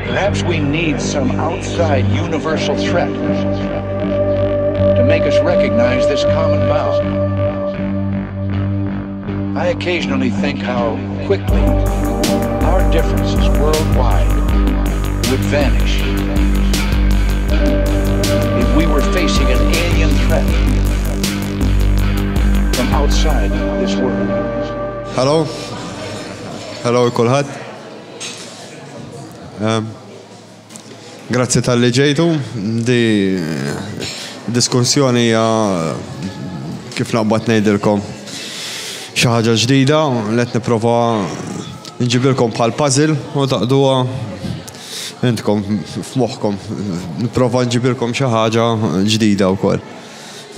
Perhaps we need some outside universal threat to make us recognize this common bond. I occasionally think how quickly our differences worldwide would vanish if we were facing an alien threat from outside this world. Hello. Hello kulħadd. Ehm, grazzi talli ġejtu. Di diskussjoni hija kif naqbad ngħidilkom xi ħaġa ġdida li qed nipprova nġibilkom bħal puzzle u taqduha intkom f'moħħkom. Nipprova nġibilkom xi ħaġa ġdida wkoll.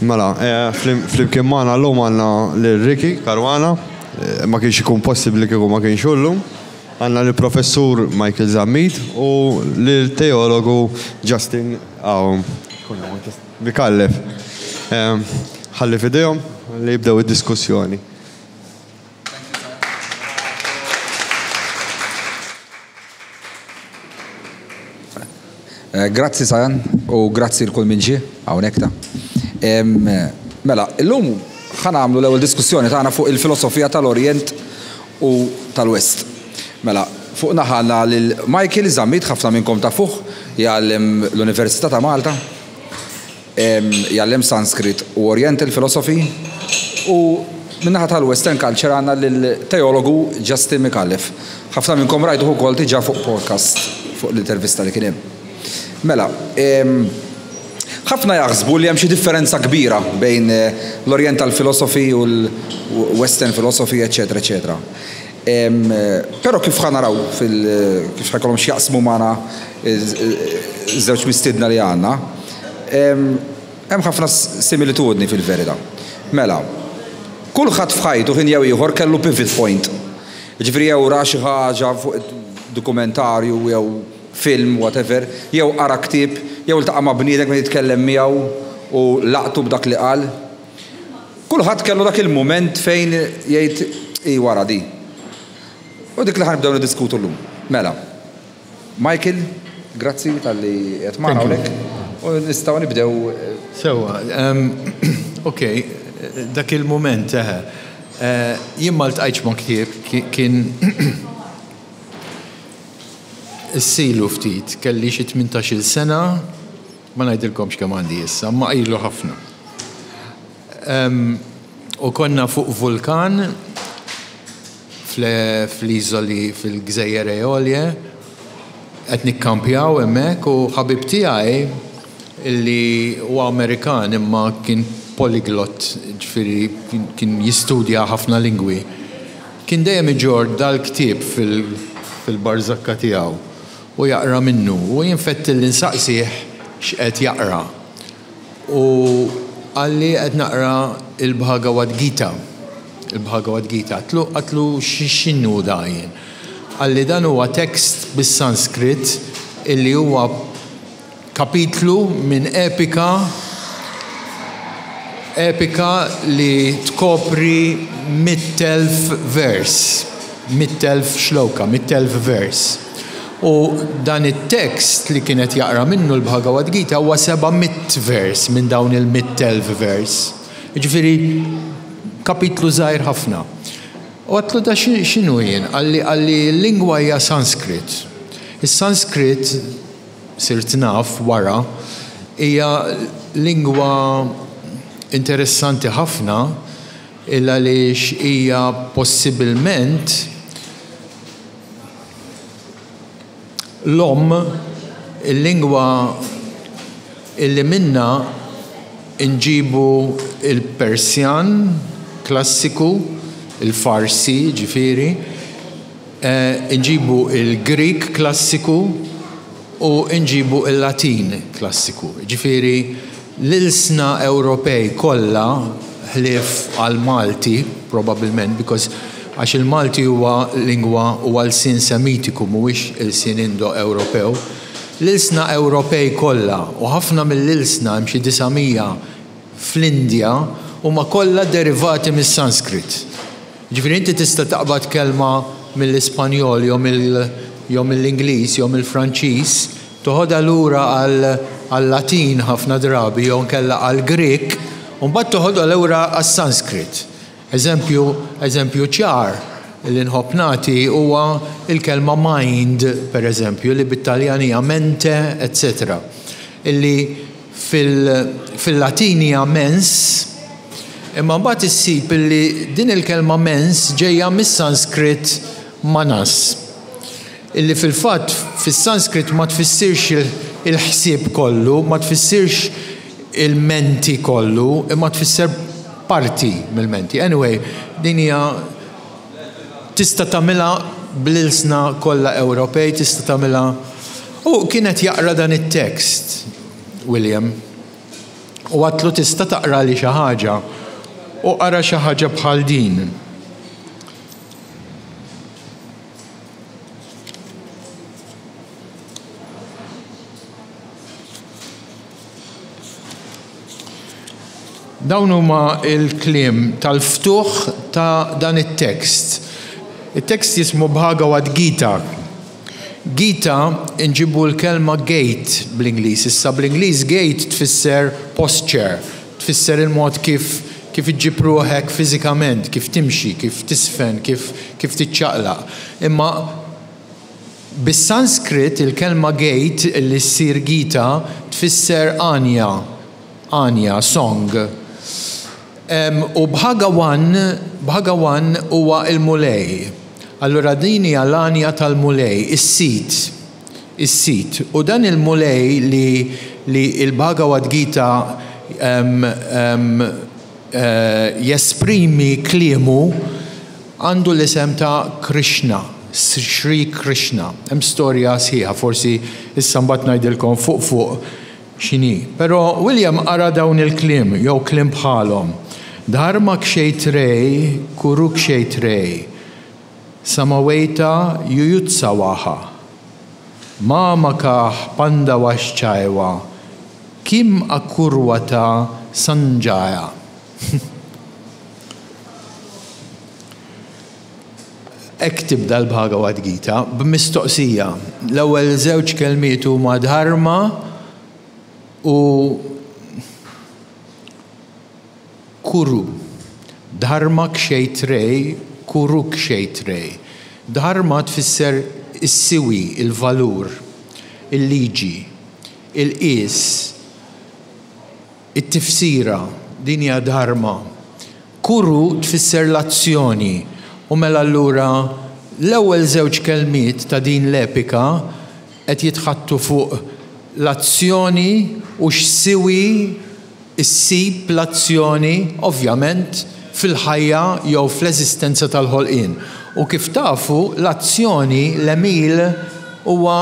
Mela, eh, flimkien magħna llum għandna lil Ricky Caruana, eh, ma kienx ikun possibbli kieku ma kienx llum. Għandna lill Professur Michael Zammit u lil teologu Justin Micallef. Ħalli f'idejhom li jibdew id-diskussjoni. Eh, grazzi Sajan u grazzi l-kull min ġie hawnhekk ta. Mela, illum ħa nagħmlu l-ewwel diskussjoni tagħna fuq il-filosofija tal-Orjent u tal-West. Mela, fuq naħa għandna lil Michael Zammit, ħafna minnkom tafuh, jgħallem l-Università ta' Malta, jgħallem Sanskrit u Oriental Philosophy, u min-naħa tal-Western Culture għandna lil teologu Justin Micallef. Ħafna minnkom rajtuh ukoll diġà fuq podcast fuq l-intervista li kien hemm. Mela, Ħafna jaħsbu li hemm xi differenza kbira bejn l-Oriental Philosophy u l-Western Philosophy, eċċetera, eċċetera. Però kif ħa naraw fil kif ħa jkollhom x'jaqsmu magħna ż-żewġ mistiedna li għandna, hemm ħafna similitudni fil-verità. Mela, kulħadd f'ħajtu ħin jew ieħor kellu pivot point. Jiġifieri jew ra xi ħaġa fuq dokumentarju jew film, whatever, jew qara ktieb, jew iltaqa' ma' bniedem kien jitkellem miegħu u laqtu b'dak li qal. Kulħadd kellu dak il-mument fejn jgħid hi wara di. U dik li ħa nibdew niddiskutu llum. Mela, Michael, grazzi talli qiegħed magħna hawnhekk u nistgħu nibdew. Sewwa, ok, dak il-mument, eħe. Jien ma ltqajtx ma' ktieb, kien Issa ilu ftit, kelli xi tmintax-il sena, ma ngħidilkomx kemm għandi issa, imma ilu ħafna. U konna fuq vulkan fl-iżoli fil-Gżejjer Eolie, qed nikkampjaw hemmhekk u ħabib tiegħi li huwa Amerikan imma kien polyglot, ġifieri kien jistudja ħafna lingwi. Kien dejjem iġorr dal-ktieb fil-barżakka tiegħu u jaqra minnu u jien fettilli nsaqsih x'qed jaqra. U qalli qed naqra il-Bhagavad Gita. Il-Bhagavad Gita. Għadtlu għadtlu x'inhu da jien. Qalli dan huwa tekst bis-Sanskrit illi huwa Kapitlu minn epika epika li tkopri 100,000 vers, 100,000 shloka, 100,000 vers. U dan it-tekst li kien qed jaqra minnu l-Bhagavad Gita huwa 700 vers minn dawn il-100,000 vers. Jiġifieri kapitlu żgħir ħafna. U għedtlu da x'inhu jien? Qalli qalli l-lingwa hija Sanskrit. Is-Sanskrit sirt naf wara, hija lingwa interessanti ħafna il-għaliex hija possibilment l-omm, il-lingwa illi minnha nġibu l-Persjan klassiku, il-Farsi jiġifieri, Inġibu l-Grieg klassiku u nġibu l-Latin klassiku. Jiġifieri l-ilsna Ewropej kollha ħlief għall-Malti probabbilment because għax il-Malti huwa lingwa huwa lsien Semitiku mhuwiex ilsien Indo-Ewropew. L-ilsna Ewropej kollha u ħafna mill-ilsna hemm xi 900 fl-Indja huma kollha derivati mis-Sanskrit. Jiġifieri inti tista' taqbad kelma. mill-Ispanjol jew mill jew mill-Ingliż jew mill-Franċiż, toħodha lura għal-Latin ħafna drabi jew inkella għall-Grieg, u mbagħad toħodha lura għas-Sanskrit. Eżempju, eżempju ċar li nħobb nagħti huwa l-kelma mind, per eżempju, li bit-Taljan hija mente, etc. Illi fil-Latin hija mens, imma mbagħad issib illi din il-kelma mens ġejja mis-Sanskrit manas, illi fil-fatt fis-Sanskrit ma tfissirx il-ħsieb kollu, ma tfissirx il-menti kollu, imma tfisser parti mill-menti. Anyway, din hija tista' tagħmilha bl-ilsna kollha Ewropej, tista' tagħmilha. U kien qed jaqra dan it-tekst, William. U għadtlu tista' taqrali xi ħaġa. U qara xi ħaġa bħal din. Dawn huma l-kliem tal-ftuħ ta' dan it-tekst. It-tekst jismu Bhagavad Gita. Gita nġibu l-kelma gait bl-Ingliż. Issa bl-Ingliż gait tfisser posture, tfisser il-mod kif kif iġġib ruħek fiżikament, kif timxi, kif tiżfen, kif kif tiċċaqlaq. Imma Bis-Sanskrit il-kelma gate li ssir Gita tfisser għanja, għanja, song. U Bhagawan, Bhagawan huwa l-Mulej. Allura din hija l-għanja tal-Mulej, is-Sid, is-Sid. U dan il-Mulej li li l-Bhagavad Gita jesprimi kliemu għandu l-isem ta' Krishna, Sri Krishna. Hemm storja sħiħa, forsi issa mbagħad ngħidilkom fuq fuq x'inhi. Però William qara dawn il-kliem jew kliem bħalhom. Dharma kshetrei kurukshetrei samaweta yuyutsawaha mamakah pandavaschaiva kim akurvata sanjaya. Hekk tibda l-Bhagavad Gita, b'mistoqsija. L-ewwel żewġ kelmiet huma dharma u kuru. Dharma kshetrei kuru kshetrei. Dharma tfisser is-siwi, il-valur, il-liġi, il-qies, It-tifsira, din hija dharma. Kuru tfisser l-azzjoni u mela allura l-ewwel żewġ kelmiet ta' din l-epika qed jitħaddtu fuq l-azzjoni u x'siwi ssib l-azzjoni ovvjament fil-ħajja jew fl-eżistenza tal-ħolqien. U kif tafu l-azzjoni, l-għemil huwa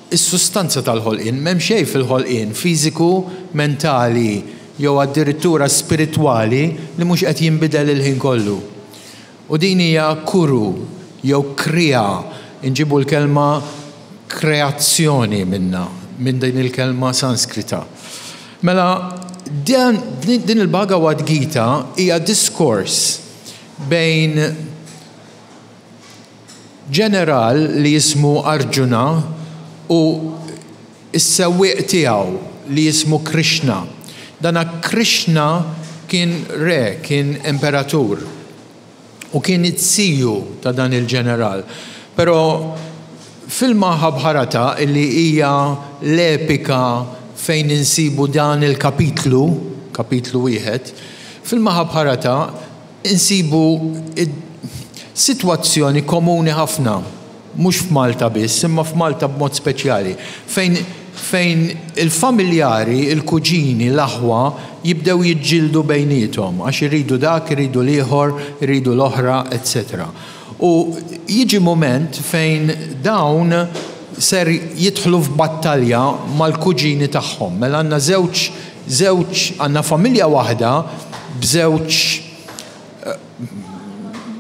Is-sustanza tal-ħolqien. M'hemm xejn fil-ħolqien, fiżiku, mentali jew addirittura spiritwali li mhux qed jinbidel il-ħin kollu. U din hija kuru jew kriya, inġibu l-kelma kreazzjoni minnha, minn din il-kelma Sanskrita. Mela, din il-Bhagavad Gita hija diskors bejn Ġeneral li jismu Arjuna u s-sewwieq tiegħu li jismu Krishna. Dana Krishna kien re, kien imperatur u kien iz-ziju ta' dan il-ġeneral. Però fil-Mahabharata li hija l-epika fejn insibu dan il-kapitlu, kapitlu wieħed, fil-Mahabharata Insibu sitwazzjoni komuni ħafna, mhux f'Malta biss, imma f'Malta b'mod speċjali, fejn fejn il-familjari, il-kuġini, l-aħwa jibdew jiġġieldu bejniethom għax iridu dak, iridu l-ieħor, iridu l-oħra, etc. U jiġi mument fejn dawn ser jidħlu f'battalja mal-kuġini tagħhom. Mela għandna żewġ Żewġ, għandna familja waħda b'żewġ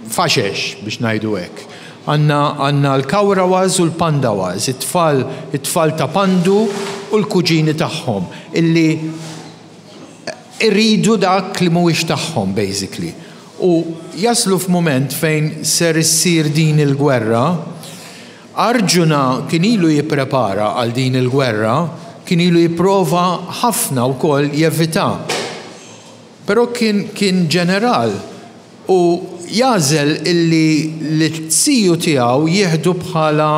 faxex biex ngħidu hekk. Għandna għandna l-Kauravas u l-Pandavas, it-tfal it-tfal ta' Pandu u l-kuġini tagħhom illi iridu dak li mhuwiex tagħhom basically. U jaslu f'mument fejn ser issir din il-gwerra. Arjuna kien ilu jipprepara għal din il-gwerra, kien ilu jipprova ħafna wkoll jevitha. Però kien kien ġeneral u jagħżel illi lit-ziju tiegħu jieħdu bħala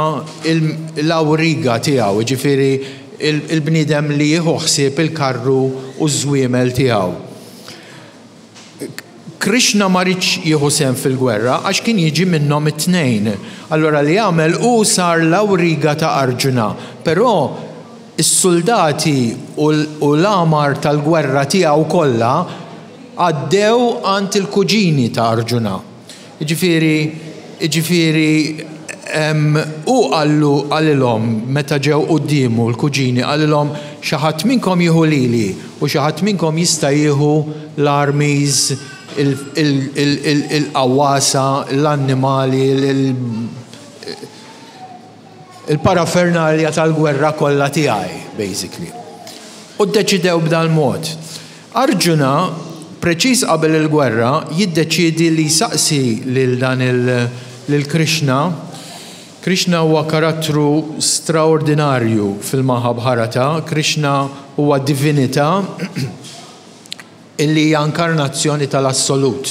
l-awriga tiegħu, jiġifieri il-bniedem li jieħu ħsieb il-karru u ż-żwiemel tiegħu. Krishna ma riedx jieħu sehem fil-gwerra għax kien jiġi minnhom it-tnejn. Allura li għamel hu sar l-awriga ta' Arjuna, però s-suldati u l-għamar tal-gwerra tiegħu kollha għaddew għand il-kuġini ta' Arjuna. Jiġifieri, jiġifieri, hu qallu, qalilhom meta ġew quddiemu l-kuġini, qalilhom, Xi ħadd minnkom jieħu lili u xi ħadd minnkom jista' jieħu l-armies, il-qawwasa, l-annimali, il-parafernalja tal-gwerra kollha tiegħi, basically. U ddeċidew b'dal-mod. Arjuna, preċiż qabel il-gwerra, jiddeċiedi li jsaqsi lil dan il lil Krishna. Krishna huwa karattru straordinarju fil-Mahabharata. Krishna huwa divinità illi hija inkarnazzjoni tal-Assolut.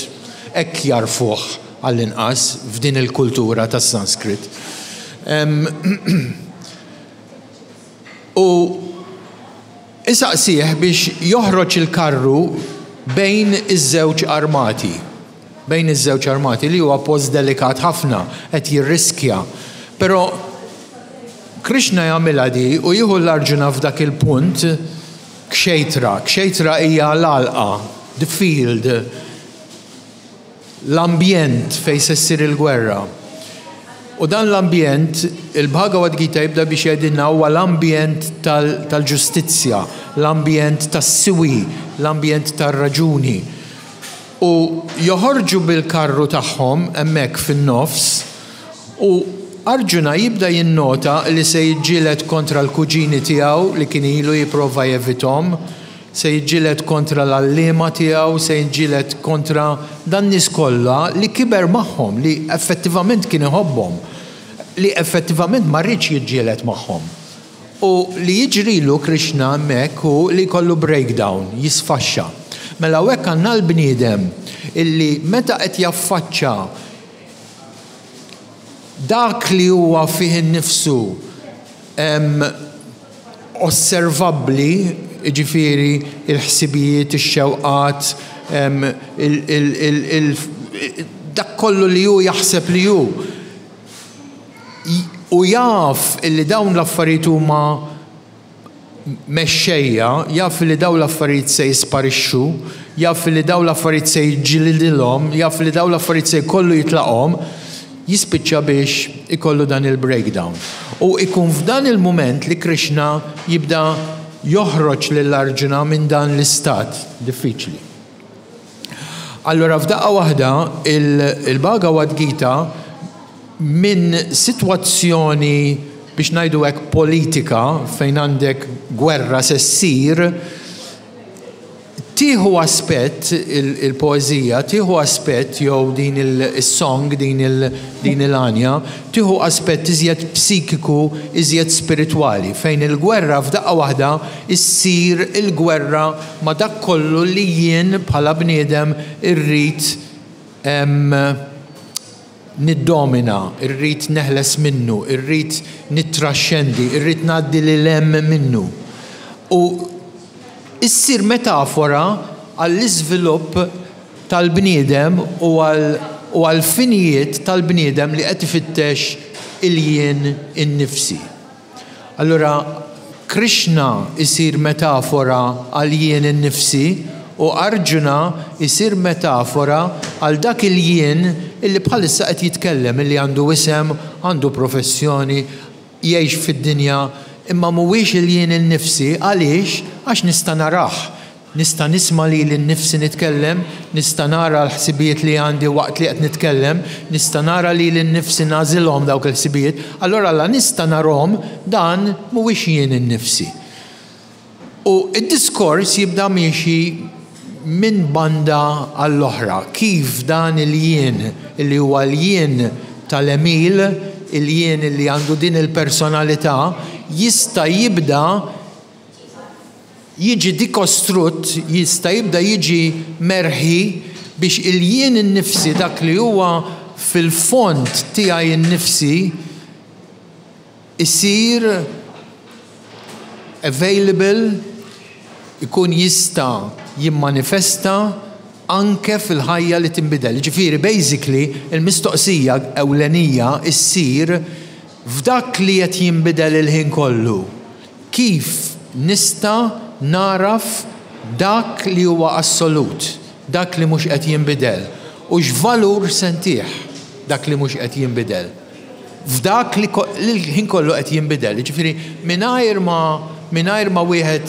Hekk jagħrfuh għall-inqas f'din il-kultura tas-Sanskrit. U isaqsih biex joħroġ il-karru bejn iż-żewġ armati. Bejn iż-żewġ armati li huwa post delikat ħafna, qed jirriskja. Però Krishna jagħmilha di u jieħu l-Arjuna f'dak il-punt Kshetra. Kshetra hija l-għalqa, the field. L-ambjent fejn se ssir il-gwerra. U dan l-ambjent, il-Bhagavad Gita jibda biex jgħidilna huwa l-ambjent tal-ġustizzja, l-ambjent tas-siwi, l-ambjent tar-raġuni. U joħorġu bil-karru tagħhom hemmhekk fin-nofs u Arjuna jibda jinnota li se jiġġieled kontra l-kuġini tiegħu li kien ilu jipprova jevithom, Se jiġġieled kontra l-għalliema tiegħu, se jiġġieled kontra dan-nies kollha li kiber magħhom, li effettivament kien iħobbhom, li effettivament ma riedx jiġġieled magħhom. U li jiġrilu Krishna hemmhekk hu li jkollu breakdown, jisfaxxa. Mela hawnhekk għandna l-bniedem illi meta qed jaffaċċa dak li huwa fih innifsu osservabbli, jiġifieri l-ħsibijiet, ix-xewqat, dak kollu li hu jaħseb li hu, u jaf illi dawn l-affarijiet huma mexxejja, jaf li dawn l-affarijiet se jisparixxu, jaf li dawn l-affarijiet se jiġġilidilhom, jaf li dawn l-affarijiet se jkollu jitlaqhom, jispiċċa biex ikollu dan il-breakdown. U ikun f'dan il-mument li Krishna jibda joħroġ lil Arjuna minn dan l-istat diffiċli. Allura f'daqqa waħda il-Bhagavad Gita minn sitwazzjoni biex ngħidu hekk politika fejn għandek gwerra se ssir, tieħu aspett il-poeżija, tieħu aspett jew din is-song, din il-għanja, tieħu aspett iżjed psikiku, iżjed spiritwali, fejn il-gwerra f'daqqa waħda ssir il-gwerra ma' dak kollu li jien bħala bniedem irrid niddomina, irrid neħles minnu, irrid nittraxxendi, irrid ngħaddi lil hemm minnu. U issir metafora għall-iżvilupp tal-bniedem u għall-finijiet tal-bniedem li qed ifittex il-jien innifsi. Allura Krishna jsir metafora għal jien innifsi u Arjuna jsir metafora għal dak il-jien illi bħalissa qed jitkellem, illi għandu isem, għandu professjoni, jgħix fid-dinja, imma mhuwiex il-jien innifsi, għaliex? Għax nista' narah. Nista' nisma' lili nnifsi nitkellem, nista' nara l-ħsibijiet li għandi waqt li qed nitkellem, nista' nara lili nnifsi nagħżilhom dawk il-ħsibijiet, allura la nista' narhom, dan mhuwiex jien innifsi. U d-diskors jibda miexi minn banda għall-oħra, kif dan il-jien li huwa l-jien tal-għemil, il-jien li għandu din il-personalità, jista' jibda jiġi dikostrutt, jista' jibda jiġi merħi biex il-jien innifsi, dak li huwa fil-fond tiegħi nnifsi, isir available, ikun jista' jimmanifesta anke fil-ħajja li tinbidel. Jiġifieri basically il-mistoqsija ewlenija ssir f'dak li qed jinbidel il-ħin kollu, kif nista' nagħraf dak li huwa assolut, dak li mhux qed jinbidel, u x'valur se ntih dak li mhux qed jinbidel? f'dak li l-ħin kollu qed jinbidel. Jiġifieri mingħajr ma mingħajr ma wieħed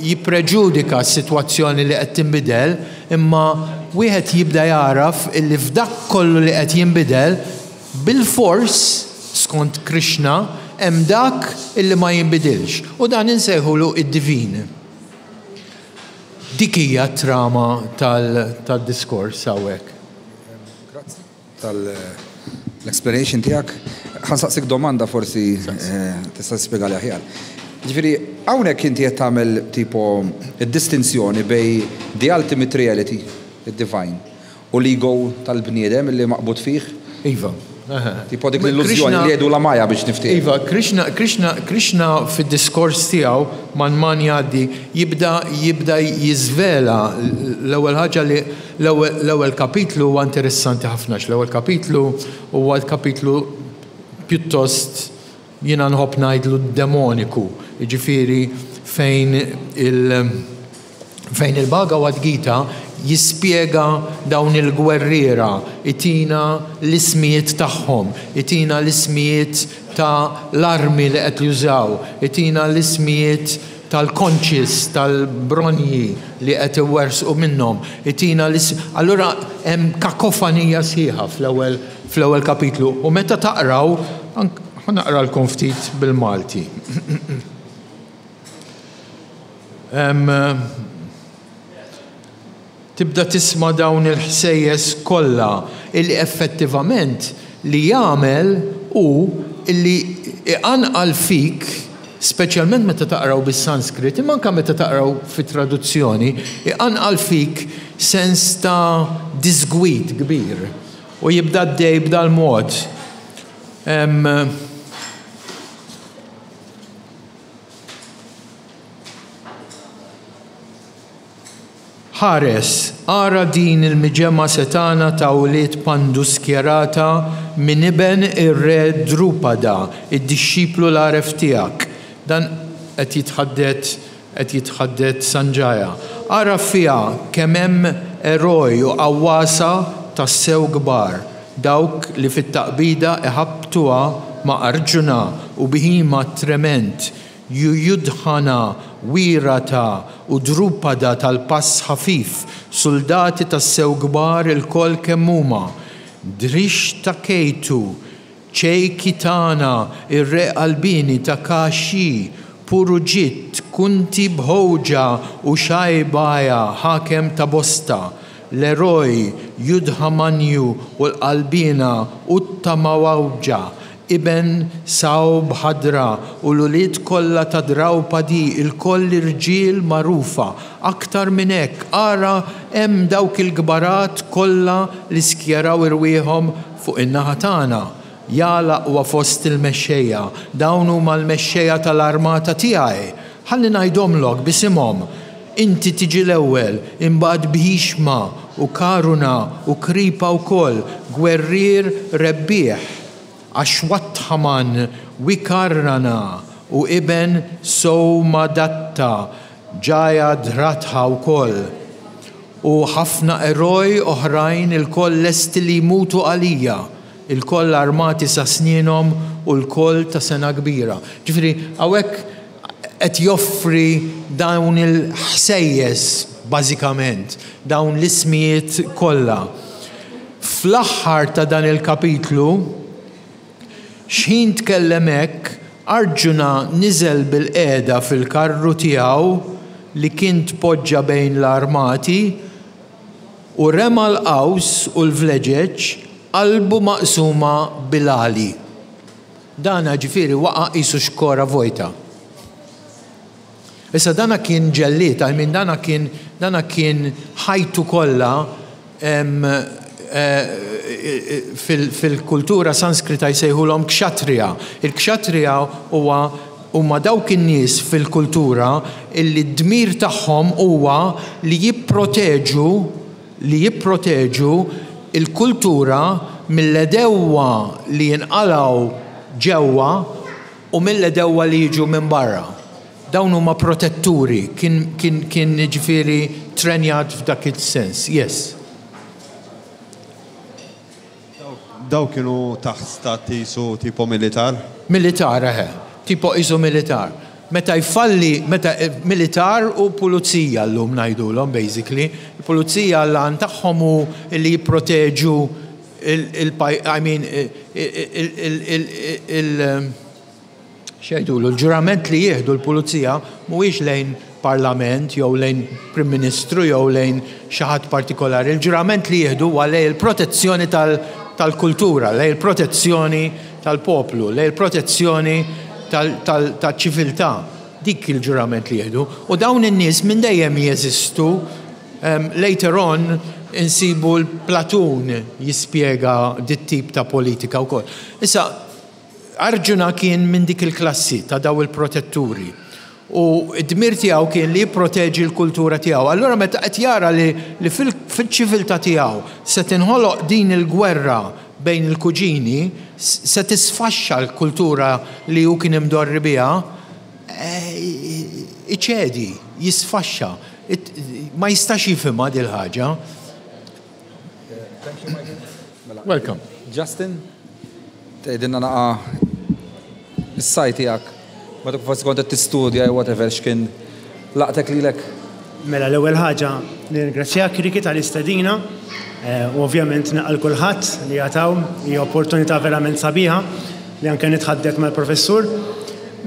jippreġudika s-sitwazzjoni li qed tinbidel, imma wieħed jibda jagħraf illi f'dak kollu li qed jinbidel, bilfors, skont Krishna, hemm dak illi ma jinbidilx. U dan insejħulu d-divin. Dik hija t-trama tad-diskors hawnhekk. Grazzi. tal-explanation tiegħek. Ħa nsaqsik domanda forsi tista' tispjegali aħjar. Ġifieri hawnhekk inti qed tagħmel tipo id-distinzjoni bejn the ultimate reality, id-divine, u l-ego tal-bniedem li maqbud fih. Iva. Tipo dik l-illużjoni li jgħidulha Maya biex niftiehem. Iva, Krishna, Krishna, Krishna fid-diskors tiegħu man man jgħaddi jibda jibda jiżvela l-ewwel ħaġa li L-ewwel kapitlu huwa interessanti ħafna għax l-ewwel kapitlu huwa l-kapitlu pjuttost jiena nħobb ngħidlu demoniku, jiġifieri fejn il fejn il-Bhagavad Gita jispjega dawn il-gwerriera, itina l-ismijiet tagħhom, itina l-ismijiet ta' l-armi li qed jużaw, itina l-ismijiet tal-conches, tal-bronji li qed iwerżqu minnhom, itina l-is. Allura hemm kakofanija sħiħa fl-ewwel fl-ewwel kapitlu u meta taqraw, ħa naqralkom ftit bil-Malti. Tibda tisma' dawn il-ħsejjes kollha illi effettivament li jagħmel hu illi iqanqal fik, speċjalment meta taqraw bis-Sanskrit, imma anke meta taqraw fi traduzzjoni, iqanqal fik sens ta' diżgwid kbir. U jibda għaddej b'dal-mod. Ħares, ara din il-miġemgħa setgħana ta' wlied Pandu skjerata minn iben ir-re Drupada, id-dixxiplu l-għaref tiegħek. Dan qed jitħaddet qed jitħaddet Sanjaya. Ara fiha kemm hemm eroj u qawwasa tassew kbar, dawk li fit-taqbida iħabbtuha ma' Arjuna u Bhima t-trement, Yuyudhana, Wirata, u Drupada tal-pass ħafif, suldati tassew kbar ilkoll kemm huma, Dhrishtaketu, Cheikitana, ir-re qalbieni ta' Kashi, Purujit, Kunti Bhoja u Shaibaya, ħakem ta' bosta, l-eroj Yudhamanyu u l-qalbiena Uttamawauja, iben Saubhadra, u l-ulied kollha ta' Draupadi, ilkoll irġiel magħrufa. Aktar minn hekk, ara hemm dawk il-kbarat kollha li skjeraw irwieħhom fuq in-naħa tagħna. Ja l-aqwa fost il-mexxejja, dawn huma l-mexxejja tal-armata tiegħi! Ħalli ngħidhomlok b'isimhom, Inti tiġi l-ewwel, imbagħad Bhishma u Karuna u Kripa wkoll, gwerrier rebbieħ, Ashwatthaman, Vikarnana u iben Somadatta, Jayadratha wkoll, u ħafna eroj oħrajn ilkoll lesti li jmutu għalija, ilkoll armati sa snienhom u lkoll ta' sengħa kbira. Ġifieri, hawnhekk qed joffri dawn il-ħsejjes bażikament, dawn l-ismijiet kollha. Fl-aħħar ta' dan il-kapitlu, xħin tkellem hekk, Arjuna niżel bilqiegħda fil-karru tiegħu. li kien tpoġġa bejn l-armati u rema l-qaws u l-vleġeġ, qalbu maqsuma bil-għali. Dana ġifieri waqa' qisu xkora vojta. Issa dana kien ġellied, I mean dana kien dana kien ħajtu kollha fil-kultura Sanskrita jsejħulhom kshatriya. Il-kshatriya huwa huma dawk in-nies fil-kultura illi d-dmir tagħhom huwa li jipproteġu li jipproteġu l-kultura mill-għedewwa li jinqalgħu ġewwa u mill-għedewwa li jiġu minn barra. Dawn huma protetturi, kien kien kien jiġifieri trenjat f'dak is-sens. Yes. Dawn kienu taħt stat qisu tipo militar? Militar, eħe. Tipo qisu militar. Meta jfalli, meta, militar u pulizija llum ngħidulhom basically. Il-pulizija l-għan tagħhom hu li jipproteġu il-, I mean, il, x'jgħidulu, l-ġurament li jieħdu l-pulizija mhuwiex lejn parlament jew lejn Prim Ministru jew lejn xi ħadd partikolari. Il-ġurament li jieħdu huwa lejn il-protezzjoni tal-kultura, lejn il-protezzjoni tal-poplu, lejn il-protezzjoni tal-ċiviltà. Dik il-ġurament li jieħdu. U dawn in-nies minn dejjem jeżistu. Later on insibu l-Platun jispjega dit-tip ta' politika wkoll. Issa, Arjuna kien minn dik il-klassi ta' daw il-protetturi u d-dmir tiegħu kien li jipproteġi l-kultura tiegħu. Allura meta qed jara li, li fil-ċiviltà tiegħu se tinħoloq din il-gwerra bejn il-kuġini, se tisfaxxa l-kultura li hu kien imdorri biha, eh, iċedi, jisfaxxa. Ma jistax jifhimha dil-ħaġa. Thank you, Michael. Mela. Welcome. Justin, tgħidilna naqa is-saj tiegħek. Meta forsi kont qed tistudja jew whatever x'kien laqtek lilek. Mela l-ewwel ħaġa nirringrazzjak Ricky tal-istedina eh, u ovvjament naqal kulħadd li jataw hija opportunità verament sabiħa li anke nitħaddet mal-professur.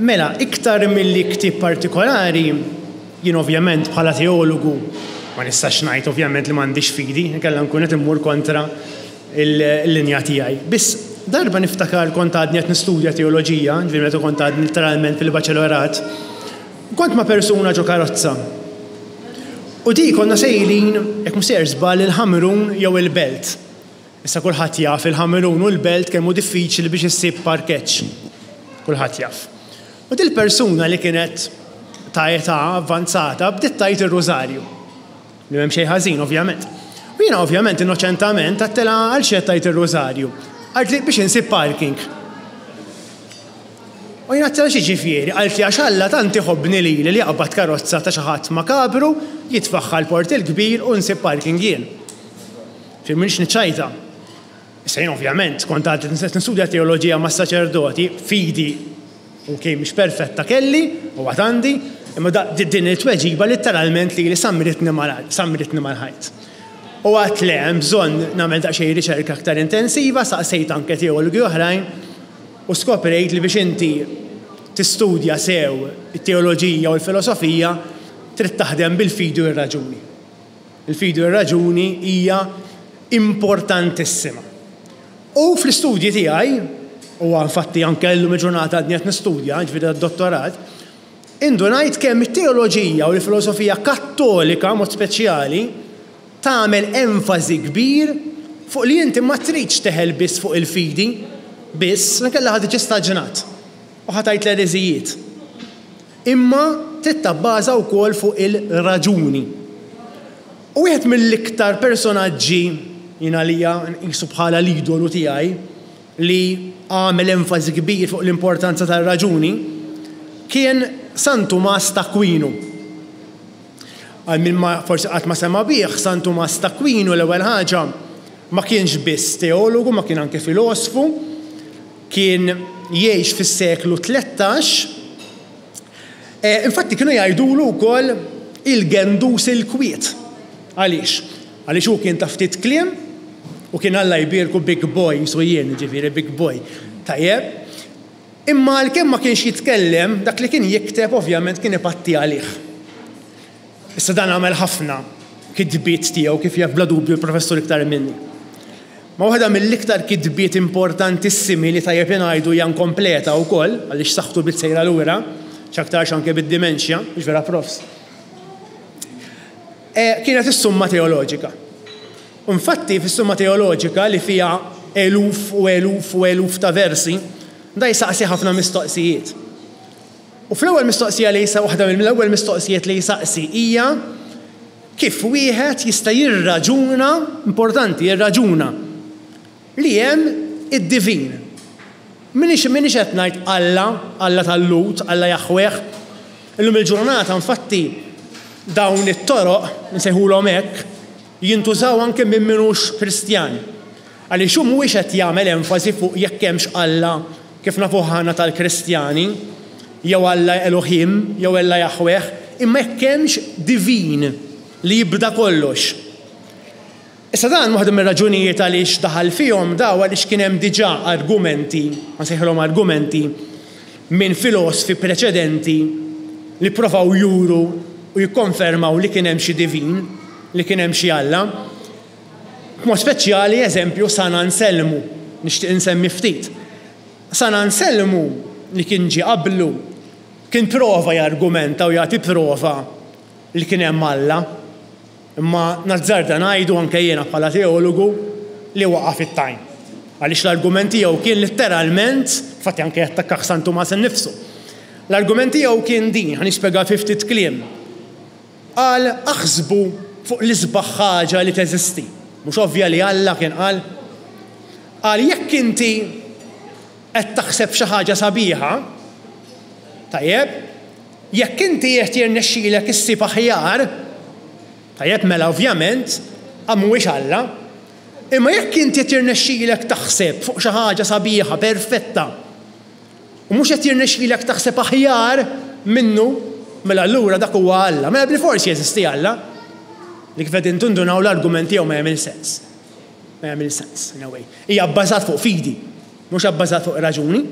Mela, iktar milli ktieb partikolari Jien ovvjament bħala teologu ma nistax ngħid ovvjament li m'għandix fidi, inkella nkun qed immur kontra l-linja tiegħi. Biss darba niftakar kont għadni qed nistudja teoloġija, ġifieri meta kont għadni literalment fil-baċelorat, kont ma' persuna ġo karozza. U di konna sejrin, jekk mhux sejjer żball, il-Ħamrun jew il-Belt. Issa kulħadd jaf il-Ħamrun u l-Belt kemm hu diffiċli biex issib parkeġġ. Kulħadd jaf. U dil-persuna li kienet ta' età avvanzata bdiet tgħid ir-rużarju. Li m'hemm xejn ħażin ovvjament. U jiena ovvjament innoċentament għedtilha għal xi qed tgħid ir-rużarju. Qaltli biex insib parking. U jien għedtilha x'jiġifieri? Qaltli għax Alla tant iħobbni lili li jaqbad karozza ta' xi ħadd makabru, jitfagħha l-Port il-Kbir u nsib parking jien. Ġifieri m'iniex niċċajta. Issa jien ovvjament kont għad qed nistudja teoloġija mas-saċerdoti, fidi ok mhix perfetta kelli u għad għandi, imma din it-tweġiba litteralment lili sammritni mal-ħajt. U għedt le, hemm bżonn nagħmel daqsxejn riċerka aktar intensiva, saqsejt anke teologi oħrajn u skoprejt li biex inti tistudja sew it-teoloġija u l-filosofija trid taħdem bil-fidi u r-raġuni. Il-fidi u r-raġuni hija importantissima. U fl-istudji tiegħi, u infatti anke llum il-ġurnata għadni qed nistudja, jiġifieri tad-dottorat, indunajt kemm it-teoloġija u l-filosofija kattolika mod speċjali tagħmel enfasi kbir fuq li inti ma tridx teħel biss fuq il-fidi biss, inkella ħa tiġi staġnat u ħa tgħid l-ereżijiet. Imma trid tabbaża wkoll fuq il-raġuni. U wieħed mill-iktar personaġġi, jien għalija nqisu bħala l-idolu tiegħi, li għamel enfasi kbir fuq l-importanza tar-raġuni, kien San Tumas t'Akwinu. Għal min ma forsi qatt ma sema' bih, San Tumas t'Akwinu l-ewwel ħaġa ma kienx biss teologu, ma kien anke filosfu, Kien jgħix fis-seklu 13. Infatti kienu jgħidulu wkoll il-gendus il-kwiet. Għaliex? Għaliex hu kien ta' ftit kliem u kien Alla jbierku big boy, qisu jien, jiġifieri big boy. Tajjeb. Imma għalkemm ma kienx jitkellem, dak li kien jikteb ovvjament kien ipatti għalih. Issa dan għamel ħafna kitbiet tiegħu kif jaf bla dubju l-professur iktar minni. Ma waħda mill-iktar kitbiet importantissimi li tajjeb li ngħidu hija inkompleta wkoll, għaliex saħħtu bdiet sejra lura, x'aktarx anke bid-dementia, mhux vera profs? Kienet is-Summa Teoloġika. U infatti fis-Summa Teoloġika li fiha eluf u eluf u eluf ta' versi, da jsaqsi ħafna mistoqsijiet. U fl-ewwel mistoqsija li waħda mill-ewwel mistoqsijiet li jsaqsi hija kif wieħed jista' jirraġuna, importanti, jirraġuna, li hemm id-divin. M'iniex m'iniex qed ngħid Alla, Alla tal-Lhud, Alla Jaħweh. Illum il-ġurnata infatti dawn it-toroq, insejħulhom hekk, jintużaw anke minn min hux Kristjan. Għaliex hu mhuwiex qed jagħmel enfasi fuq jekk hemmx Alla kif nafuh aħna tal-Kristjani, jew Alla Elohim, jew Alla Jaħweh, imma jekk hemmx divin li jibda kollox. Issa dan waħda mir-raġunijiet għaliex daħal fihom daw għaliex kien hemm diġà argumenti, ħa nsejħilhom argumenti, minn filosfi preċedenti li pprovaw juru u jikkonfermaw li kien hemm xi divin, li kien hemm xi Alla. B'mod speċjali eżempju San Anselmu, nixtieq insemmi ftit. San Anselmu li kien ġie qablu kien prova jargumenta u jagħti prova li kien hemm Alla. Imma nazzarda ngħidu anke jiena bħala teologu li waqa' fit-tajn. Għaliex l-argument tiegħu kien litteralment, infatti anke jattakkah San Tumas innifsu. L-argument tiegħu kien din, ħa nispjega fi ftit kliem. Qal, Aħsbu fuq l-isbaħ ħaġa li teżisti. Mhux ovvja li Alla kien qal? Qal, Jekk inti qed taħseb f'xi ħaġa sabiħa, tajjeb, jekk inti qed jirnexxilek issib aħjar, tajjeb, mela ovvjament mhuwiex Alla. Imma jekk inti qed jirnexxilek taħseb fuq xi ħaġa sabiħa, perfetta, U mhux qed jirnexxilek taħseb aħjar minnu, mela allura dak huwa Alla. Mela bilfors jeżisti Alla. Li kif qegħdin tindunaw l-argument tiegħu ma jagħmilx sens. Ma jagħmilx sens, in a way. Hija bbażat fuq fidi, mhux abbażat fuq raġuni.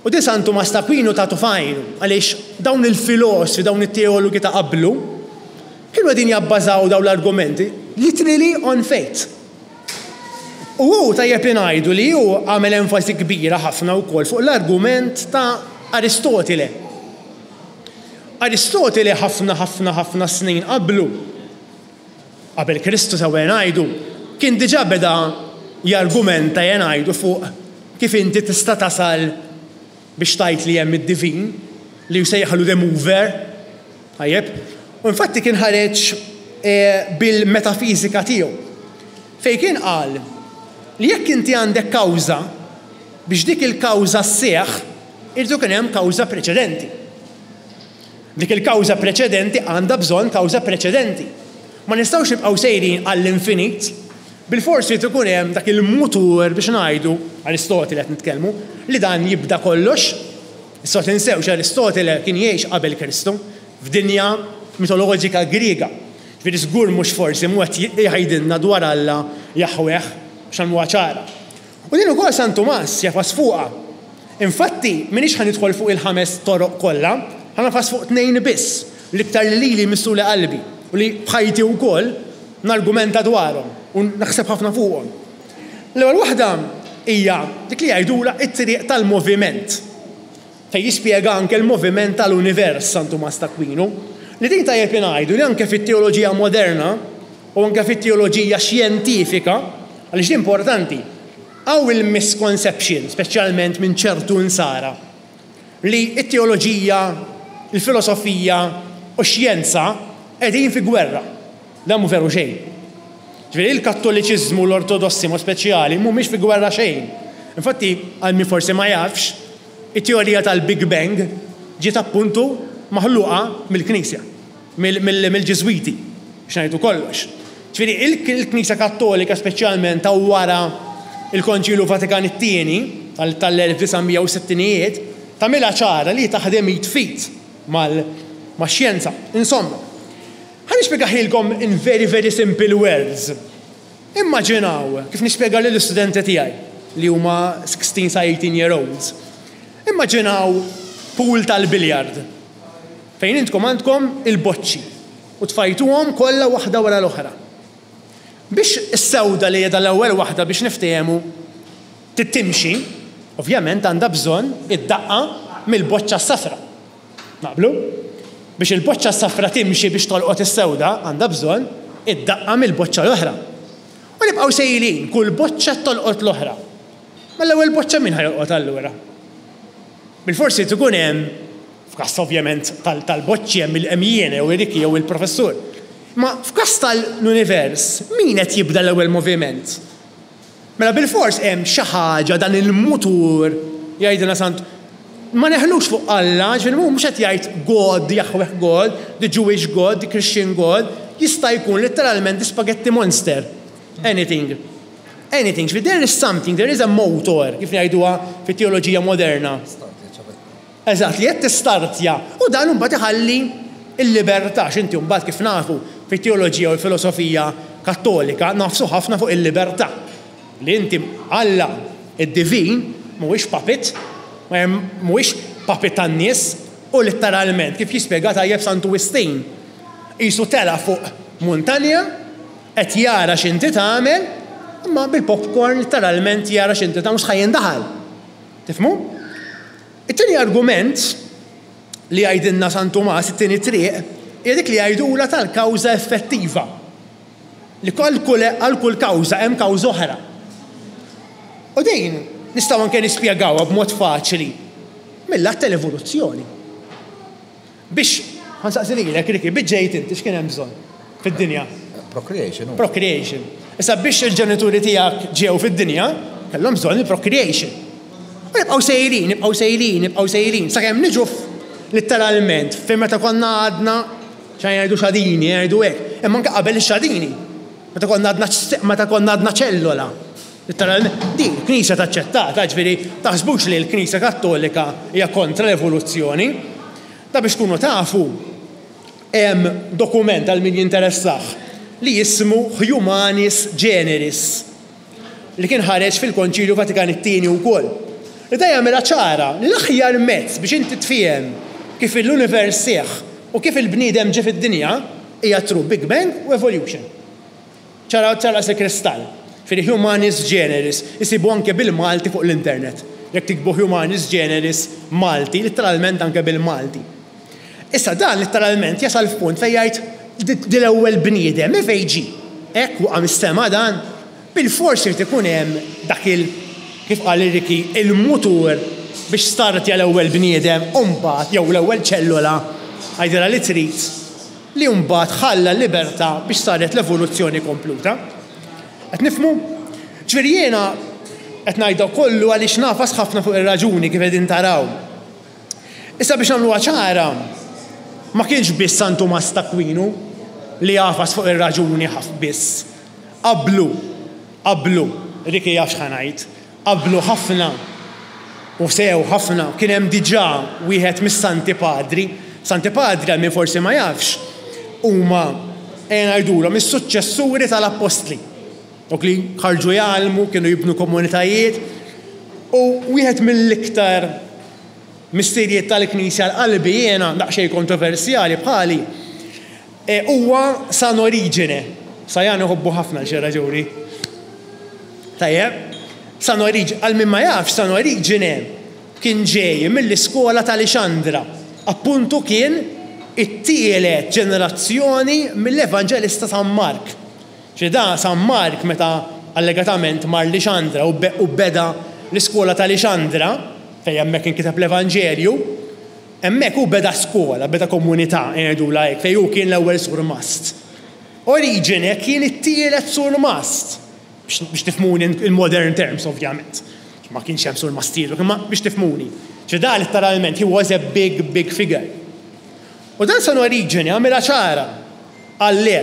U di San Tumas t'Akwinu tagħtu f'għajnu, għaliex dawn il-filosfi, dawn it-teologi ta' qablu, kienu qegħdin jabbażaw dawn l-argumenti literally on faith. U hu tajjeb li ngħidu li hu għamel enfasi kbira ħafna wkoll fuq l-argument ta' Aristotile. Aristotile ħafna ħafna ħafna snin qablu, qabel Kristu sewwa ngħidu, kien diġà beda jargumenta ngħidu fuq kif inti tista' tasal biex tgħid li hemm id-divin, li jsejjaħlu the mover, tajjeb? U infatti kien ħareġ bil-metafiżika tiegħu, fejn kien qal li jekk inti għandek kawża, biex dik il-kawża sseħħ, irid ikun hemm kawża preċedenti. Dik il-kawża preċedenti għandha bżonn kawża preċedenti. Ma nistgħux nibqgħu sejrin għall-infinit. Bilfors irid ikun hemm dak il-mutur biex ngħidu, Aristotile qed nitkellmu, li dan jibda kollox. Issa tinsewx Aristotile kien jgħix qabel Kristu, f'dinja mitoloġika Griega. Ġifieri żgur mhux forsi mhu qed jgħidilna dwar Alla Jaħweh, biex nagħmluha ċara. U din ukoll San Tumas jafas fuqha. Infatti, m'iniex ħa nidħol fuq il-ħames toroq kollha, ħa nafas fuq tnejn biss, l-iktar li lili jmissuli qalbi u li f'ħajti wkoll nargumenta dwarhom u naħseb ħafna fuqhom. L-ewwel waħda hija dik li jgħidulha t-triq tal-moviment, fejn jispjega anke l-moviment tal-univers San Tumas t'Akwinu, li din tajjeb li ngħidu li anke fit-teoloġija moderna u anke fit-teoloġija xjentifika, għaliex din importanti, hawn il-misconception, speċjalment minn ċertu Nsara, li t-teoloġija, il-filosofija u x-xjenza qegħdin fi gwerra. Dan mhu veru xejn. Ġifieri il-Kattoliċiżmu u l-Ortodossi mod speċjali mhumiex fi gwerra xejn. Infatti, għal min forsi ma jafx, it-teorija tal-Big Bang ġiet appuntu maħluqa mill-Knisja, mill-Ġiżwiti, biex ngħidu kollox. Ġifieri il-Knisja Kattolika speċjalment ta' wara l-Konċilju Vatikan it-Tieni tal-1960ijiet tagħmilha ċara li hi taħdem id f'id max-xjenza. Insomma, Ħa nispjegahielkom in very very simple words. Immaġinaw, kif nispjega lill-istudenti tiegħi li huma 16 sa 18 year olds. Immaġinaw pool tal-billiard fejn intkom għandkom il-boċċi. U tfajtuhom kollha waħda wara l-oħra. Biex is-sewda li qiegħda l-ewwel waħda biex niftehmu trid timxi, ovvjament għandha bżonn id-daqqa mill-boċċa s-safra. Naqblu? Biex il-boċċa s-safra timxi biex tolqot is-sewda għandha bżonn id-daqqa mill-boċċa l-oħra. U nibqgħu sejrin, kull boċċa tolqot l-oħra. Mela l-ewwel boċċa min ħa jolqot allura? Bilfors irid ikun hemm, f'każ ovvjament tal-boċċi hemm hemm jien jew Ricky jew il-professur. Imma f'każ tal-univers, min qed jibda l-ewwel moviment? Mela bilfors hemm xi ħaġa dan il-mutur jgħidilna Sant ma neħlux fuq Alla, ġifieri hu mhux qed jgħid God, Yahweh God, the Jewish God, the Christian God, jista' jkun letteralment the spaghetti monster. Anything. Anything, ġifieri there is something, there is a motor, kif ngħiduha fit-teoloġija moderna. Eżatt, li qed tistartja u dan imbagħad iħalli l-libertà, għax inti mbagħad kif nafu fit-teoloġija u l-filosofija Kattolika nagħfsu ħafna fuq il-libertà. Li inti Alla, id-divin, mhuwiex puppet, mhuwiex puppet tan-nies u litteralment kif jispjega tajjeb Santu Wistin, qisu tela' fuq muntanja, Qed jara x'inti tagħmel, imma bil-popcorn litteralment jara x'inti tagħmel mhux ħa jindaħal. Tifhmu? It-tieni argument li jgħidilna San Tumas, it-tieni triq, hija dik li jgħidulha tal-kawża effettiva. Li għal kull kawża hemm kawża oħra. U din nistgħu anke nispjegawha b'mod faċli mill-att tal-evoluzzjoni. Biex, ħa nsaqsi lilek, Ricky, biex ġejt inti x'kien hemm bżonn fid-dinja? Procreation. Procreation. Issa biex il-ġenituri tiegħek ġew fid-dinja, kellhom bżonn il-procreation. U nibqgħu sejrin, nibqgħu sejrin, nibqgħu sejrin, sakemm niġu litteralment fejn meta konna għadna xejn jgħidu xadini, jgħidu hekk, imma anke qabel ix-xadini. Meta konna għadna meta konna għadna ċellola. Litteralment, din il-Knisja taċċettata, ġifieri taħsbux li l-Knisja Kattolika hija kontra l-evoluzzjoni. Da biex tkunu tafu, hemm dokument għal min jinteressah li jismu Humanis Generis li kien ħareġ fil-Konċilju Vatikan it-Tieni wkoll. Li da jagħmilha ċara li l-aħjar mezz biex inti tfiehem kif l-univers seħħ u kif il-bniedem ġie fid-dinja hija through Big Bang u evolution. Ċara ċar daqs il-kristall. Ġifieri Humanis Generis, isibu anke bil-Malti fuq l-internet. Jekk tiktbu Humanis Generis Malti, litteralment anke bil-Malti. Issa dan litteralment jasal f'punt fejn jgħid di l-ewwel bniedem minn fejn ġie? Hekk waqa' mis-sema dan? Bilfors irid ikun hemm dak il, kif qal ir-Ricky, il-mutur biex startja l-ewwel bniedem u mbagħad, jew l-ewwel ċellola, għidilha li trid, li mbagħad ħalla l-libertà biex saret l-evoluzzjoni kompluta. Qed nifhmu? Ġifieri jiena qed ngħid dak kollu għaliex nagħfas ħafna fuq ir-raġuni kif qegħdin taraw. Issa biex nagħmluha ċara, ma kienx biss San Tumas t'Akwinu li għafas fuq ir-raġuni biss. Qablu, qablu, Ricky jaf x'ħa ngħid, Qablu ħafna, u sew ħafna, kien hemm diġà wieħed mis-Santi Padri. Santi Padri, għal min forsi ma jafx, huma, ejja ngħidulhom, is-suċċessuri tal-Appostli. Dawk li ħarġu jgħallmu, kienu jibnu komunitajiet. U wieħed mill-iktar missirijiet tal-Knisja għal qalbi jiena, daqsxejn kontroversjali bħali, huwa San Oriġene. Sajan iħobbu ħafna għal xi raġuni. Tajjeb. San Oriġene, għal min ma jafx, San Oriġene kien ġej mill-iskola ta' Lixandra. Appuntu kien it-tielet ġenerazzjoni mill-Evanġelista San Mark. Ġifieri da San Mark meta allegatament mar Lixandra u beda l-iskola ta' Lixandra, fejn hemmhekk inkiteb l-Evanġelju, hemmhekk hu beda skola, beda komunità, ngħidulha hekk, fejn hu kien l-ewwel surmast. Oriġene kien it-tielet surmast, biex tifhmuni in modern terms ovvjament. Ma kienx hemm surmastijiet, imma biex tifhmuni. Ġifieri da letteralment he was a big, big figure. U dan San Oriġene għamilha ċara. Qal le,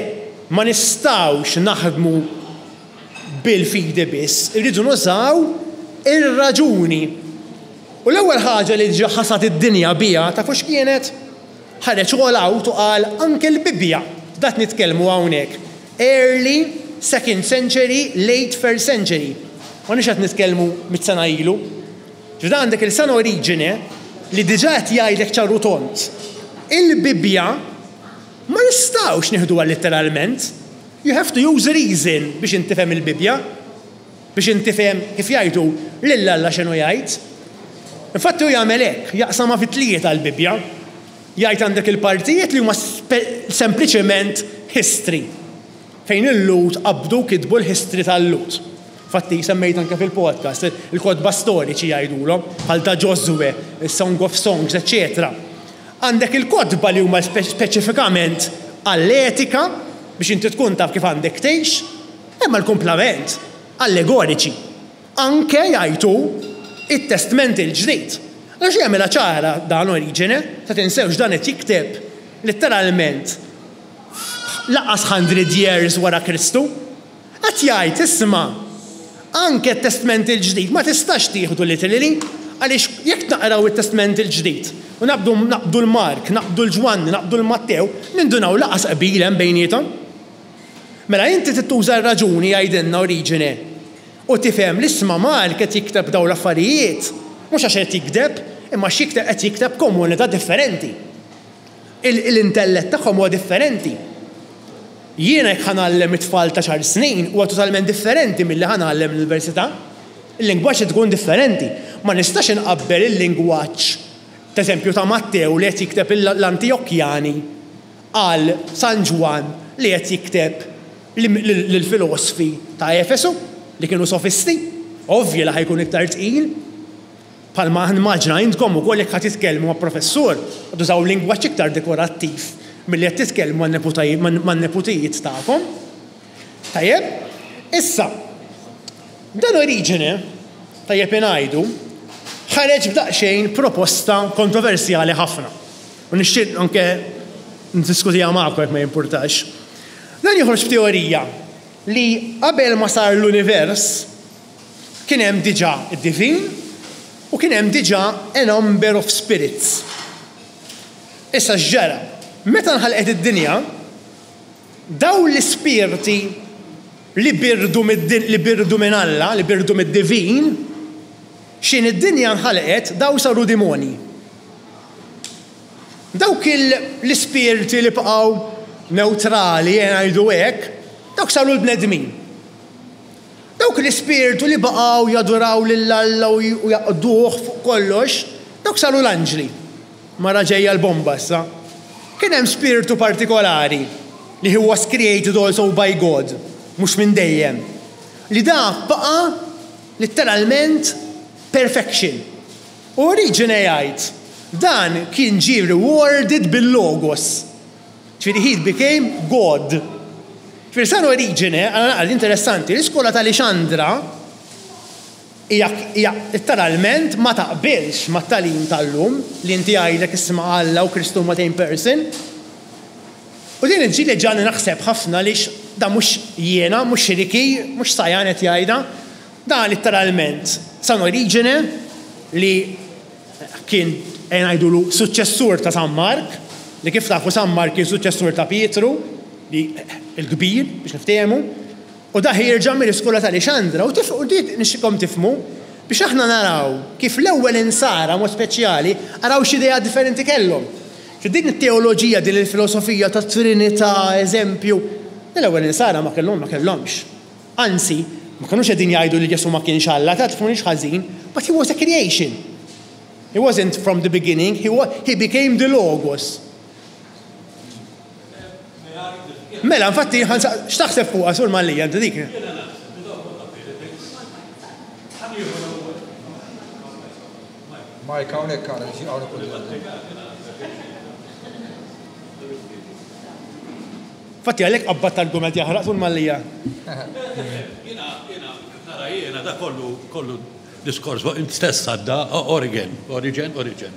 ma nistgħux naħdmu bil-fidi biss, irridu nużaw ir-raġuni. U l-ewwel ħaġa li diġà ħasad id-dinja biha tafu x'kienet? Ħareġ all out u qal anke l-Bibbja, f'dak nitkellmu hawnhekk, early second century, late first century. M'aħniex qed nitkellmu mit sena ilu. Ġifieri għandek il San Oriġine li diġà qed jgħidlek ċar u tond. Il-Bibbja. Ma nistgħux nieħduha litteralment. You have to use reason biex int tifhem il-Bibbja. Biex int tifhem, kif jgħidu, lil Alla x'inhu jgħid. Infatti hu jagħmel hekk, jaqsamha fi tlieta l-Bibbja. Jgħid għandek il-partijiet li huma sempliċement history. Fejn il-Lhud qabdu u kitbu l-history tal-Lhud. Infatti semmejt anke fil-podcast, il-kotba storiċi jgħidulhom, bħal ta' Ġożwe, is-Song of Songs, eċċetera. Għandek il-kotba li huma speċifikament għall-etika, biex inti tkun taf kif għandek tgħix, imma l-kumplament allegoriċi. Anke, jgħid hu, it-Testment il-Ġdid. Għax jagħmilha ċara dan Oriġene, ta' tinsewx dan qed jikteb litteralment lanqas hundred years wara Kristu. Qed jgħid, isma', anke t-Testment il-Ġdid ma tistax tieħdu literally, għaliex jekk naqraw it-Testment il-Ġdid u naqbdu naqbdu l-Mark, naqbdu l-Ġwanni, naqbdu l-Mattew, nindunaw lanqas qbil hemm bejniethom. Mela inti trid tuża r-raġuni jgħidilna Oriġene u tifhem li isma' Mark qed jikteb dawn l-affarijiet mhux għax qed jigdeb, imma għax jikteb qed jikteb komunità differenti. Il-intellett tagħhom huwa differenti. Jiena jekk ħa ngħallem it-tfal ta' xahar snin huwa totalment differenti milli ħa ngħallem l-università. Il-lingwaġġ qed ikun differenti. Ma nistax inqabbel il-lingwaġġ, pereżempju, ta' Mattew li qed jikteb l-Antijokjani għal San Ġwann li qed jikteb lill-filosfi ta' Efesu li kienu sofisti. Ovvju li ħa jkun iktar tqil. Bħalma nimmaġina intkom ukoll jekk ħa titkellmu ma' professur, tużaw lingwaġġ iktar dekorattiv milli qed titkellmu man-neputijiet tagħkom. Tajjeb? Issa, dan Oriġene, tajjeb ingħidu, ħareġ b'daqsxejn proposta kontroversjali ħafna. U nixtieq anke niddiskutiha magħkom jekk ma jimpurtax. Dan joħroġ b'teorija li qabel ma sar l-univers, Kien hemm diġà d-divin u kien hemm diġà a number of spirits. Issa x'ġara? Meta nħalqet id-dinja, dawn l-ispirti li birdu li birdu minn Alla, li birdu mid-divin, x'in id-dinja nħalqet dawn saru dimonji. Dawk l-ispirti li baqgħu newtrali, ejja ngħidu hekk, dawk saru l-bnedmin. Dawk l-ispirtu li baqgħu jaduraw lil Alla u jaqduh fuq kollox, dawk saru l-anġli. Mara ġejja l-bomba issa. Kien hemm spirtu partikolari li he was created also by God, mhux minn dejjem, li dak baqa' litteralment perfection. U Oriġene jgħid, dan kien ġie rewarded bil-Logos. Ġifieri he became God. Ġifieri San Oriġene, għal naqra interessanti, l-iskola ta' Lixandra hija hija litteralment ma taqbilx mat-tagħlim tal-lum li inti jgħidlek isma' Alla u Kristu huma same person. U din ġieli ġagħalni naħseb ħafna għaliex dan mhux jiena, mhux Ricky, mhux Sayan qed jgħidha, dan litteralment San Oriġene li Kien, ejja ngħidulu, suċċessur ta' San Mark, li kif tafu San Mark kien suċċessur ta' Pietru, li l-kbir, biex niftehmu, u da ħierġa mill-iskola ta' Lixandra, u tif, u di nixtieqkom tifhmu, biex aħna naraw kif l-ewwel insara, mod speċjali, araw x'idea differenti kellhom. Fi din it-teoloġija, din il-filosofija tat-Trinità, eżempju, l-ewwel insara ma kellhom, ma kellhomx. Anzi, ma kinux qegħdin jgħidu li Ġesù ma kienx Alla, ta' tifhmunix ħażin, but he was a creation. He wasn't from the beginning, he, he became the Logos. Mela, infatti, x'taħseb fuqha sur Mallia inti dik? Mike, hawnhekk hawnhekk Infatti għalhekk qabbadt argument jaħraq tul Mallia. Jiena, jiena, kif nara jiena, da kollu, kollu diskors fuq int stess għadda, Origen, Origen, Origen.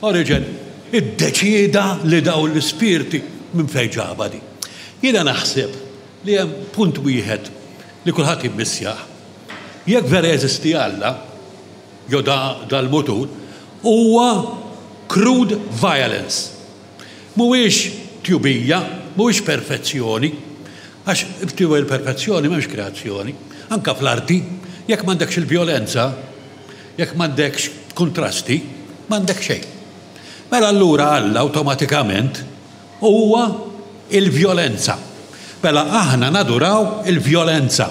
Origen iddeċieda li dawn l-ispirti minn fejn ġabha di. Jiena naħseb li hemm punt wieħed li kulħadd jimmissjah. Jekk vera jeżisti Alla, jew da dal-mutur, huwa crude violence. Mhuwiex tjubija, mhuwiex perfezzjoni, għax b'tiegħu il-perfezzjoni m'hemmx kreazzjoni. Anke fl-arti, jekk m'għandekx il-vjolenza, jekk m'għandekx kuntrasti, m'għandek xejn. Mela allura Alla awtomatikament huwa Il-vjolenza. Mela aħna naduraw il-vjolenza.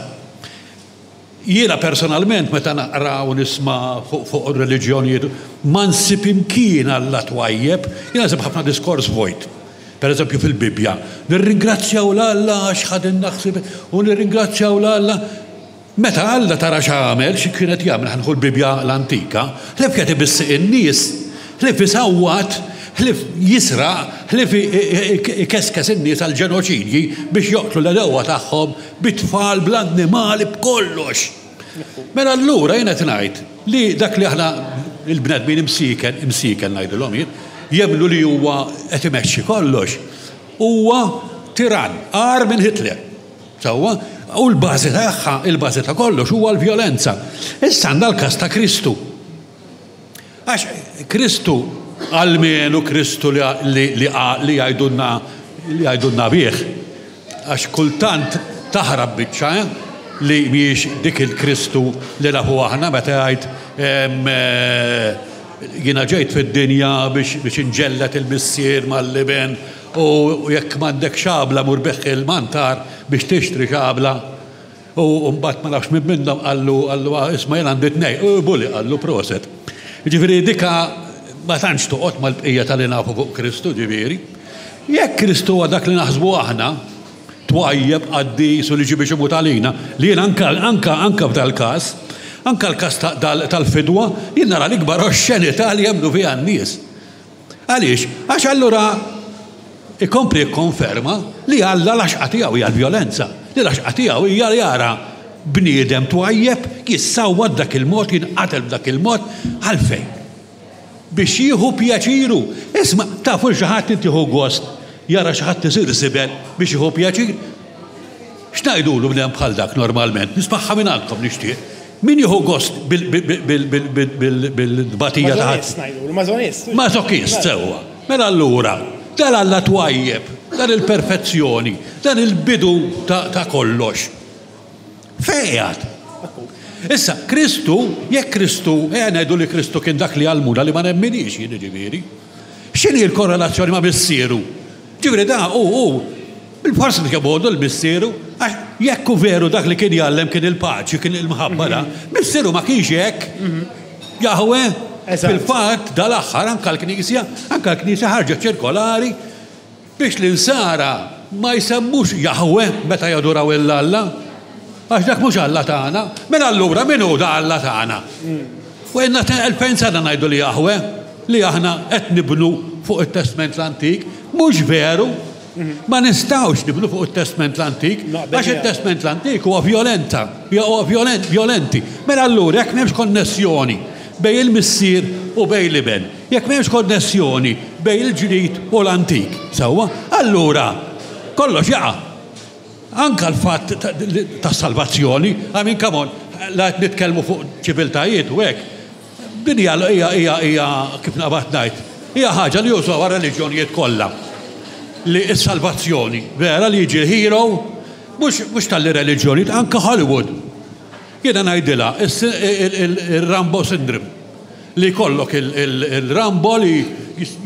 Jiena personalment meta naqra u nisma' fuq fuq ir-reliġjonijiet ma nsib imkien Alla twajjeb, jiena nsib ħafna diskors vojt. Per eżempju fil-Bibbja, nirringrazzjaw 'l Alla għax ħadilna ħsieb u nirringrazzjaw 'l Alla. Meta Alla tara x'għamel, xi kien qed jagħmel, ħa nieħu l-Bibbja l-antika, ħlief qiegħed ibiss in-nies, ħlief isawwat, ħlief jisraq, ħlief ikeskes in-nies għall-ġenoċidji biex joqtlu l-għedewwa tagħhom bit-tfal, bl-annimali, b'kollox. Mela allura jien qed ngħid li dak li aħna il-bnedmin imsieken, imsieken ngħidilhom jien, jemmnu li huwa qed imexxi kollox, huwa tirann, agħar minn Hitler. Sewwa? U l-bażi tagħha, il-bażi ta' kollox huwa l-vjolenza. Issa għandna l-każ ta' Kristu. Għax Kristu, almenu Kristu li li jgħidulna li jgħidulna bih, għax kultant taħrab biċċa, eh, li mhijiex dik il-Kristu li nafu aħna meta jgħid jiena ġejt fid-dinja biex biex inġelled il-Missier mal-Iben u jekk m'għandek xabla mur bigħ il-mantar biex tixtri xabla. U mbagħad ma nafx min minnhom qallu qallu isma' jien għandi tnejn. U buli qallu proset. Jiġifieri dika ma tantx toqgħod mal-bqija ta' li nafu fuq Kristu ġifieri. Jekk Kristu huwa dak li naħsbu aħna, twajjeb, qaddis u li ġie biex imut għalina, li jien anka anka anka f'dal-każ, anka l-każ tal-fidwa, jien nara l-ikbar oxxenità li jemmnu fiha n-nies. Għaliex? Għax allura ikompli jikkonferma li Alla l-għaxqa tiegħu hija l-vjolenza, li l-għaxqa tiegħu hija li jara bniedem twajjeb jissawwat b'dak il-mod, jinqatel b'dak il-mod, għalfejn? Biex jieħu pjaċir hu. Isma', tafu li xi ħadd int jieħu gost jara xi ħadd isir żibel biex jieħu pjaċir? X'ngħidulu bniedem bħal dak normalment? Nismagħha mingħandkom nixtieq. Min jieħu gost bil-tbatija ta' ħadd? Mażonist ngħidulu, mażonist. Mażokist, sewwa. Mela allura, dan Alla twajjeb, dan il-perfezzjoni, dan il-bidu ta' kollox. Fejn qiegħed? Issa, Kristu, jekk Kristu, ejja ngħidu li Kristu kien dak li għallmuna li ma nemminix jien jiġifieri. X'inhi l-korrelazzjoni ma' Missieru? Ġifieri da hu hu Bil-fors li kemm għodu l-missieru, għax jekk hu veru dak li kien jgħallem kien il-paċi, kien il-mħabba da, missieru ma kienx hekk. Jahweh, fil-fatt dal-aħħar anke l-Knisja, anke l-Knisja ħarġet ċirkolari biex l-insara ma jsemmux Jahweh meta jaduraw 'il Alla, għax dak mhux Alla tagħna. Mela allura min hu da Alla tagħna? U ilna 2000 sena ngħidu li Jahweh, li aħna qed nibnu fuq it-Testment l-Antik, mhux veru. Ma nistgħux nibnu fuq it-Testment l-Antik, għax it-Testment l-Antik huwa vjolenta, huwa vjolenti. Mela allura jekk m'hemmx konnessjoni bejn il-Missier u bejn l-Iben, jekk m'hemmx konnessjoni bejn il-Ġdid u l-Antik, sewwa, allura kollox jaqa'. Anke l-fatt tas-salvazzjoni, I mean come on, la qed nitkellmu fuq ċiviltajiet u hekk, Din hija hija hija hija kif naqbad ngħid, hija ħaġa li jużawha r-reliġjonijiet kollha. Li s-salvazzjoni, vera li jiġi l-hero, mhux mhux talli reliġjonijiet, anke Hollywood. Jiena ngħidilha il-Rambo syndrome. Li jkollok il-Rambo li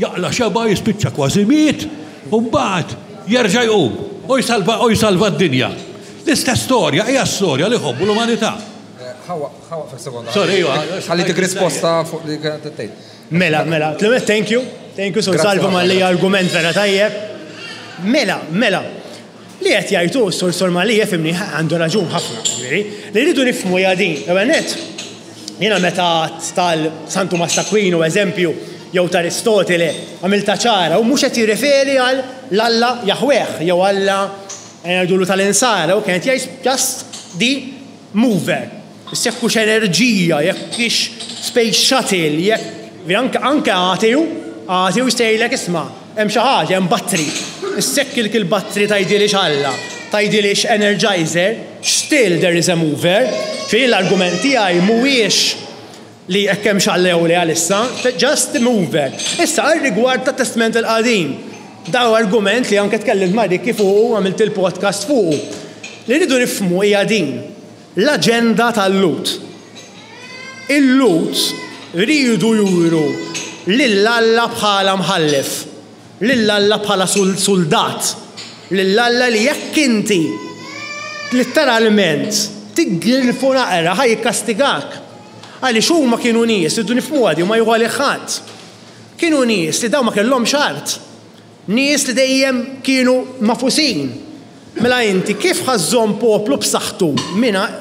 jaqla' xebgħa jispiċċa kważi miet u mbagħad jerġa' jqum u jsalva u jsalva d-dinja. L-istess storja hija storja li jħobbu l-umanità. Ħawaqfek sekonda. Sorry, iva. Ħalli dik risposta fuq li kienet tgħid. Mela, mela, thank you. Thank you, Sur Salvu malli argument vera tajjeb. Mela, mela. Li qed jgħidu Sur Sur Malli jefimni għandu raġun ħafna, ġifieri. Li rridu nifhmu hija din. Ewwel nett, jiena meta tal San Tumas t'Aquino eżempju jew ta' Aristotele għamiltha ċara u mhux qed jirreferi għal l-Alla Jahweh jew Alla ngħidulu tal-insara u kien qed jgħid just the mover. Issa jekk hux enerġija, jekk hix space shuttle, jekk anke anke ateu, ateu jista' jgħidlek isma' hemm xi ħaġa, hemm battery. Issa jekk ilk il-battery tgħidilix Alla, tgħidilix energizer, still there is a mover. Ġifieri l-argument tiegħi mhuwiex li jekk hemmx Alla jew le għalissa, just the mover. Issa għar-rigward tat-Testment il-Qadim, dan hu argument li anke tkellimt ma' Ricky fuqu u għamilt il-podcast fuqu. Li rridu nifhmu hija din, l-aġenda tal-Lhud. Il-Lhud riedu juru lil Alla bħala mħallef, lil Alla bħala suldat. Lil Alla li jekk inti litteralment tiggirfu naqra ħa jikkastigak. Għaliex huma kienu nies, irridu nifhmuha di u ma jieħu għalih ħadd. Kienu nies li dawn ma kellhomx art. Nies li dejjem kienu magħfusin. Mela inti kif ħa żżomm poplu b'saħħtu mingħajr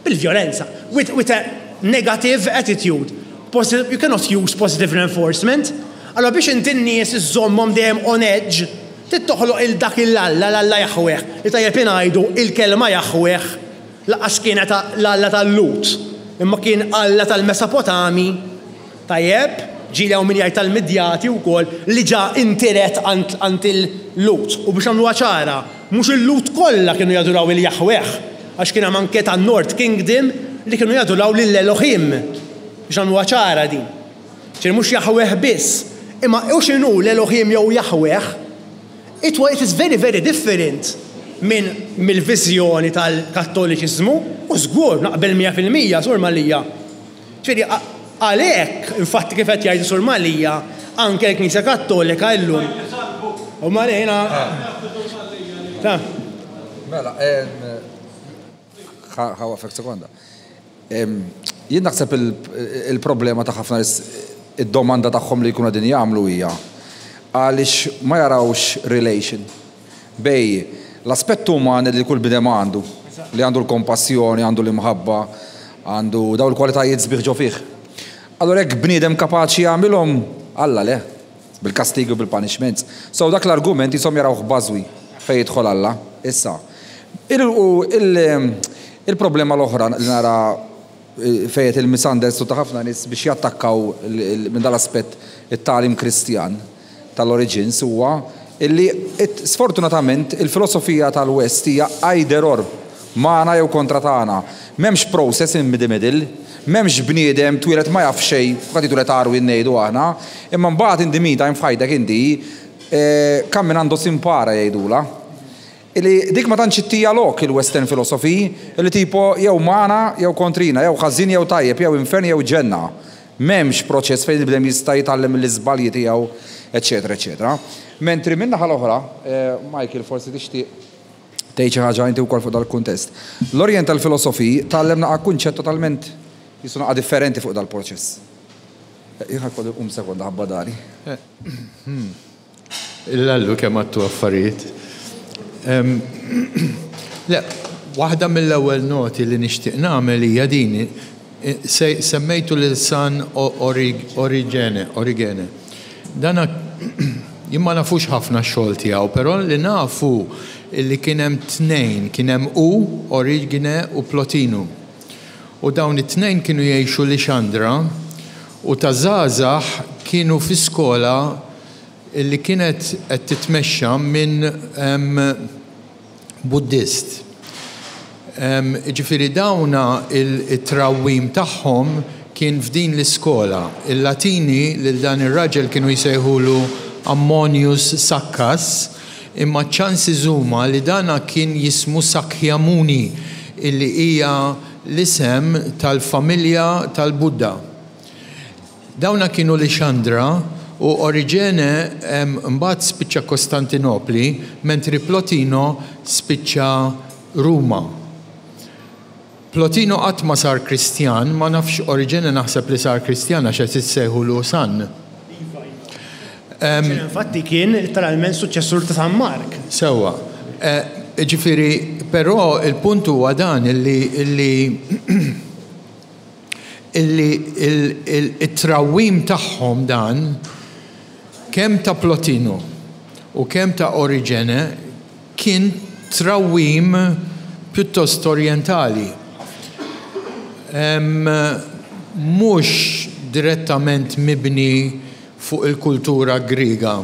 bil-vjolenza, with, with a negative attitude. Positive, you cannot use positive reinforcement. Allora biex inti n-nies iżżommhom dejjem on edge, trid toħloq il dak il-Alla, l-Alla Jahweh, li tajjeb ingħidu il-kelma Jahweh lanqas kienet l-Alla tal-Lhud, imma kien Alla tal-Mesapotami. Tajjeb, ġieli hawn min jgħid tal-Midjati wkoll li ġa intiret għand il-Lhud. U biex nagħmluha ċara, mhux il-Lhud kollha kienu jaduraw il-Jahweh, għax kien hemm anke tan-North Kingdom li kienu jaduraw lil Elohim. Biex nagħmluha ċara din. Ġifieri mhux Jahweh biss. Imma hu x'inhu l-Elohim jew Jahweh, it it is very very different minn mill-viżjoni tal-Kattoliċiżmu, u żgur naqbel 100% Sur Mallia. Ġifieri għalhekk, infatti kif qed jgħid is-Sur Mallia, anke l-Knisja Kattolika illum. U Malina. Ta. Mela, ħa waqfek sekonda. Jien naħseb il-problema ta' ħafna nies id-domanda tagħhom li jkunu qegħdin jagħmlu hija għaliex ma jarawx relation bejn l-aspett uman li kull bniedem għandu, li għandu l-kompassjoni, għandu l-imħabba, għandu dawn il-kwalitajiet sbieħ ġo fih. Allura jekk bniedem kapaċi jagħmilhom, Alla le, bil-kastigi u bil-punishments. So dak l-argument qishom jarawh bażwi fejn jidħol Alla. Issa, il-problema l-oħra li nara fejn qed il-misunderstood ta' ħafna nies biex jattakkaw minn dal-aspett it-tagħlim Kristjan tal-origins huwa illi sfortunatament il-filosofija tal-West hija either or, magħna jew kontra tagħna. M'hemmx process in the middle, m'hemmx bniedem twieled ma jaf xejn, kulħadd jitwieled għarwien ngħidu aħna, imma mbagħad in the meantime f'ħajtek inti camminando si impara jgħidulha. Illi dik ma tantx ittija lok il-Western philosophy, illi tipo jew magħna jew kontrina, jew ħażin jew tajjeb, jew infern jew ġenna. M'hemmx proċess fejn il-bniedem jista' jitgħallem mill-iżbalji tiegħu, eċċetera eċċetera. Mentri min-naħa l-oħra, Michael forsi tixtieq tgħid xi ħaġa inti wkoll fuq dal-kuntest. L-Oriental philosophy tgħallem naqa' kunċett totalment qisu naqa' differenti fuq dal-proċess. Jien ħa jkolli nqum sekonda ħabba dari. Illallu kemm għadtu affarijiet. Le, waħda mill-ewwel noti li nixtieq nagħmel hija din. Semmejtu lil San Origene, Origene. Dana jien ma nafux ħafna x-xogħol tiegħu, però li nafu li kien hemm tnejn, kien hemm hu, Origene u Plotinu. U dawn it-tnejn kienu jgħixu Lixandra u ta' żgħażagħ kienu fi skola li kienet qed titmexxa minn Buddist. Jiġifieri dawna it-trawwim tagħhom kien f'din l-iskola. Il-Latini lil dan ir-raġel kienu jsejħulu Ammonius Saccas, imma ċ-chances huma li dana kien jismu Sakyamuni, illi hija l-isem tal-familja tal-Buddha. Dawna kienu Lixandra u Oriġene mbagħad spiċċa Kostantinopli mentri Plotino spiċċa Ruma. Plotino qatt ma sar Kristjan, ma nafx Oriġene naħseb li sar Kristjan għax qed issejħulu San. Iva, iva. Oriġene infatti kien litteralment suċċessur ta' San Mark. Sewwa. Jiġifieri, però il-punt huwa dan illi illi illi t-trawwim tagħhom dan, kemm ta' Plotino u kemm ta' Oriġene, kien trawwim pjuttost orjentali. Mhux direttament mibni fuq il-kultura Griega.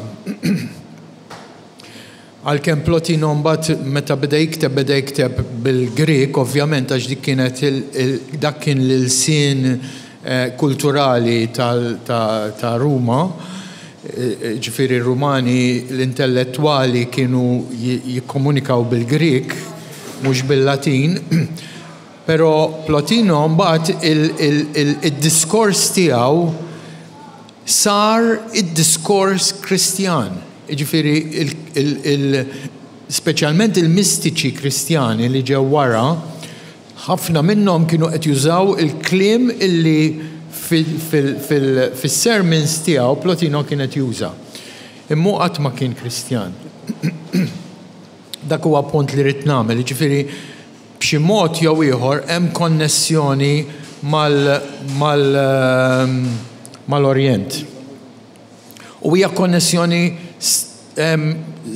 Għalkemm Plotino mbagħad meta beda jikteb beda jikteb bil-Grieg ovvjament għax dik kienet dak kien l-ilsien kulturali ta' Ruma, jiġifieri r-Rumani l-intellettwali kienu jikkomunikaw bil-Grieg mhux bil-Latin. Però Plotino mbagħad id-diskors tiegħu sar id-diskors Kristjan. Jiġifieri Speċjalment il-mistiċi Kristjani li ġew wara, ħafna minnhom kienu qed jużaw il-kliem illi fis-sermons tiegħu Plotino kien qed juża. Imma hu qatt ma kien Kristjan. Dak huwa punt li ridt nagħmel, jiġifieri b'xi mod jew ieħor hemm konnessjoni mal-Orjent. U hija konnessjoni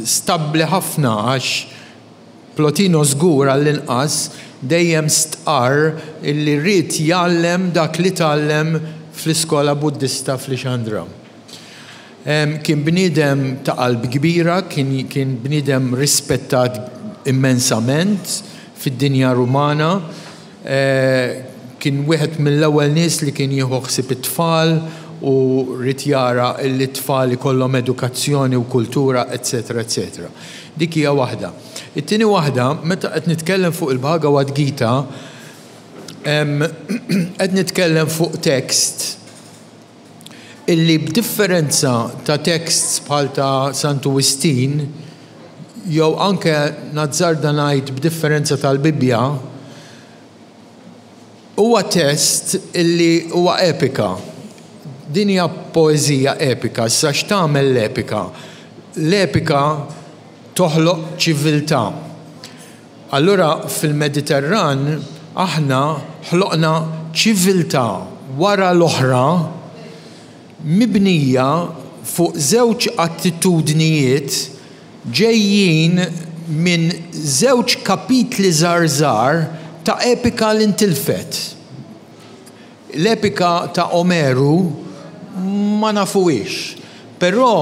stabbli ħafna għax Plotino żgur għall-inqas dejjem stqarr illi ried jgħallem dak li tgħallem fl-iskola Buddista f'Lixandra. Kien bniedem ta' qalb kbira, kien bniedem rispettat immensament fid-dinja Rumana. Kien wieħed mill-ewwel nies li kien jieħu ħsieb it-tfal u ried jara li t-tfal ikollhom edukazzjoni u kultura etc. Etc. Dik hija waħda. It-tieni waħda, meta qed nitkellem fuq il-Bhagavad Gita, qed nitkellem fuq tekst illi b'differenza ta' texts bħal ta' Santu Wistin, jew anke nazzarda ngħid b'differenza tal-Bibbja, huwa test illi huwa epika. Din hija poeżija epika. Issa x'tagħmel l-epika? L-epika toħloq ċiviltà. Allura fil-Mediterran aħna ħloqna ċiviltà wara l-oħra mibnija fuq żewġ attitudnijiet ġejjin minn żewġ kapitli żgħar żgħar ta' epika li ntilfet. L-epika ta' Omeru ma nafuhiex, però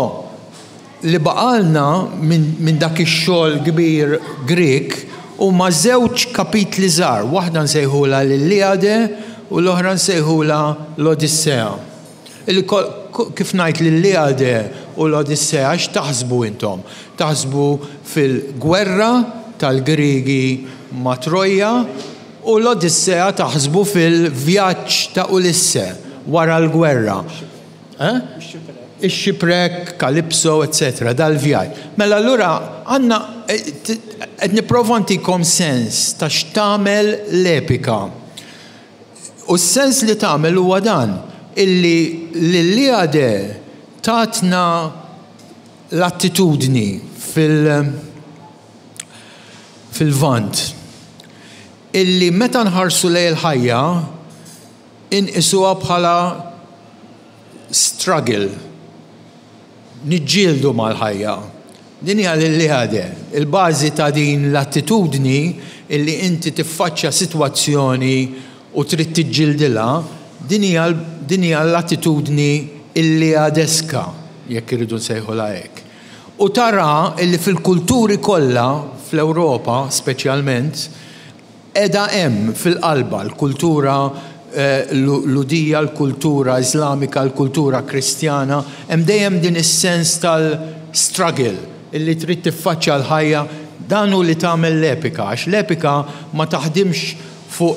li baqgħalna minn dak ix-xogħol kbir Grieg huma żewġ kapitli żgħar, waħda nsejħulha l-Iliade u l-oħra nsejħulha l-Odissea. Illi kif ngħid l-Iliade u l-Odissea x'taħsbu intom? Taħsbu fil-gwerra tal-Griegi ma' Trojja u l-Odissea taħsbu fil-vjaġġ ta' Ulisse wara l-gwerra. Eh? Ix-shipwreck, Calypso, etc. Dal-vjaġġ. Mela allura għandna qed nipprova ntikom sens ta' x'tagħmel l-epika. U s-sens li tagħmel huwa dan, illi l-Iliade tatna l-attitudni fil fil-Lvant illi meta nħarsu lejn il-ħajja inqisuha bħala struggle, niġġieldu mal-ħajja. Din hija l-Iliade, il-bażi ta' din l-attitudni illi inti tiffaċċja sitwazzjoni u trid tiġġildilha, din hija din hija l-attitudni Iliadeska, jekk irridu nsejħulha hekk. U tara illi fil-kulturi kollha, fl-Ewropa speċjalment, Qiegħda hemm fil-qalba l-kultura Lhudija, l-kultura Iżlamika, l-kultura Kristjana, hemm dejjem din is-sens tal-struggle illi trid tiffaċċja l-ħajja, dan hu li tagħmel l-epika għax l-epika ma taħdimx fuq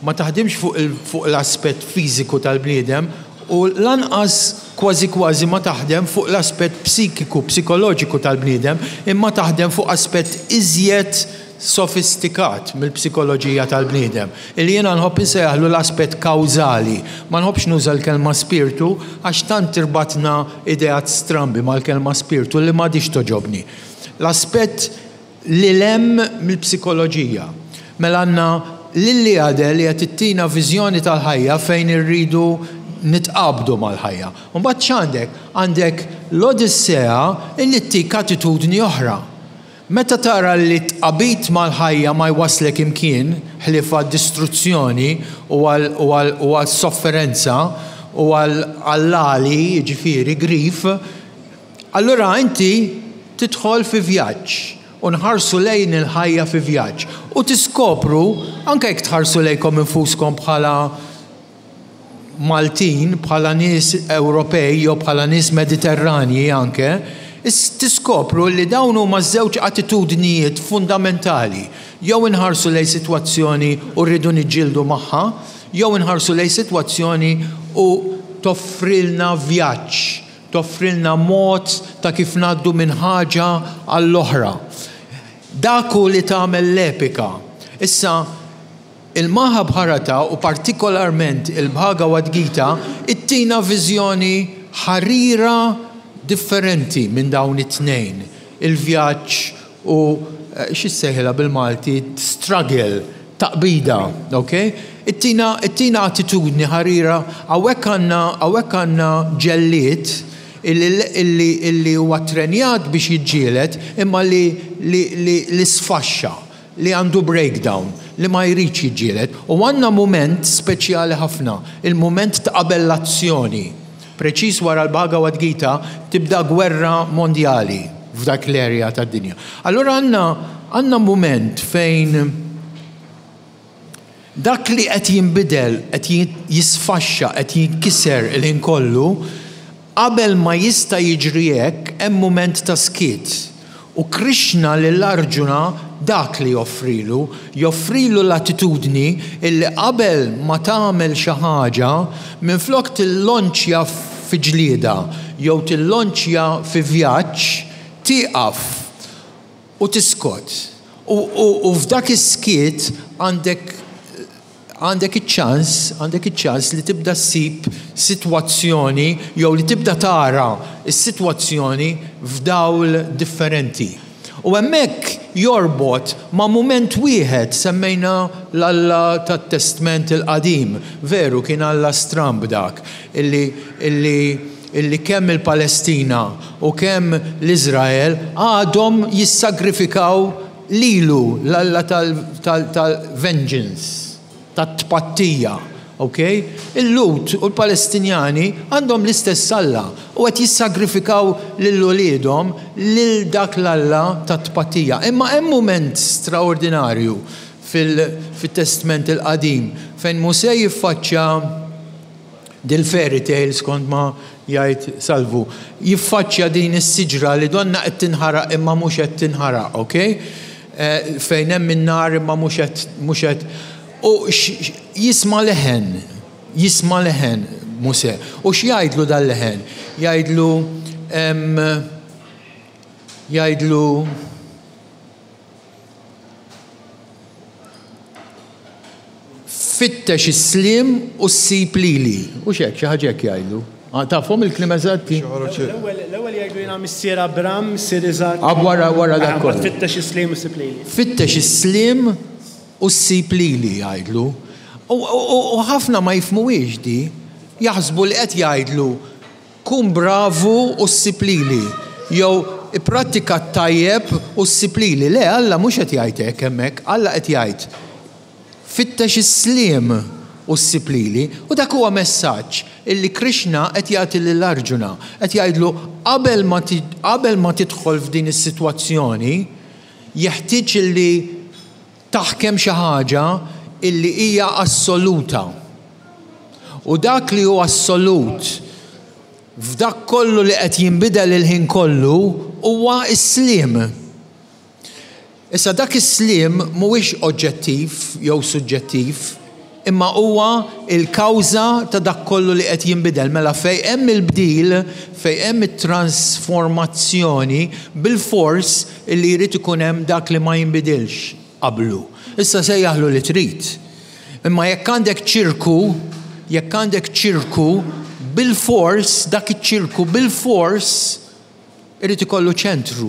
ma taħdimx fuq fuq l-aspett fiżiku tal-bniedem u lanqas kważi kważi ma taħdem fuq l-aspett psikiku, psikoloġiku tal-bniedem, imma taħdem fuq aspett iżjed sofistikat mill-psikoloġija tal-bniedem, illi jiena nħobb insejjaħlu l-aspett kawżali. Ma nħobbx nuża l-kelma spirtu għax tant irbatna ideat strambi mal-kelma spirtu li m'għadhiex togħġobni. L-aspett lil hemm mill-psikoloġija. Mela għandna l-Iliade li qed ittina viżjoni tal-ħajja fejn irridu nitqabdu mal-ħajja. U mbagħad x'għandek? Għandek l-Odissea illi ttik attitudni oħra. Meta tara li t-tqabid mal-ħajja ma jwasslek imkien ħlief għad-distruzzjoni u għas-sofferenza u għall-għali, jiġifieri grief, allura inti tidħol fi vjaġġ u nħarsu lejn il-ħajja fi vjaġġ u tiskopru, anke jekk tħarsu lejkom infuskom bħala Maltin, bħala nies Ewropej jew bħala nies Mediterranji anke, tiskopru li dawn huma żewġ attitudnijiet fundamentali. Jew inħarsu lejn sitwazzjoni u rridu niġġieldu magħha, jew inħarsu lejn sitwazzjoni u toffrilna vjaġġ, toffrilna mod ta' kif ngħaddu minn ħaġa għall-oħra. Dak hu li tagħmel l-epika. Issa, il-Mahabharata u partikolarment il-Bhagavad Gita ittina viżjoni ħarira differenti minn dawn it-tnejn, il-vjaġġ u x'issejħilha bil-Malti struggle, taqbida, ok? Ittina, ittina attitudni ħarira, hawnhekk għandna, hawnhekk għandna ġellied illi, illi, illi huwa ttrenjat biex jiġġieled imma li, li, li, li sfaxxa, li għandu breakdown, li ma jridx jiġġieled. U għandna mument speċjali ħafna, il-mument ta' qabel l-azzjoni. Preċiż wara l-Bhagavad Gita tibda gwerra mondjali f'dak l-area tad-dinja. Allura għandna għandna mument fejn dak li qed jinbidel, qed jisfaxxa, qed jinkiser il-ħin kollu, qabel ma jista' jiġri hekk hemm mument ta' skiet. U Krishna lil Arjuna dak li joffrilu, joffrilu l-attitudni illi qabel ma tagħmel xi ħaġa, minflok tillonċja fi ġlieda jew tillonċja fi vjaġġ, tieqaf u tiskot. U, u, u f'dak is-skiet għandek għandek iċ-ċans, għandek iċ-ċans li tibda ssib sitwazzjoni jew li tibda tara s-sitwazzjoni f'dawl differenti. U hemmhekk jorbot ma' mument wieħed, semmejna l-Alla tat-Testment il-Qadim, veru kien Alla stramb dak, illi, illi, illi kemm il-Palestina u kemm l-Iżrael għadhom jissagrifikaw Lilu, l-alla tal-vengeance, tat-tpattija, ok? Il-Lhud u l-Palestinjani għandhom l-istess Alla u qed jissagrifikaw lil uliedhom lil dak l-alla tat-tpattija. Imma hemm mument straordinarju fit-Testment il-Qadim fejn Mosè jiffaċċja dil-fairy tale skont ma jgħid Salvu, jiffaċċja din is-siġra li donnha qed tinħaraq imma mhux qed tinħaraq, ok? Fejn hemm in-nar imma mhux qed mhux qed u jisma' leħen, jisma' leħen Mosè. U x'jgħidlu dal-leħen? Jgħidlu jgħidlu Fittex is-sliem u ssib lili. Hux hekk, xi ħaġa hekk jgħidlu. Tafhom il-kliem eżatti? L-ewwel jgħidlu jiena missier Abram, missier Iżakk. Ah, wara wara dak kollu. Fittex is-sliem u ssib lili. Fittex is-sliem u ssib lili jgħidlu. U ħafna ma jifhmuhiex di. Jaħsbu li qed jgħidlu Kun bravu u ssib lili, jew ipprattika t-tajjeb u ssib lili. Le, Alla mhux qed jgħid hekk hemmhekk. Alla qed jgħid, Fittex is-sliem u ssib lili. U dak huwa messaġġ illi Krishna qed jagħti lil Arjuna. Qed jgħidlu qabel ma qabel ma tidħol f'din is-sitwazzjoni, jeħtieġ illi taħkem xi ħaġa illi hija assoluta. U dak li hu assolut f'dak kollu li qed jinbidel il-ħin kollu huwa s-sliem. Issa dak is-sliem mhuwiex oġġettiv jew suġġettiv, imma huwa l-kawża ta' dak kollu li qed jinbidel. Mela fejn hemm il-bdil, fejn hemm it-transformazzjoni, bilfors illi jrid ikun hemm dak li ma jinbidilx qablu. Issa sejjaħlu li trid. Imma jekk għandek ċirku, jekk għandek ċirku, bilfors, dak iċ-ċirku bilfors irid ikollu ċentru.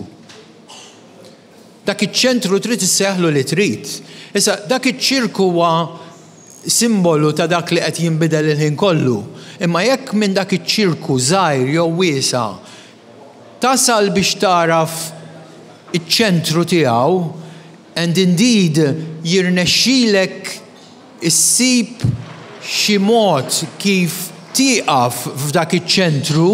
Dak iċ-ċentru trid issejjaħlu li trid. Issa, dak iċ-ċirku huwa simbolu ta' dak li qed jinbidel il-ħin kollu. Imma jekk minn dak iċ-ċirku żgħir jew wiesa' tasal biex tagħraf iċ-ċentru tiegħu, and indeed jirnexxilek issib xi mod kif tieqaf f'dak iċ-ċentru,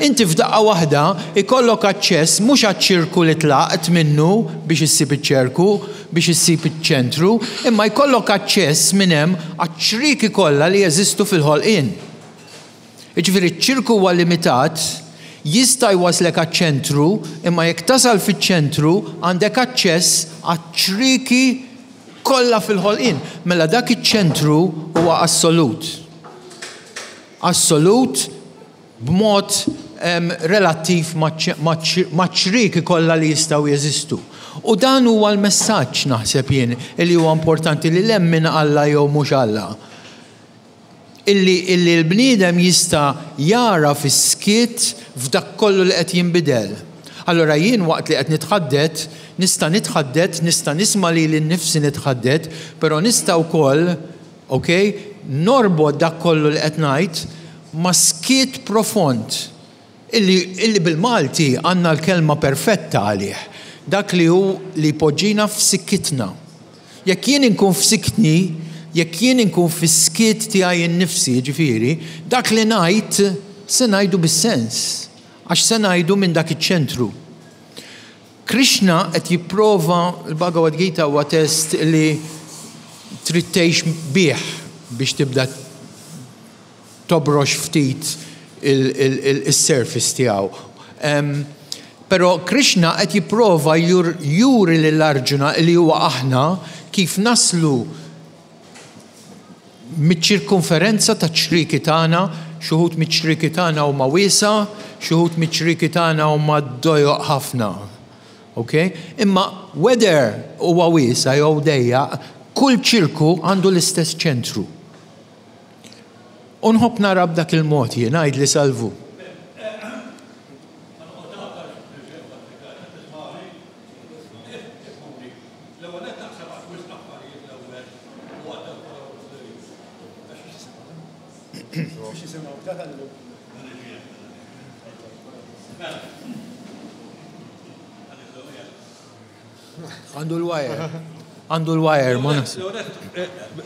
inti f'daqqa waħda jkollok aċċess mhux għaċ-ċirku li tlaqt minnu biex issib iċ-ċerku, biex issib iċ-ċentru, imma jkollok aċċess minn hemm għaċ-ċrieki kollha li jeżistu fil-ħolqien. Jiġifieri ċ-ċirku huwa limitat, jista' jwasslek għaċ-ċentru, imma jekk tasal fiċ-ċentru għandek aċċess għaċ-ċrieki kollha fil-ħolqien. Mela dak iċ-ċentru huwa assolut. Assolut b'mod relattiv maċ-ċrieki kollha li jistgħu jeżistu. U dan huwa l-messaġġ naħseb jien li huwa importanti li lemmin Alla jew mhux Alla. Illi illi l-bniedem jista' jagħraf is-skiet f'dak kollu li qed jinbidel. Allura jien waqt li qed nitħaddet, nista' nitħaddet, nista' nisma' lili nnifsi nitħaddet, però nista' wkoll, ok, norbot dak kollu li qed ngħid ma' skiet profond illi illi bil-Malti għandna l-kelma perfetta għalih, dak li hu li jpoġġina f'sikkitna. Jekk jien inkun f'sikkni, jekk jien inkun fis-skiet tiegħi nnifsi, jiġifieri, dak li ngħid se ngħidu bis-sens, għax se ngħidu minn dak iċ-ċentru. Krishna qed jipprova, il-Bhagavad Gita huwa test li trid tgħix bih biex tibda tobrox ftit is-surface tiegħu. Però Krishna qed jipprova juri lil Arjuna li huwa aħna kif naslu miċ-ċirkonferenza taċ-ċrieki tagħna, xi wħud miċ-ċrieki tagħna huma wiesgħa, xi wħud miċ-ċrieki tagħna huma dojoq ħafna. Ok? Imma whether huwa wiesa' jew dejjaq, kull ċirku għandu l-istess ċentru. U nħobb nara b'dak il-mod jien, għidli Salvu. Għandu l-wire. Għandu l-wire, ma nafx.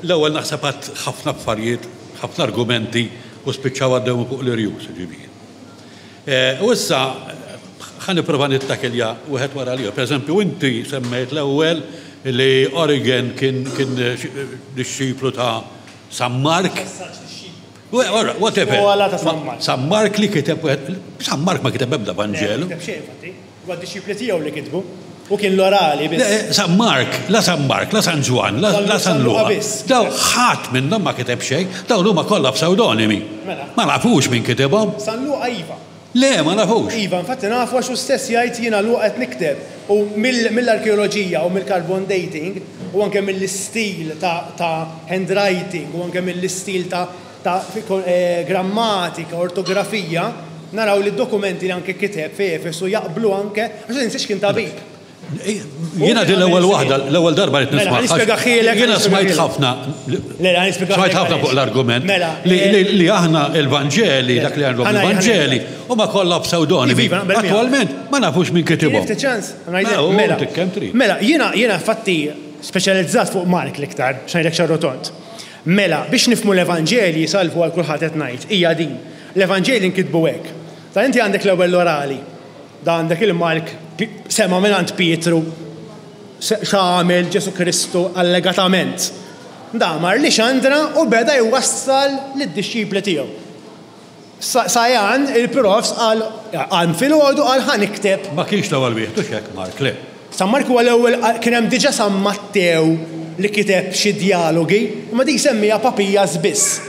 L-ewwel naħseb għad ħafna affarijiet, ħafna argumenti u spiċċaw għaddew fuq l-irjus, ġifieri. Eh, u issa ħa nipprova nittakilja wieħed wara l Per eżempju, inti semmejt l-ewwel li Origen kien kien dixxiplu ta' San Mark. Whatever. San Mark li kiteb San Mark ma kiteb ebda Vanġelu. Huwa d-dixxipli tiegħu li kitbu. Hu kien l-orali biss. Le, San Mark, la San Mark, la San Ġwann, la San Luqa. Dawn ħadd minnhom ma kiteb xejn, dawn huma kollha psewdonimi. Mela. Ma nafux min kitibhom. San Luqa iva. Le, ma nafux. Iva, infatti nafu għax hu stess jgħid jiena Luqa qed nikteb. U mill-arkeoloġija u mill-carbon dating u anke mill-istil ta' handwriting u anke mill-istil ta' ta' grammatika, ortografija, naraw li d-dokumenti li anke kiteb fi Efesu jaqblu anke, għax tinsiex kien tabib. Jiena din l-ewwel waħda, l-ewwel darba qed nisma'. Mela, nispjegahielek. Jiena smajt ħafna. Le, le, Smajt ħafna fuq l-argument mela, li aħna il-Vanġeli, dak li għandhom il-Vanġeli, huma kollha psewdonimi. Iva, Attwalment ma nafux min kitibhom. Ftit ċans, mela. Mela, jiena jiena infatti speċjalizzat fuq Mark l-iktar, x'ngħidlek xarrotont. Mela, biex nifhmu l-Evanġelji, salvu għal kulħadd qed ngħid, hija din. L-Evanġelji nkitbu hekk. Ta' inti għandek l-ewwel l-orali. Da għandek il-Mark sema' mingħand Pietru x'għamel Ġesù Kristu allegatament. Da mar Lixandra u beda jwassal lid-dixxipli tiegħu. Sajan, il-profs, qal, qam filgħodu qal ħa nikteb. Ma kienx l-ewwel wieħed, hux hekk Mark, le? San Mark huwa l-ewwel, kien hemm diġà San Mattew li kiteb xi djalogi, imma dik semmiha Papias biss.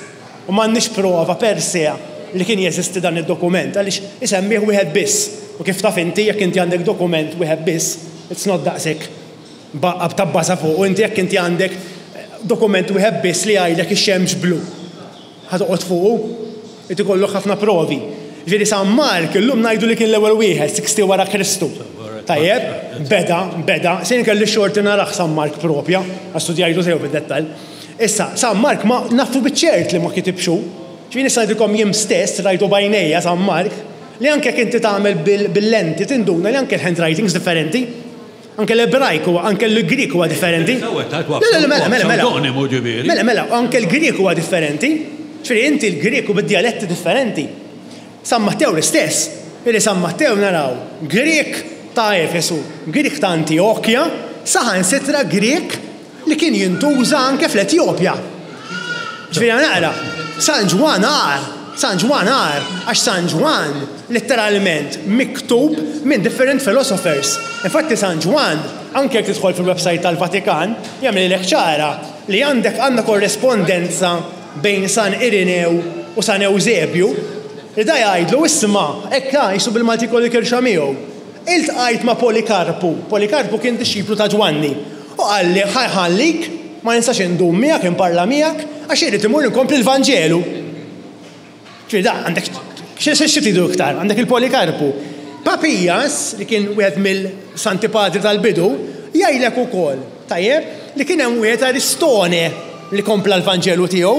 U m'għandniex prova per se li kien jeżisti dan id-dokument, għaliex isemmih wieħed biss. U kif taf inti, jekk inti għandek dokument wieħed biss, it's not daqshekk tabbaża fuqu. Inti jekk inti għandek dokument wieħed biss li jgħidlek ix-xemx blu. Ħa toqgħod fuqu? Irid ikollok ħafna provi. Jiġifieri San Mark illum ngħidu li kien l-ewwel wieħed, 60 wara Kristu. Tajjeb? Beda, beda. Se jien kelli x-xorti narah San Mark propja, għax studjajtu sew fid-dettall. Issa, San Mark ma nafu biċ-ċert li ma kitibx hu. Ġifieri nista' ngħidilkom jien stess rajtu b'għajnejja San Mark, li anke jekk inti tagħmel bil-lenti tinduna li anke l-handwritings differenti. Anke l-Ebrajk huwa, anke l-Grieg huwa differenti. Le, le, mela, mela, mela. Mela, mela, anke l-Grieg huwa differenti. Ġifieri inti l-Grieg u bid-djaletti differenti. San Mattew l-istess. Ġifieri San Mattew naraw Grieg ta' Efesu, Grieg ta' Antijokja, saħansitra Grieg li kien jintuża anke fl-Etjopja. Ġifieri naqra, San Ġwann agħar, San Ġwann agħar, għax San Ġwann litteralment miktub minn different philosophers. Infatti San Ġwann, anke jekk tidħol fil-website tal-Vatikan, jagħmilhielek ċara li għandek għandna korrespondenza bejn San Irinew u San Ewżebju, li da jgħidlu isma' hekk ha, qisu bil-Malti jkollu kirxa miegħu. Iltqajt ma' Polikarpu. Polikarpu kien dixxiplu ta' Ġwanni. U qalli, Ħa nħallik, ma nistax indum miegħek, inparla miegħek, għax irrid immur inkompli l-Vanġelu. Ġifieri da għandek xi tridu iktar, għandek il-Polikarpu. Papijas, li kien wieħed mill-Santi Padri tal-bidu, jgħidlek ukoll, tajjeb, li kien hemm wieħed Aristone li kompla l-Vanġelu tiegħu.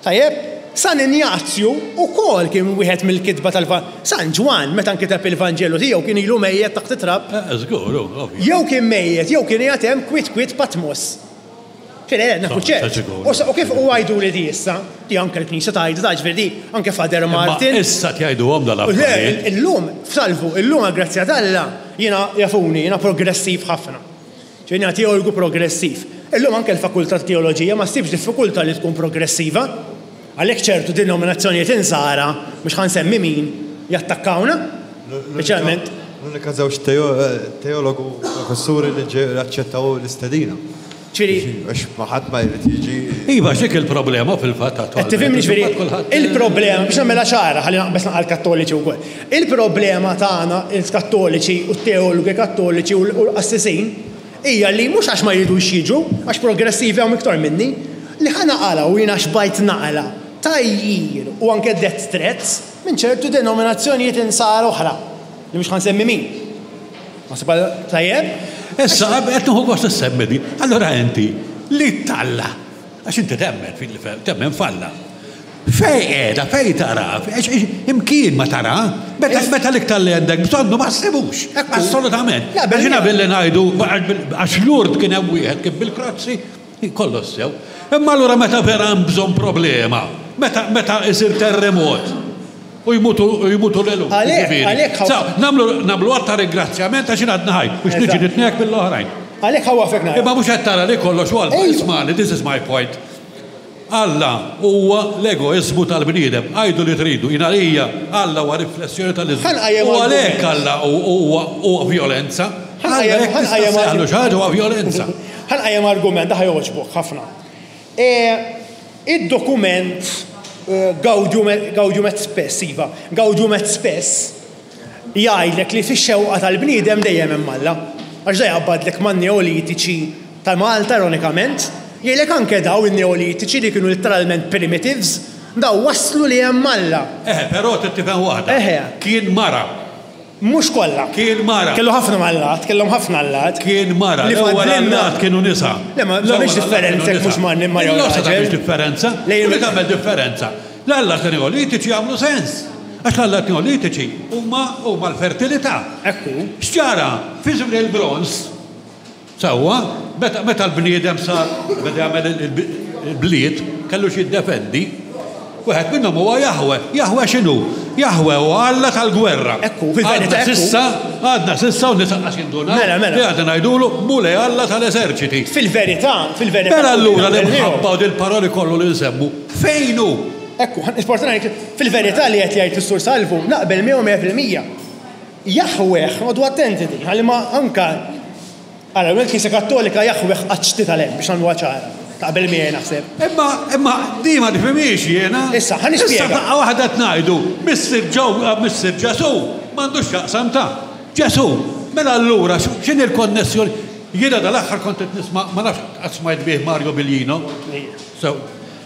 Tajjeb, San Injazju wkoll kien wieħed mill-kitba tal San Ġwann meta nkiteb il-Vanġelu tiegħu kien ilu mejjet taħt it-trab. Żgur, ovvju. Jew kien mejjet jew kien qiegħed hemm kwiet kwiet Patmos. Ġifieri le, nafu ċert. U kif u għiduli di issa, di anke l-Knisja tgħidha, ta' ġifieri di anke Father Martin. Imma issa tgħiduhom dal-affarijiet. Le, illum, f'Salvu, illum għall-grazzja t'Alla, jiena jafuni, jiena progressiv ħafna. Ġifieri jiena teologu progressiv. Illum anke l-fakultà ta' teoloġija ma ssibx diffikultà li tkun progressiva. Għalhekk ċertu denominazzjonijiet insara, mhux ħa nsemmi min, jattakkawna. Speċjalment. L-unika żewġ teologu professuri li aċċettaw l-istedina. Ġifieri. Għax ma ħadd ma jrid jiġi. Iva, x'dik il-problema fil-fatt attwalment. Qed tifhimni ġifieri il-problema biex nagħmilha ċara ħalli naqbeż naqra l-Kattoliċi wkoll. Il-problema tagħna il-Kattoliċi u t-teologi Kattoliċi u l-qassisin hija li mhux għax ma jridux jiġu, għax progressivi hawn iktar minni, li ħa naqala u jiena xbajt naqla tgħajjir u anke death threats minn ċertu denominazzjonijiet insara oħra, li mhux ħa nsemmi min. Naħseb għal tajjeb. Issa qed nieħu gost issemmi di. Allura inti li t'Alla, għax inti temmen fil temmen f'Alla. Fejn qiegħda, fejn tara, imkien ma tara, meta meta l-iktar li għandek bżonnu ma ssibux. Assolutament. Għax jiena billi ngħidu għax Lourdes kien hemm wieħed kien bil-krozzi, kollox sew. Imma allura meta vera hemm bżonn problema, meta meta isir terremot, U jmutu u jmutu l-eluf. Għalhekk, għalhekk ħa. Sa, nagħmlu nagħmlu att ta' ringrazzjament għax jien għadni ħaj, biex niġi nitniegħek mill-oħrajn. Għalhekk ħa waqfek nara. Imma mhux qed tara li kollox hu għal Ismagħni, this is my point. Alla huwa l-egoiżmu tal-bniedem. Għidu li tridu, jien għalija Alla huwa riflessjoni tal-iżmu. U għalhekk Alla huwa huwa vjolenza. Alla jekk tista' ssejjaħlu xi ħaġa huwa vjolenza. Ħa nqajjem argument, da ħa jogħġbok ħafna. Id-dokument Gaudium Gaudium et Spes, iva, Gaudium et Spes, jgħidlek li fix-xewqa tal-bniedem dejjem hemm Alla. Għax da jaqbadlek man-Neolitiċi ta' Malta ironikament, jgħidlek anke daw in-Neolitiċi li kienu litteralment primitives, daw waslu li hemm Alla. Eħe, però trid tifhem waħda. Eħe. Kien mara. Mhux kollha. Kien mara. Kellu ħafna mallat, kellhom ħafna allat. Kien mara. Li L-ewwel allat kienu nisa. Le, ma tagħmilx differenza jekk mhux ma ma jew raġel. tagħmilx differenza. Li tagħmel differenza. L-allat neolitiċi jagħmlu sens. Għax l-allat neolitiċi huma huma l-fertilità. Ekku. X'ġara? Fi żmien il-bronż, Sewwa, meta meta l-bniedem sar beda jagħmel il-bliet, kellu x'jiddefendi. Wieħed minnhom huwa Jahwe. Jahwe x'inhu? Jahwe huwa Alla tal-gwerra. Ekku, fil-verità ekku. S'issa, għadna s'issa u n-nies anqas jindunaw. Mela, mela. Li għadna ngħidulu Mulej Alla tal-eżerċiti. Fil-verità, fil-verità. Mela allura l-imħabba u dil-paroli kollu li nsemmu, fejn hu? Ekku, nisforza ngħid, fil-verità li qed jgħid is-Sur Salvu, naqbel miegħu 100%. Jaħweh, noqogħdu attenti din, ħalli ma anka Ara, il-Knisja Kattolika Jaħweh qatt x'titgħallem biex nagħmluha ċara. Taqbel miegħi naħseb. Imma, imma di ma nifhimhiex jiena. Issa, ħa nispjega. Issa f'daqqa waħda qed ngħidu, Missier Ġew, Missier Ġesù m'għandux x'jaqsam ta' Ġesù. Mela allura x'inhi l-konnessjoni? Jiena dal-aħħar kont qed nisma' ma nafx qatt smajt bih Mario Biglino. Sew.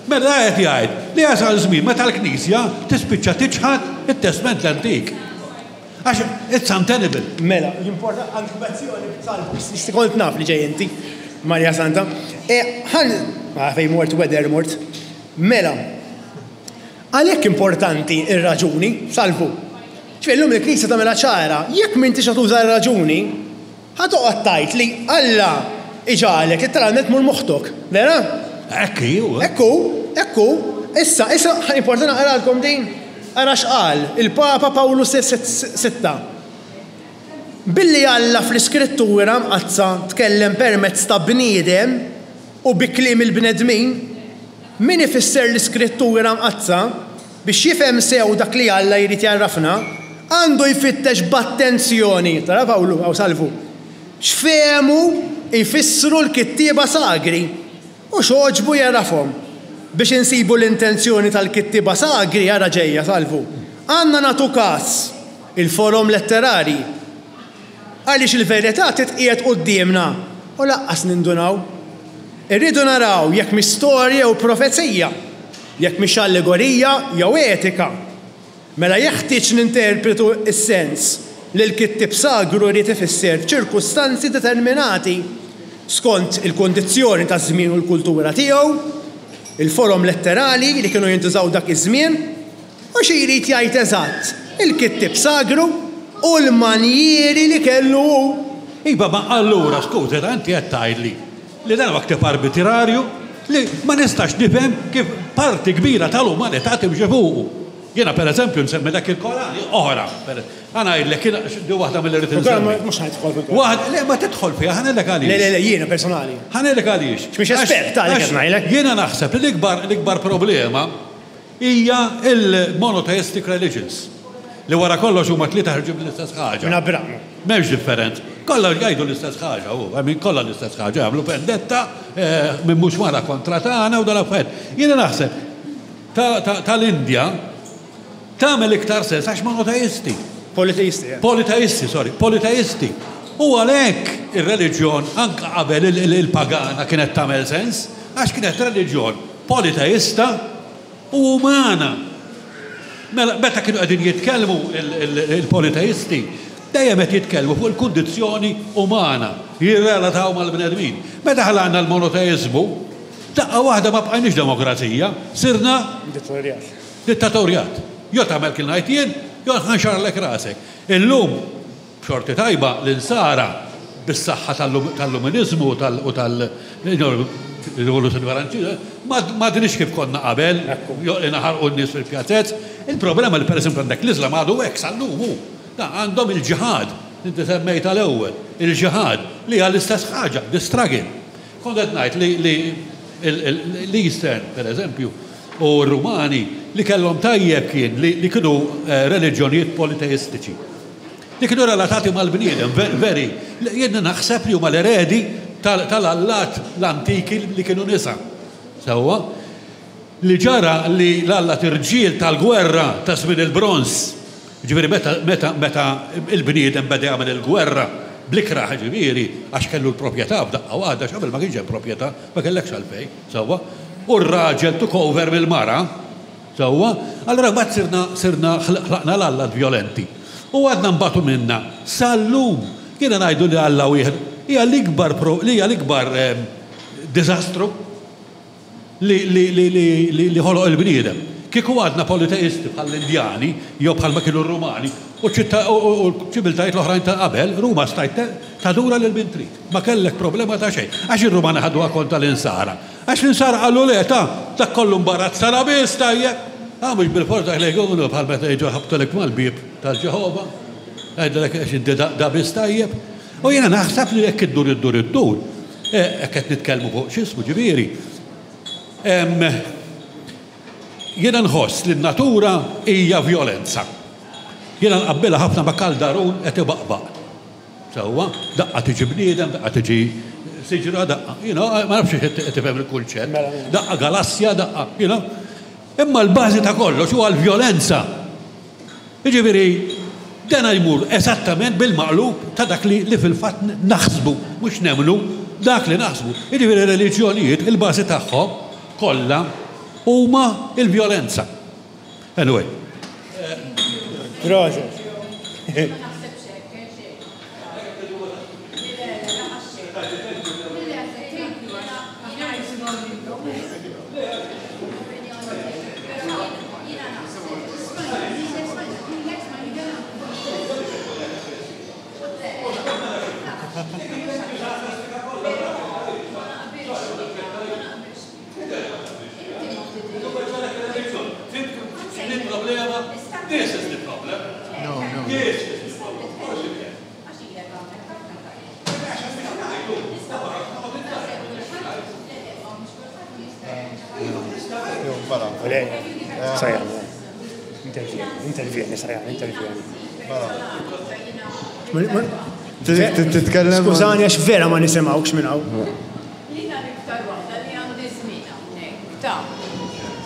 Mela qed jgħid li jasal żmien meta l-Knisja tispiċċa tiċħad it-Testment l-Antik. Għax it's untenable. Mela, jimporta għandek lezzjoni b'talb, kont naf li ġej inti, Marja Santa. E, ħan, ah, fejn mort weather mort. Mela, għalhekk importanti ir-raġuni, salvu. Ġifieri llum il-Knisja tagħmilha ċara, jekk m'intix ħa tuża r-raġuni, Ħa toqgħod tgħid li Alla iġagħlek litteralment tmur moħħtok, vera? Hekk hi, hu. Hekk hu, hekk hu. Issa, issa, importanti naqralkom din. Ara x'qal il-Papa Pawlu Sitta. Billi Alla fl-Iskrittura Mqaddsa tkellem permezz ta' bniedem u bi kliem il-bnedmin, min ifisser l-Iskrittura Mqaddsa, Biex jifhem sew dak li Alla jrid jgħarrafna, għandu jfittex b'attenzjoni, tara Pawlu, hawn Salvu, x'fehmu jfissru l-kittieba sagri u x'għoġbu jgħarrafhom. Biex insibu l-intenzjoni tal-kittieba sagri, ara ġejja, Salvu, għandna nagħtu kas il-forom letterarji. Għaliex il-verità titqiegħed quddiemna u lanqas nindunaw. Irridu naraw jekk mhix storja jew profezija, jekk mhix allegorija jew etika. Mela jeħtieġ ninterpretu s-sens li l-kittieb sagru ried ifisser f'ċirkustanzi determinati, skont il-kundizzjoni taż-żmien u l-kultura tiegħu, il-forom letterali li kienu jintużaw dak iż-żmien, u xi jrid jgħid eżatt il-kittieb sagru u l-manjieri li kellu hu. Iva, ma allura, skużi, inti qed tgħidli li dan huwa ktieb arbitrarju li ma nistax nifhem kif parti kbira tal-umanità timxi fuqu. Jiena pereżempju nsemmi dak il-Koran oħra. Ħa ngħidlek, jiena di waħda milli rrid insemmi. Mhux ħa nidħol fil-Koran. Waħda, le ma tidħol fiha, ħa ngħidlek għaliex. Le, le, le, jiena personali. Ħa ngħidlek għaliex. Mhix espert, għalhekk qed ngħidlek. Jiena naħseb li l-ikbar l-ikbar problema hija l-monotheistic religions, li wara kollox huma t-tlieta ħarġu mill-istess ħaġa. Minn Abraham. M'hemmx differenza. Kollha jgħidu l-istess ħaġa, hu, I mean kollha l-istess ħaġa, jagħmlu vendetta minn mhux mara kontra tagħna u dal-affarijiet. Jiena naħseb tal-Indja tagħmel iktar sens għax monoteisti. Politeisti. Eh. Politeisti, sorry, politeisti. U għalhekk ir-reliġjon anke qabel il-pagana kienet tagħmel sens, għax kienet reliġjon politeista u umana. Mela, meta kienu qegħdin jitkellmu il-politeisti, dejjem qed jitkellmu fuq il-kundizzjoni umana, jirrelataw mal-bnedmin. Meta ħlaqna l-monoteiżmu, daqqa waħda ma bqajniex demokrazija, sirna Dittatorjat. Dittatorjat. Jew tagħmel kif ngħid jien, jew ħanxarlek rasek. Illum B'xorti tajba, l-Insara, bis-saħħa tal-Luminiżmu u tal-Rivoluzzjoni Franċiża, m'għadniex kif konna qabel, li naħarqu n-nies fil-pjazez. Il-problema li pereżempju għandek l-Iżlam għadu hekk sal-lum hu. Għandhom il-ġiħad, li inti semmejtha l-ewwel, il-ġiħad, li hija l-istess ħaġa, the struggle. Kont qed ngħid li l-Eastern, pereżempju, u r-Rumani, li kellhom tajjeb kien li kienu reliġjonijiet politeistiċi. Li kienu relatati mal-bniedem, veri. Jien naħseb li huma l-eredi tal-allat l-antiki li kienu nisa. Sewwa? Li ġara li l-allat irġiel tal-gwerra ta' żmien il-bronż, jiġifieri meta meta meta l-bniedem beda jagħmel il-gwerra bl-ikrah jiġifieri għax kellu l-proprjetà f'daqqa waħda, għax qabel ma kienx hemm proprjetà, ma kellekx għalfejn, sewwa? U r-raġel took over mill-mara, Sewwa? Allura mbagħad sirna sirna ħlaqna l-allat vjolenti. U għadna nbatu minnha sal-lum. Jiena ngħidu li Alla wieħed hija l-ikbar pro li hija l-ikbar diżastru li li li li li li ħoloq il-bniedem. Kieku għadna politeisti bħall-Indjani jew bħalma kienu r-Rumani u ċ-ċittà u l-ċiviltajiet l-oħrajn ta' qabel, Ruma stajt tadura lil min trid. Ma kellek problema ta' xejn. Għax ir-Rumani ħaduha kontra l-Insara. Għax l-insara qalu le, ta, dak kollu mbarazzana biss, tajjeb. Ah, mhux bilfors dak li jkunu bħal meta jiġu jħabbtulek mal-bieb tal-Ġeħova. Jgħidulek għax inti da biss tajjeb. U jiena naħseb li jekk iddur iddur iddur, eh, hekk qed nitkellmu fuq x'ismu ġifieri. Jiena nħoss li n-natura hija vjolenza. Jiena nqabbilha ħafna ma' kaldarun qed ibaqbaq. Sewwa, daqqa tiġi bniedem, daqqa tiġi siġra, daqqa, you know, ma nafx qed tifhem il-kunċett. Mela, mela. Daqqa galassja, daqqa, you know. Imma l-bażi ta' kollox huwa l-vjolenza. Jiġifieri, dan jmur eżattament bil-maqlub ta' dak li, li fil-fatt naħsbu, mhux nemmnu, dak li naħsbu. Jiġifieri reliġjonijiet il-bażi tagħhom kollha huma l-vjolenza. Anyway. Proset. Intervjeni, Sajan, intervjeni. Titkellem. Skużani għax vera ma nisimgħux minn hawn. Jiena l-iktar waħda li għandi żmien hawnhekk, ta.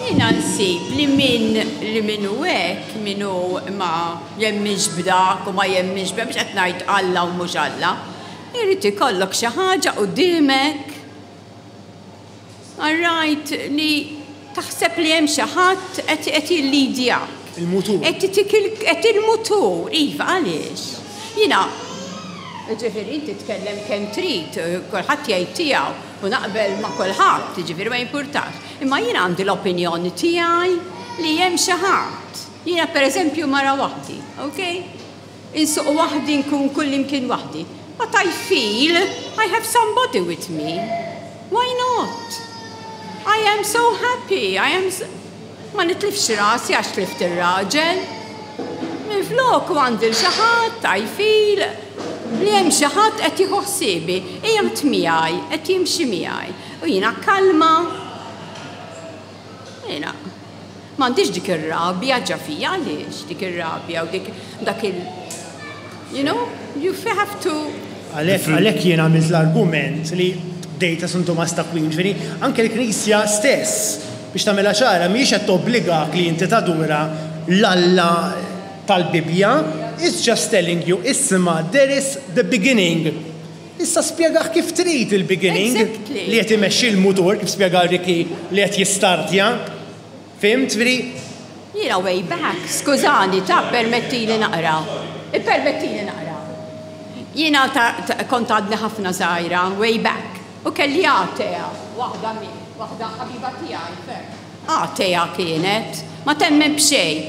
Jiena nsib li min li min hu hekk, min hu ma jemminx b'dak u ma jemminx b'hekk, mhux qed ngħid Alla u mhux Alla, irid ikollok xi ħaġa quddiemek, all right, li taħseb li hemm xi ħadd qed qed jillidjak. Il-mutur. Qed itik il qed il-mutur, iva, għaliex? Jiena, jiġifieri inti tkellem kemm trid, kulħadd jgħid tiegħu. U naqbel ma' kulħadd, jiġifieri ma jimpurtax. Imma jiena għandi l-opinjoni tiegħi li hemm xi ħadd. Jiena pereżempju mara waħdi, ok? Insuq waħdi, nkun kullimkien waħdi. But I feel I have somebody with me. Why not? I am so happy, I am so... Ma nitlifx rasi għax tlift ir-raġel. Minflok u għandi 'l xi ħadd, I feel li hemm xi ħadd qed jieħu ħsiebi, qiegħed miegħi, qed jimxi miegħi. U jiena kalma. Jiena m'għandix dik ir-rabja ġa fija, għaliex dik ir-rabja u dik dak il you know, you have to. Għalhekk għalhekk jien għamilt l-argument li bdejt ta' San Tumas ta' Aquin, ġifieri anke l-Knisja stess, biex tagħmilha ċara, mhijiex qed tobbligak li inti tadura l-Alla tal-Bibbja, it's just telling you, isma' there is the beginning. Issa spjegah kif trid il-beginning li qed imexxi l-mutur, kif spjega Ricky li qed jistartja. Fhimt? Ġifieri. Jiena way back, skużani ta' ppermettili naqra. Ippermettili naqra. Jiena ta' kont għadni ħafna żgħira, way back, u kelli atea, waħda mi, waħda ħabiba tiegħi ferm. Atea kienet, ma temmen b'xejn.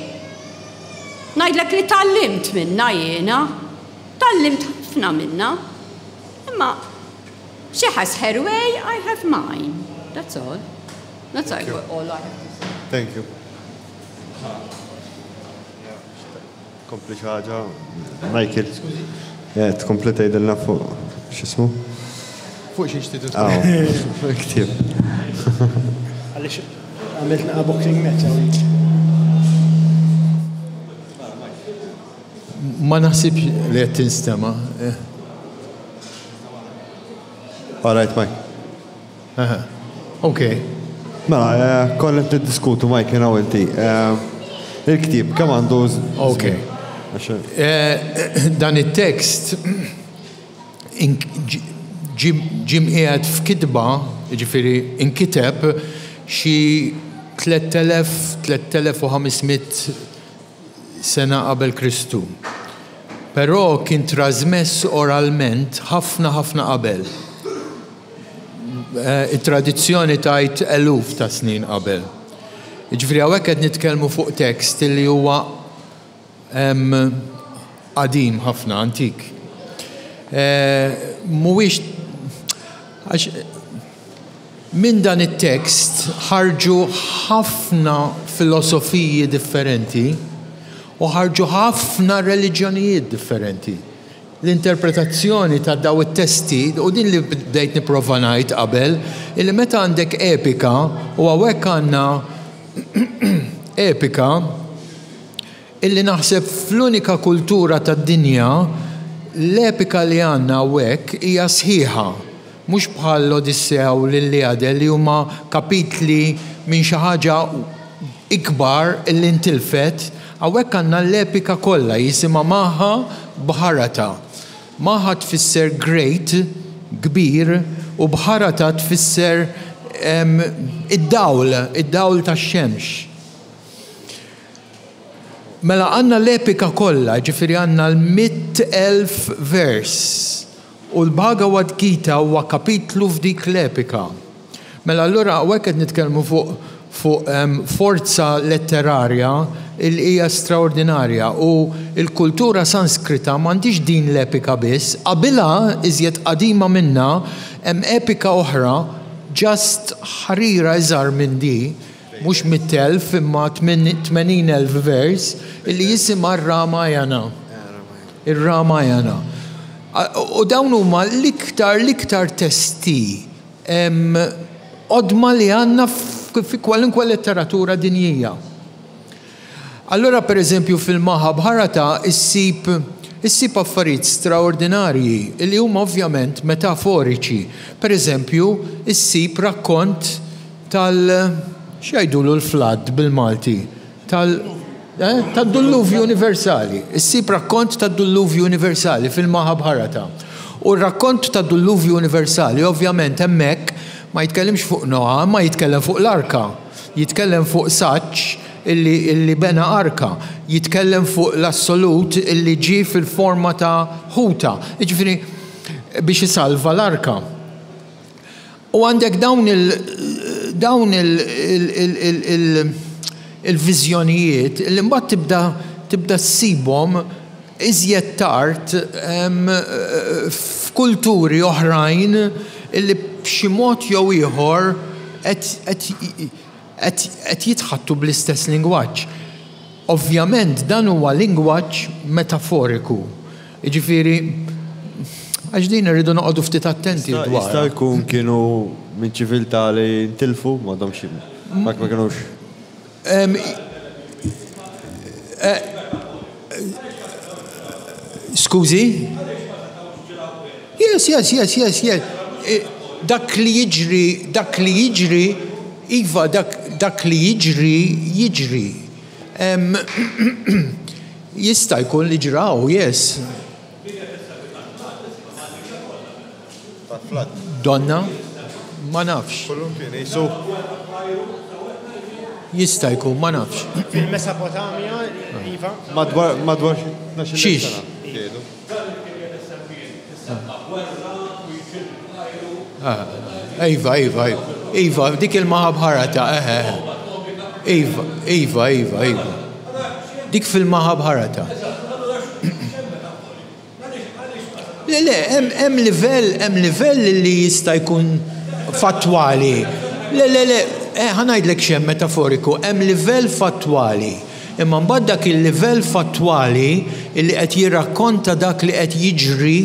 Ngħidlek li tgħallimt minnha jiena. Tgħallimt ħafna minnha. Imma she has her way, I have mine. That's all. That's all I have to say. Thank you. Kompli xi ħaġa, Michael. Eh, tkompli tgħidilna fuq x'ismu? Fuq xiex tidu Ktieb. Għaliex għamilt naqa' boxing match hawnhekk. Ma naħsibx li qed tinstema'. Eh. All right, Mike. Ok. Mela, eh, konna qed niddiskutu Mike jiena u inti. Eh, il-ktieb kemm għandu Ok. Eh, dan it-tekst ġie mqiegħed f'kitba, jiġifieri inkiteb xi 3000, 3500 sena qabel Kristu. Però kien trażmess oralment ħafna ħafna qabel. It-tradizzjoni tgħid eluf ta' snin qabel. Jiġifieri hawnhekk qed nitkellmu fuq tekst li huwa qadim ħafna, antik. Mhuwiex għax minn dan it-tekst ħarġu ħafna filosofiji differenti u ħarġu ħafna reliġjonijiet differenti. L-interpretazzjoni ta' daw it-testi, u din li bdejt nipprova ngħid qabel, illi meta għandek epika, u hawnhekk għandna epika illi naħseb fl-unika kultura tad-dinja l-epika li għandna hawnhekk hija sħiħa, mhux bħal l-Odissea u l-Iliade li huma kapitli minn xi ħaġa ikbar illi ntilfet, hawnhekk għandna l-epika kollha jisimha Maha Bharata. Maha tfisser great, kbir, u Bharata tfisser id-dawl, id-dawl tax-xemx. Mela għandna l-epika kollha, jiġifieri għandna l-100,000 vers. U l-Bhagavad Gita huwa kapitlu f'dik l-epika. Mela allura hawnhekk qed nitkellmu fuq fuq forza letterarja li hija straordinarja u l-kultura Sanskrita m'għandhiex din l-epika biss, qabilha iżjed qadima minnha hemm epika oħra just ħarira iżgħar minn di, mhux 100,000 imma 80,000 vers, illi jisimha r-Ramayana. Ir-Ramayana. U dawn huma l-iktar l-iktar testi qodma li għandna fi kwalunkwe letteratura dinjija. Allura per eżempju fil-Mahabharata issib issib affarijiet straordinarji li huma ovvjament metaforiċi. Per eżempju, issib rakkont tal x'jgħidulu l-flood bil-Malti? Tal eh, tad-dulluvju universali. Issib rakkont tad-dulluvju universali fil-Mahabharata. U r-rakkont tad-dulluvju universali ovvjament hemmhekk ma jitkellimx fuq Noa, imma jitkellem fuq l-arka. Jitkellem fuq saġġ illi, illi bena arka. Jitkellem fuq l-assolut illi ġie fil-forma ta' ħuta. Jiġifieri biex isalva l-arka. U għandek dawn il dawn il il-viżjonijiet li mbagħad tibda tibda ssibhom iżjed tard f'kulturi oħrajn illi b'xi mod jew ieħor qed qed jitħaddtu bl-istess lingwaġġ. Ovvjament dan huwa lingwaġġ metaforiku. Jiġifieri, għax din irridu noqogħdu ftit attenti dwarha. Jista' jkun kienu minn ċiviltà li ntilfu, m'għadhomx, ma kinux. Skużi? Yes, yes, yes, yes, yes. Dak li jiġri, dak li jiġri, iva, dak, dak li jiġri, jiġri. Jista' jkun li ġraw, yes. Donna? Ma nafx. Jista' jkun, ma nafx. Fil-Mesopotamja, iva. Madwar madwar xi Xiex? Iva, iva, iva. Iva, dik il-Mahabharata, eħe, eħe. Iva, iva, iva, iva. Dik fil-Mahabharata. Le, le, hemm livell, hemm livell li jista' jkun fattwali. Le, le, le, eh, ħa ngħidlek x'hemm metaforiku, hemm livell fattwali. Imma mbagħad dak il-livell fattwali li qed jirrakkonta dak li qed jiġri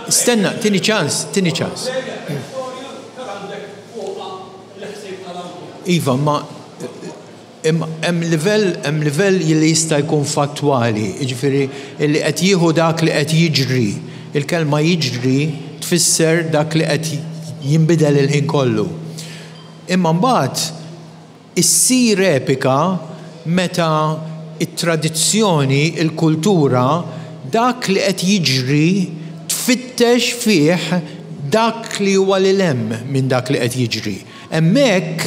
Stenna, tini ċans, tini ċans. Iva, ma hemm livell hemm livell li jista' jkun fattwali, jiġifieri li qed jieħu dak li qed jiġri. Il-kelma jiġri tfisser dak li qed jinbidel il-ħin kollu. Imma mbagħad Issir epika meta t-tradizzjoni, il-kultura, dak li qed jiġri tfittex fih dak li huwa lil hemm minn dak li qed jiġri. Hemmhekk,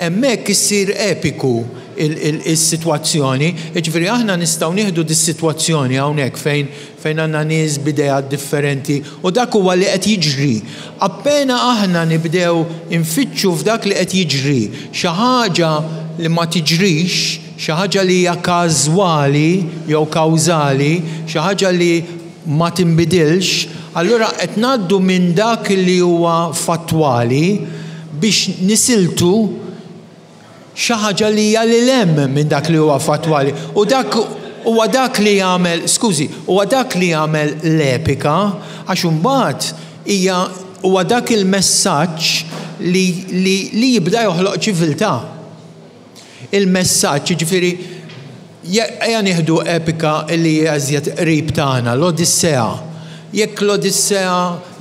hemmhekk issir epiku is-sitwazzjoni. Jiġifieri aħna nistgħu nieħdu dis-sitwazzjoni hawnhekk fejn fejn għandna nies b'ideat differenti u dak huwa li qed jiġri. Appena aħna nibdew infittxu f'dak li qed jiġri xi ħaġa li ma tiġrix, xi ħaġa li hija każwali jew kawżali, xi ħaġa li ma tinbidilx, allura qed ngħaddu minn dak li huwa fattwali biex nisiltu xi ħaġa li hija lil hemm minn dak li huwa fattwali. U dak huwa dak li jagħmel, skużi, huwa dak li jagħmel l-epika għax imbagħad hija huwa dak il-messaġġ li, li, li jibda joħloq ċiviltà. Il-messaġġ, jiġifieri, Ejja nieħdu epika li hija iżjed qrib tagħna, l-Odissea. Jekk l-Odissea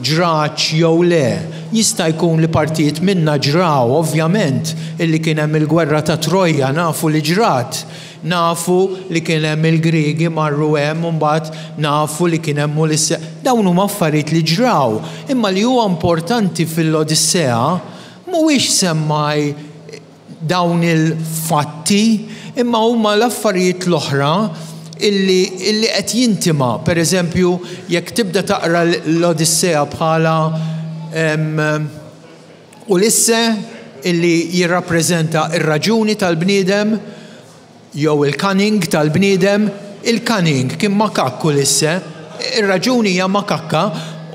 ġratx jew le, jista' jkun li partijiet minnha ġraw, ovvjament, illi kien hemm il-gwerra ta' Trojja nafu li ġrat. Nafu li kien hemm il-Griegi marru hemm u mbagħad nafu li kien hemm Ulisse. Dawn huma affarijiet li ġraw. Imma li huwa importanti fil-Odissea mhuwiex semmai dawn il-fatti, imma huma l-affarijiet l-oħra illi, illi qed jintima. Per eżempju, jekk tibda taqra l-Odissea bħala Ulisse illi jirrappreżenta r-raġuni tal-bniedem, jew il-cunning tal-bniedem, il-cunning kien makakk Ulisse, ir-raġuni hija makakka,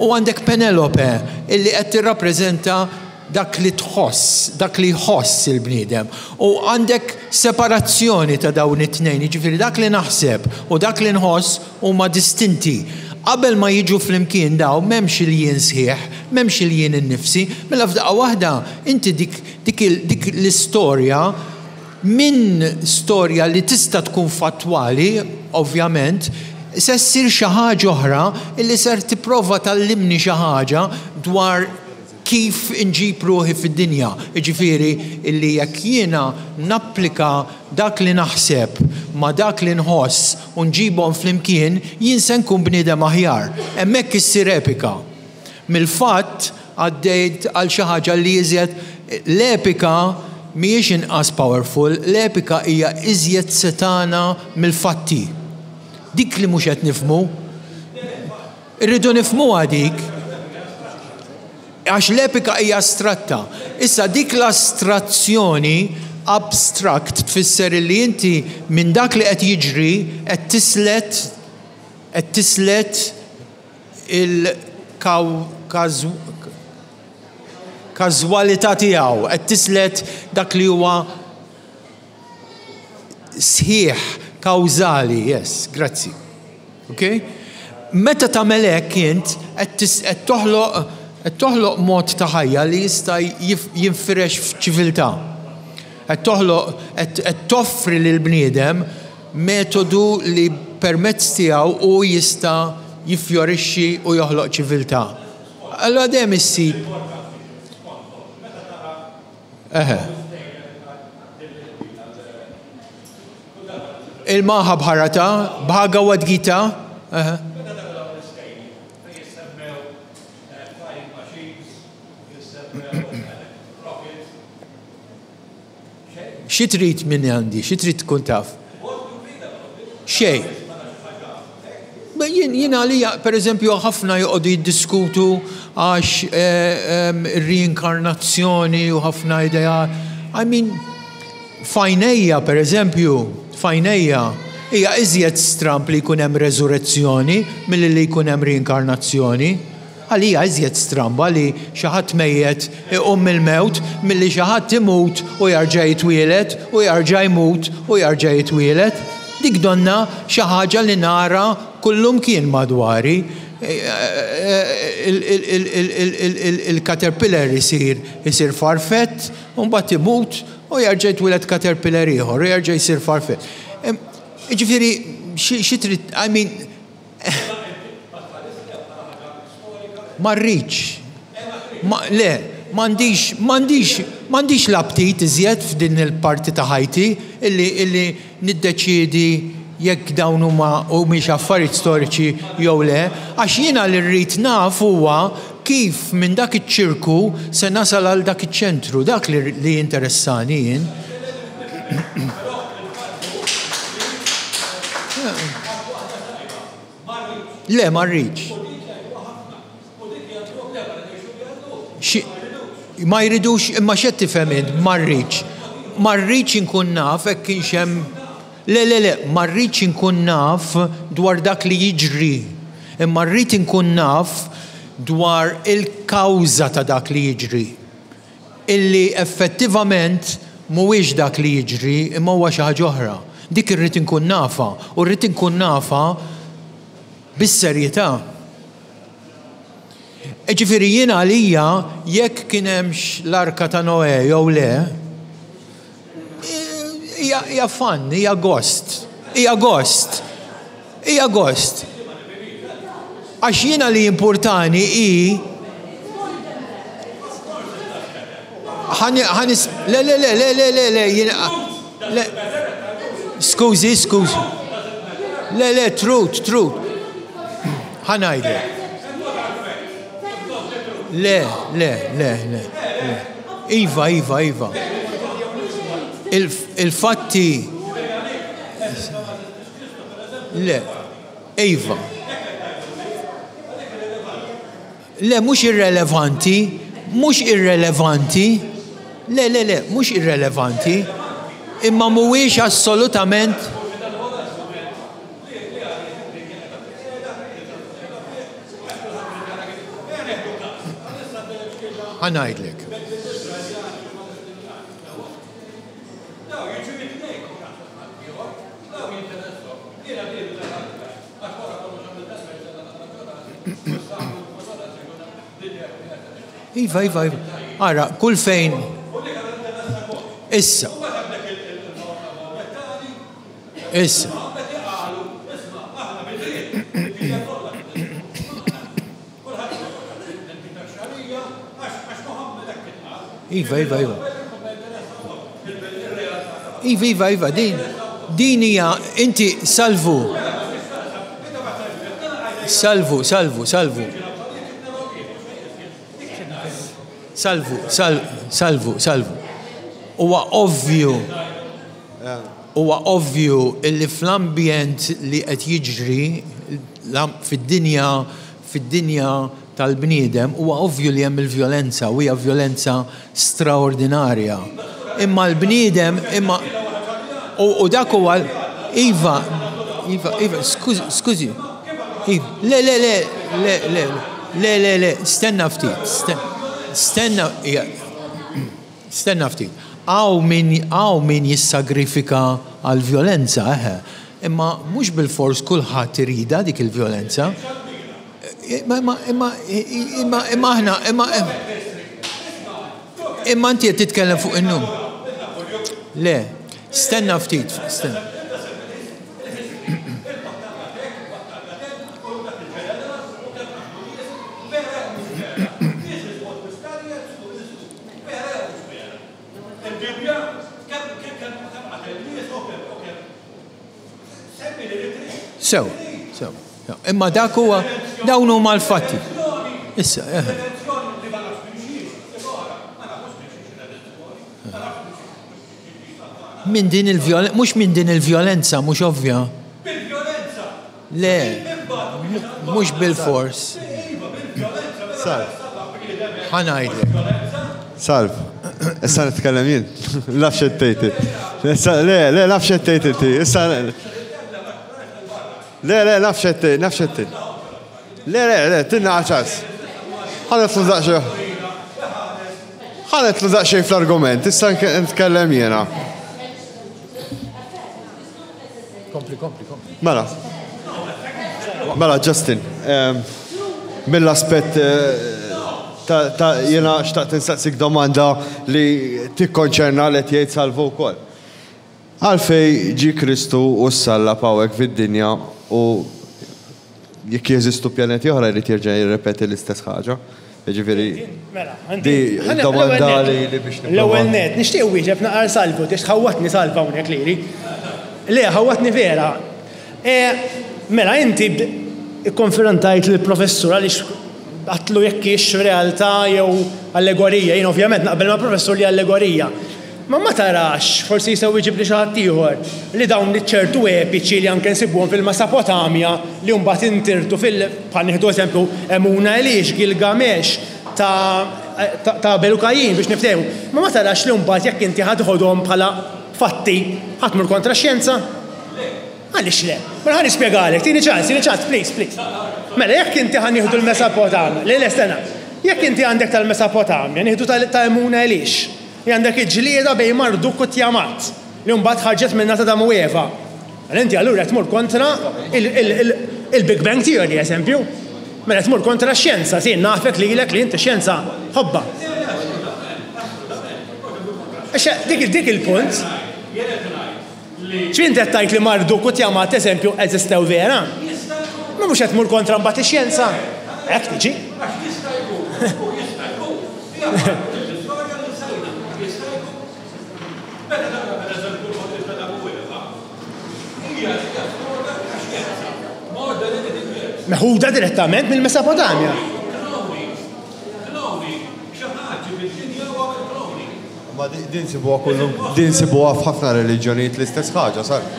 u għandek Penelope illi qed tirrappreżenta dak li tħoss, dak li jħoss il-bniedem. U għandek separazzjoni ta' dawn it-tnejn, jiġifieri dak li naħseb u dak li nħoss huma distinti. Qabel ma jiġu flimkien dawn m'hemmx il-jien sħiħ, m'hemmx il-jien innifsi, mela f'daqqa waħda inti dik dik dik l-istorja Minn storja li tista' tkun fattwali, ovvjament, se ssir xi ħaġa oħra li ser tipprova tgħallimni xi ħaġa dwar kif inġib ruħi fid-dinja. Jiġifieri illi jekk jiena napplika dak li naħseb ma' dak li nħoss u nġibhom flimkien, jien se nkun bniedem aħjar. Hemmhekk issir epika. Mill-fatt għaddejt għal xi ħaġa li iżjed l-epika mhijiex inqas powerful, l-epika hija iżjed setgħana mill-fatti. Dik li mhux qed nifhmu. Irridu nifhmuha dik. Għax l-epika hija astratta. Issa dik l-astrazzjoni, abstract, tfisser illi inti minn dak li qed jiġri qed tislet qed tislet il-każwalità tiegħu, qed tislet dak li huwa sħiħ, kawżali, yes, grazzi. Ok? Meta tagħmel hekk int qed toħloq qed toħloq mod ta' ħajja li jista' jinfirex f'ċiviltà. Qed toħloq qed toffri lill-bniedem metodu li permezz tiegħu hu jista' jiffjorixxi u joħloq ċiviltà. Allura dejjem issib Eħe. Il-Mahabharata, Bhagavad Gita, eħe. Xi trid minn għandi? Xi trid tkun taf? Xejn. Jien jien għalija, pereżempju, ħafna joqogħdu jiddiskutu għax ir-reinkarnazzjoni u ħafna idea. I mean, f'għajnejja, pereżempju, f'għajnejja, hija iżjed stramb li jkun hemm reżurezzjoni milli li jkun hemm reinkarnazzjoni. Għalija iżjed stramba li xi ħadd mejjet iqum mill-mewt milli xi ħadd imut u jarġa' jitwieled u jarġa' jmut u jarġa' jitwieled. Dik donnha xi ħaġa li nara kullumkien madwari. Il-caterpillar isir isir farfett u mbagħad imut u jarġa' jitwieled caterpillar ieħor u jarġa' jsir farfett. Jiġifieri xi trid, I mean, Ma rridx. Le, m'għandix, m'għandix, m'għandix l-aptit iżjed f'din il-parti ta' ħajti illi, illi niddeċiedi jekk dawn huma humiex affarijiet storiċi jew le, għax jiena li rrid naf huwa kif minn dak iċ-ċirku se nasal għal dak iċ-ċentru, dak li, li jinteressani jien. Le, ma rridx. Ma jridux, imma x'qed tifhem int, ma rridx. Ma rridx inkun naf hekk kienx hemm Le, le, le, ma rridx inkun naf dwar dak li jiġri, imma rrid inkun naf dwar il-kawża ta' dak li jiġri. Illi effettivament mhuwiex dak li jiġri imma huwa xi ħaġa oħra. Dik irrid inkun nafha u rrid inkun nafha bis-serjetà. Jiġifieri jien għalija jekk kien hemmx l-Arka ta' Noè jew le, hija fun, hija gost. Hija gost. Hija gost. Għax jiena li jimpurtani hi ħanis le le le le le le le jiena le skużi skużi le le truth truth ħa ngħidlek le le le le le iva iva iva il-fatti Le. Iva. Le, mhux irrelevanti, mhux irrelevanti. Le, le, le, mhux irrelevanti. Imma mhuwiex assolutament Ħa ngħidlek. Iva, iva, iva. Ara, kull fejn. Issa. Issa. Iva, iva, iva. Iva, iva, iva, din, din hija, inti salvu. Salvu, salvu, salvu. Salvu, salvu, salvu. Huwa ovvju, huwa ovvju illi fl-ambjent li qed jiġri fid-dinja, fid-dinja tal-bniedem huwa ovvju li hemm il-vjolenza u hija vjolenza straordinarja. Imma l-bniedem, imma u dak huwa iva, iva, iva, skużi, iva, le, le, le, le, le, le, le, le, stenna ftit, stenna, stenna ftit. Hawn min, hawn min jissagrifika għall-vjolenza, eħe, imma mhux bilfors kulħadd iridha dik il-vjolenza. Imma, imma, imma, imma, imma aħna, imma, imma inti qed titkellem fuq in-num. Le, stenna ftit, stenna. Sew, sew. Imma dak huwa dawn huma l-fatti. Issa, eħe. Minn din il-vjolenza, mhux minn din il-vjolenza, mhux ovvja. Le, mhux bilfors. Salv. Ħa ngħidlek. Salv. Issa nitkellem jien. Naf x'qed tgħid int. Issa le, le, naf x'qed tgħid inti. Issa Le, le, naf x'qed tgħid, naf x'qed tgħid. Le, le, le, tinna ċans. Ħa nidħlu daqsxejn. Ħa nidħlu daqsxejn fl-argument, issa nitkellem jiena. Kompli, kompli, kompli. Mela. Mela, Justin, ehm, mill-aspett eh, ta' jena xtaqt insaqsik domanda li tikkonċerna li jgħid salvu wkoll. Għalfej ġi Kristu u ssallab hawnhekk fid-dinja u Jekk jeżistu pjaneti oħra jrid jerġa' jirrepeti l-istess ħaġa. Jiġifieri Mela, di domanda li li biex nipprova. L-ewwel nett, nixtieq wieġeb naqar Salvu, għax ħawwadtni Salvu hawnhekk lili. Le, ħawwadtni vera. E, mela inti ikkonfrontajt lill-professur għaliex għadtlu jekk hix realtà jew allegorija. Jien ovvjament naqbel mal-professur li allegorija. Ma ma tarax, forsi jistgħu jġibli xi ħadd ieħor, li dawn iċ-ċertu epiċi li anke nsibuhom fil-Mesopotamja li mbagħad intirtu fil, bħal nieħdu eżempju Emuna Elish, Gilgamesh, ta' ta' Abel u Kajin biex niftehmu. Ma ma tarax li mbagħad jekk inti ħa teħodhom bħala fatti ħa tmur kontra x-xjenza? Għaliex le? Mela ħa nispjegalek, tini ċans, tini ċans, please, please. Mela jekk inti ħa nieħdu l-Mesopotamja, le le stenna, jekk inti għandek tal-Mesopotamja, nieħdu ta' Emuna Elish, Li għandek il-ġlieda bejn Marduk u Tiamat, li mbagħad ħarġet minnha t'Adam u Eva. Mela inti allura qed tmur kontra il-Big Bang Theory, eżempju. Mela qed tmur kontra x-xjenza, si nafek lilek li inti x-xjenza ħobbha. Dik dik il-punt. X'int qed tgħid li Marduk u Tiamat eżempju eżistew vera? Ma mhux qed tmur kontra mbagħad ix-xjenza? Hekk tiġi. Għax jista' jkun, u jista' jkun, li aħna l-istorja li nsejna. Jista' jkun. Meta tara pereżempju l-ħolqien ta' Adam u Eva, hija hija storja ta' xjenza, more than anything else. Meħuda direttament mill-Mesopotamja. Cloning, cloning, xi ħadd ġie fid-dinja u għamel cloning. Ma din nsibuha kullum, din nsibuha f'ħafna reliġjonijiet l-istess ħaġa, sar.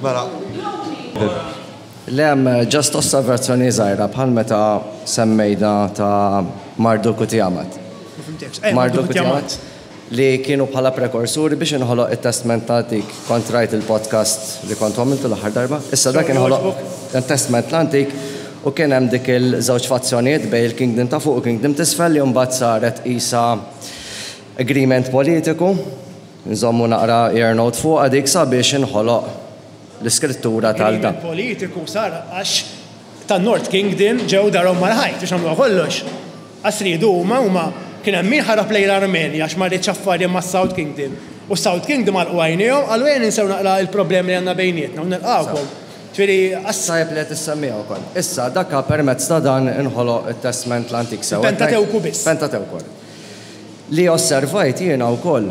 Mela. Le hemm just osservazzjoni żgħira bħal meta semmejna ta' Marduk u Tiamat. Ma fhimtekx. Eh, Marduk u Tiamat. Li kienu bħala prekursuri biex inħoloq it-Testment l-Antik. Kont rajt il-podcast li kontu għamiltu l-aħħar darba. Issa dak inħoloq it-Testment l-Antik u kien hemm dik il-żewġ fazzjonijiet bejn il-Kingdom ta' fuq u Kingdom t'isfel li mbagħad saret qisha agreement politiku, nżommu naqra ear note fuqha dik sabiex inħoloq l-iskrittura tal Agreement politiku sar għax tan-North Kingdom ġew darhom mal-ħajt biex nagħmluha kollox. Għax riedu huma, huma kien hemm min ħarab lejn l-Armenja għax ma riedx affari mas-South Kingdom. U South Kingdom għalqu għajnejhom, qalu ejja ninsew naqra l-problemi li għandna bejnietna u nilqgħukom. Ġifieri, as. Tajjeb li qed issemmiha wkoll. Issa, dak permezz ta' dan inħoloq it-Testment l-Antik sewwa. Il-Pentatewku biss. Pentatewku. Li osservajt jiena wkoll,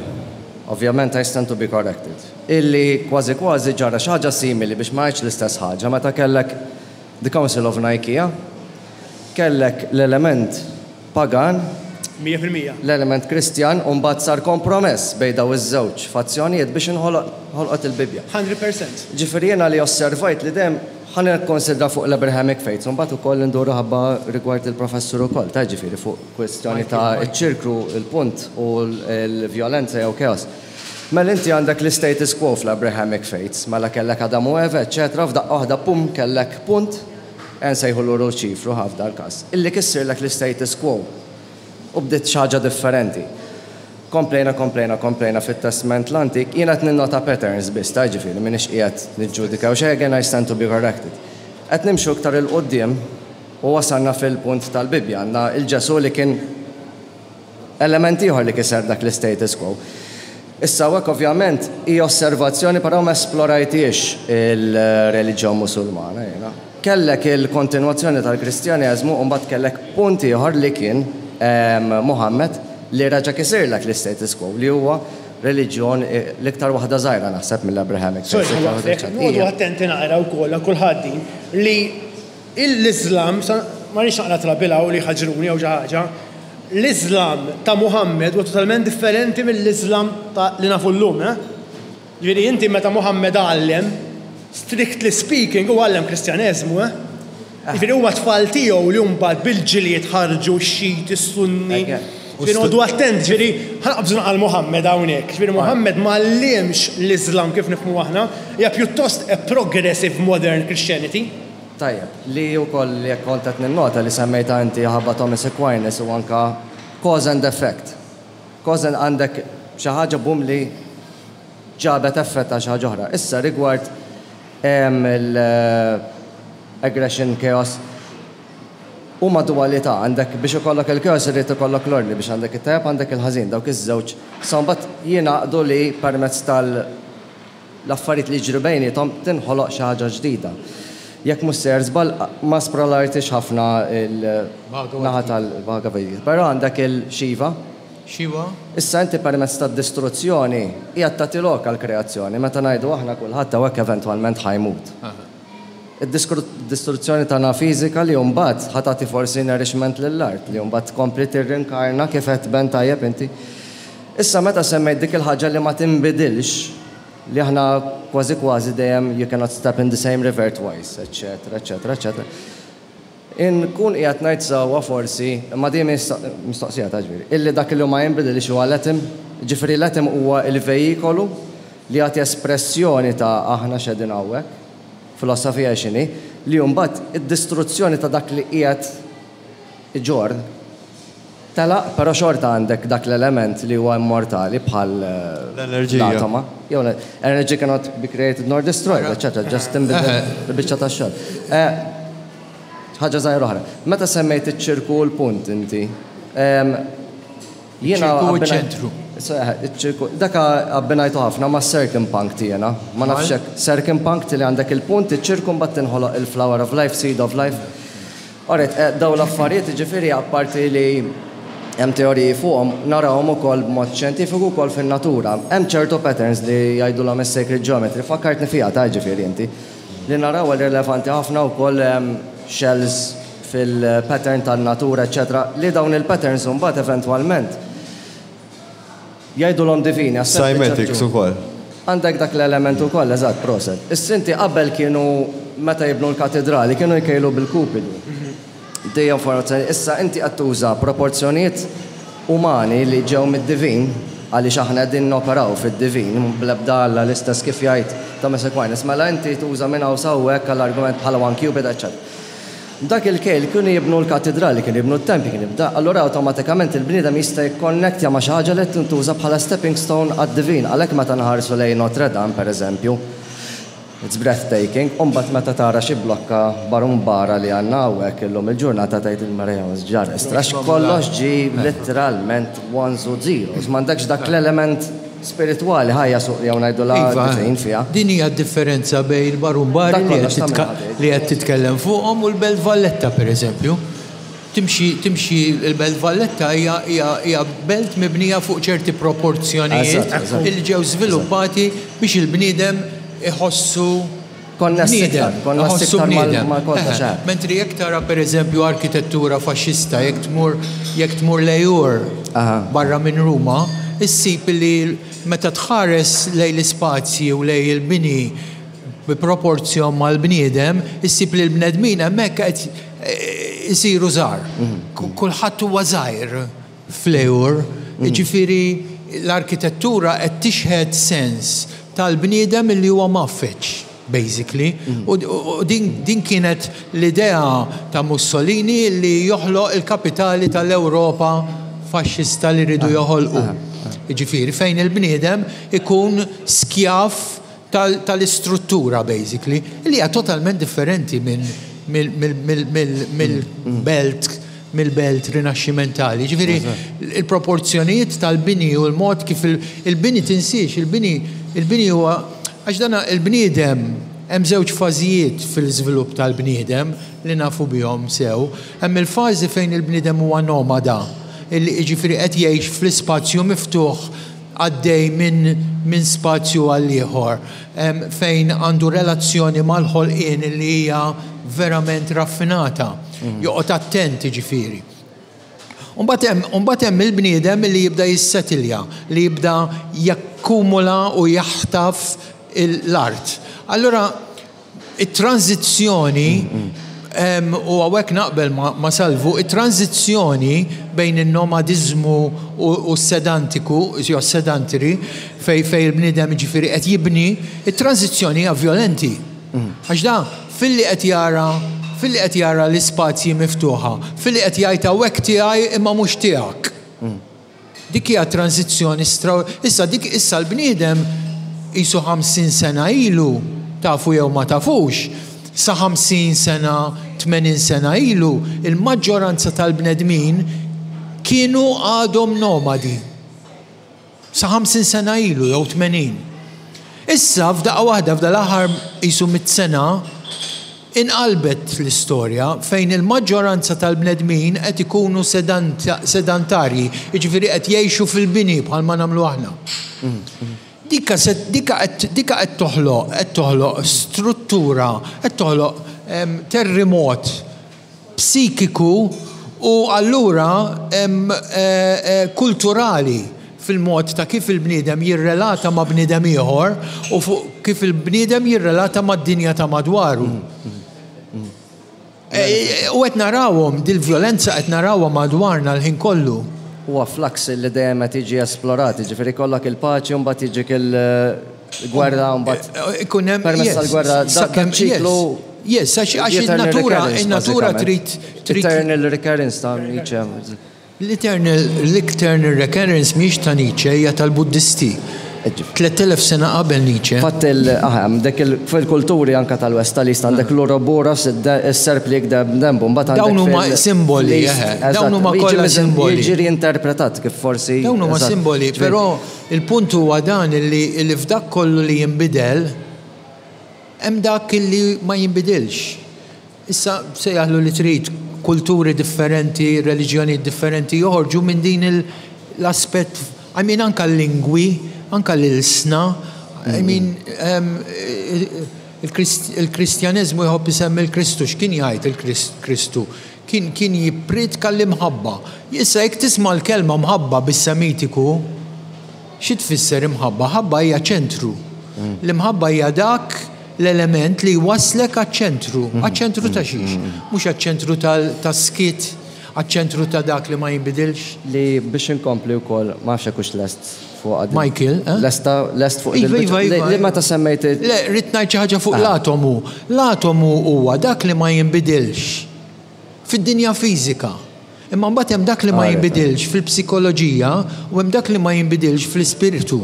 ovvjament I stand to be corrected, illi kważi kważi ġara xi ħaġa simili biex ma ngħidx l-istess ħaġa meta kellek the Council of Nicaea, kellek l-element pagan, 100%. L-element Kristjan u mbagħad sar kompromess bejn dawn iż-żewġ fazzjonijiet biex inħoloq ħolqot il-Bibbja. 100%. Ġifieri jiena li osservajt li dejjem ħa nikkonsidra fuq l-Abrahamic faiths u mbagħad ukoll induru ħabba rigward il-professur ukoll, ta' ġifieri fuq kwistjoni ta' ċ-ċirkru, il-punt u l-vjolenza jew chaos. Mela inti għandek l-istatus quo fl-Abrahamic faiths, mela kellek Adam u Eva, eċċetera, f'daqqa waħda pum kellek punt, nsejħulu Luċifru ħa f'dal-każ, illi kissirlek l-istatus quo u bdiet xi ħaġa differenti. Komplejna, komplejna, komplejna fit-Testment l-Antik, jien qed ninnota patterns biss, ta' jiġifieri m'iniex qiegħed niġġudika jew xejn, again I stand to be corrected. Qed nimxu iktar 'il quddiem u wasalna fil-punt tal-Bibbja, għandna 'l Ġesù li kien Element ieħor li kiser dak l-istatus quo. Issa hawnhekk ovvjament hi osservazzjoni però ma esplorajthiex il-reliġjon Musulmana jiena. Kellek il-kontinwazzjoni tal-Kristjaneżmu u mbagħad kellek punt ieħor li kien Muhammad li reġa' kisirlek l-istatus quo li huwa reliġjon l-iktar waħda żgħira naħseb mill-Abrahamic faiths. Sorry, ħa nwaqqfek, noqogħdu attenti naqra wkoll għal kulħadd din li L-Iżlam, ma rridx naqla' trabil hawn li jħaġġruni jew xi ħaġa, l-Iżlam ta' Muhammad huwa totalment differenti mill-Iżlam ta' li nafu llum, eh? Ġifieri inti meta Muhammad għallem, strictly speaking, huwa għallem Kristjaneżmu, eh? Ġifieri huma t-tfal tiegħu li mbagħad bil-ġlied ħarġu x-Xiti, s-Sunni. Ġifieri noqogħdu attenti, ġifieri ħa naqbżu naqra l-Muhammad hawnhekk. Ġifieri Muhammad ma għallimx l-Iżlam kif nifhmu aħna, hija pjuttost a progressive modern Christianity. Tajjeb, li wkoll jekk kont qed ninnota li semmejtha inti ħabba Thomas Aquinas u anke cause and effect. Cause and għandek xi ħaġa boom li ġabet effett għal xi ħaġa oħra. Issa rigward l-aggression chaos huma duwalità, għandek biex ikollok il-chaos irid ikollok l-ordni biex għandek it-tajjeb għandek il-ħażin, dawk iż-żewġ. Sa mbagħad jingħaqdu li permezz tal l-affarijiet li jiġru bejniethom tinħoloq xi ħaġa ġdida. Jekk mhux sejjer żball, ma esplorajtx ħafna l-naħa tal-Bhagavad Gita, però għandek il-Shiva. Shiva. Issa inti permezz tad-distruzzjoni qiegħed tagħti lok għall-kreazzjoni. Meta ngħidu aħna kulħadd hawnhekk eventwalment ħa jmut. Id-distruzzjoni tagħna fiżika li mbagħad ħa tagħti forsi nourishment lill-art li mbagħad tkompli tirrinkarna kif għedt Ben tajjeb inti. Issa meta semmejt dik il-ħaġa li ma tinbidilx, li aħna kważi kważi dejjem you cannot step in the same river twice, eċċetera, eċċetera, eċċetera. Inkun qiegħed ngħid sewwa forsi, imma din mistoqsija ta' ġifieri, illi dak li ma jinbidilx huwa l-atom, ġifieri l-atom huwa l-vejikolu li jagħti espressjoni ta' aħna x'qegħdin hawnhekk, filosofija x'inhi, li mbagħad id-distruzzjoni ta' dak li qiegħed iġorr Telaq, però xorta għandek dak l-element li huwa immortali bħal l-atoma. Jew energy cannot be created nor destroyed, eċċetera, just tinbidel il-biċċa tax-xogħol. Ħaġa żgħira oħra. Meta semmejt iċ-ċirku u l-punt inti, jiena. Iċ-ċirku u ċ-ċentru. Iċ-ċirku, dak abbinajtu ħafna ma' circumpunct jiena. Ma nafx hekk, circumpunct li għandek il-punt, iċ-ċirku mbagħad tinħoloq il-flower of life, seed of life. Alright, dawn l-affarijiet jiġifieri apparti li hemm teoriji fuqhom, narawhom ukoll b'mod xjentifiku wkoll fin-natura. Hemm ċertu patterns li jgħidulhom is-sacred geometry, fakkartni fiha ta' jiġifieri inti, li narawha li rilevanti ħafna wkoll shells fil-pattern tan-natura eċċetera, li dawn il-patterns imbagħad eventwalment Jgħidulhom divini għas sempliċi raġuni. Cymatics ukoll. Għandek dak l-element ukoll, eżatt, proset. Issa inti qabel kienu meta jibnu l-katidrali kienu jkejlu bil-kupidu. Dejjem formazzjoni. Issa inti qed tuża proporzjonijiet umani li ġew mid-divin, għaliex aħna qegħdin noperaw fid-divin, bl-ebda Alla l-istess kif jgħid Thomas Aquinas. Mela inti tuża minn hawn sa hawnhekk għall-argument bħala one cubit, eċċetera. B'dak il-kejl kienu jibnu l-katidrali, kienu jibnu t-tempji, kienu jibda, allura awtomatikament il-bniedem jista' jikkonnektja ma' xi ħaġa li qed tintuża bħala stepping stone għad-divin. Għalhekk meta nħarsu lejn Notre Dame, per eżempju, it's breathtaking, u mbagħad meta tara xi blokka barumbara li għandna hawnhekk illum il-ġurnata tgħid il-Marija x'ġara istra, għax kollox ġie litteralment ones u zeros, m'għandekx dak l-element. spiritwali, ħajja jew ngħidulha Iva, divin fiha. din hija d-differenza bejn il-Barumbari Dak li kollox qed tagħmel ħadd. li qed titkellem fuqhom u l-Belt Valletta pereżempju. Timxi timxi l-Belt Valletta hija hija hija belt mibnija fuq ċerti proporzjonijiet Eżatt, eżatt. illi ġew żviluppati biex il-bniedem iħossu Konness bniedem, iktar, konness iħossu iktar bniedem. mal kollox, Eħe. eh. Mentri jekk tara pereżempju arkitettura faxxista, jekk tmur jekk tmur Lejur barra minn Ruma, issib li meta tħares lejn l-ispazji u lejn il-bini bi proporzjon mal-bniedem, issib li l-bnedmin hemmhekk qed isiru żgħar. Kulħadd huwa żgħir f'Lejur, jiġifieri l-arkitettura qed tixhed sens tal-bniedem li huwa mgħaffeġ, basically. U din, din kienet l-idea ta' Mussolini li joħloq il-kapitali tal-Ewropa faxxista li rridu joħolqu. Jiġifieri fejn il-bniedem ikun skjav tal-istruttura, basically, li hija totalment differenti minn mill-belt mill-belt rinaxximentali. Ġifieri, il-proporzjonijiet tal-bini u l-mod kif il-bini tinsiex, il-bini il-bini huwa għax dana il-bniedem hemm żewġ fażijiet fil-żvilupp tal-bniedem li nafu bihom sew. Hemm il-fażi fejn il-bniedem huwa nomada, illi jiġifieri qed jgħix fl-ispazju miftuħ għaddej minn min spazju għal ieħor, fejn għandu relazzjoni mal-ħolqien li hija verament raffinata. Joqgħod attent jiġifieri. Umbagħad hemm il-bniedem li jibda jissetilja, li jibda jakkumula u jaħtaf l-art. Allura, it-tranżizzjoni, u hawnhekk naqbel ma' Salvu, it-tranżizzjoni bejn in-nomadiżmu u s-sedantiku, jew sedantary, fej fej il-bniedem ġifieri qed jibni, it-tranżizzjoni hija violenti. Għax da, filli qed jara l-ispazji miftuħa, filli qed jgħid hawnhekk tiegħi imma mhux tiegħek. Dik hija tranżizzjoni stra. Issa dik issa l-bniedem qisu 50 sena ilu, tafu jew ma tafux, sa 50 sena, 80 sena ilu, il-maġġoranza tal-bnedmin kienu għadhom nomadi. Sa 50 sena ilu jew 80. Issa f'daqqa waħda f'dal-aħħar qisu 100 sena inqalbet l-istorja fejn il-maġġoranza tal-bnedmin qed ikunu sedantarji, jiġifieri qed jgħixu fil-bini bħalma nagħmlu aħna. Dika qed toħloq qed toħloq struttura, qed toħloq terremot psikiku u allura kulturali fil-mod ta' kif il-bniedem jirrelata ma' bniedem ieħor u fuq kif il-bniedem jirrelata mad-dinja ta' madwaru. U qed narawhom, dil-vjolenza qed narawha madwarna l-ħin kollu. Huwa flux li dejjem qed jiġi esplorat, jiġifieri jkollok il-paċi u mbagħad jiġik il-gwerra u mbagħad Ikun hemm permezz tal-gwerra dak ċiklu. Yes, għax in-natura in-natura trid Eternal recurrence ta' Nietzsche. L-eternal l-eternal recurrence mhix ta' Nietzsche, hija tal-Buddisti. 3000 sena qabel Nietzsche. Fatt dak fil-kulturi anka tal-West tal-East għandek l-Ouroboros, is-serp li jikdeb dembu, mbagħad Dawn huma simboli, dawn huma kollha simboli. Jiġi reinterpretat kif forsi. Dawn huma simboli, però il-punt huwa dan illi f'dak kollu li jinbidel hemm dak illi ma jinbidilx. Issa sejjaħlu li trid kulturi differenti, reliġjoni differenti joħorġu minn din l-aspett, I mean anka l-lingwi, anka l-ilsna, I mean il-Kristjaneżmu jħobb isemmi l-Kristu, x'kien jgħid il-Kristu? Kien jippriedka l-imħabba. Issa jekk tisma' l-kelma mħabba bis-Semitiku, xi tfisser imħabba? Ħabba hija ċentru. L-imħabba hija dak l-element li waslek għaċ-ċentru. Għaċ-ċentru ta' xiex? Mhux għaċ-ċentru tas-skiet, għaċ-ċentru ta' dak li ma jinbidilx. Li biex inkompli wkoll, ma nafx hekk hux lest fuq għad. Michael, eh? Lesta, lest fuq Iva, iva, iva. Li meta semmejt Le, rrid ngħid xi ħaġa fuq l-atomu. L-atomu huwa dak li ma jinbidilx fid-dinja fiżika. Imma mbagħad hemm dak li ma jinbidilx fil-psikoloġija u hemm dak li ma jinbidilx fl-ispirtu.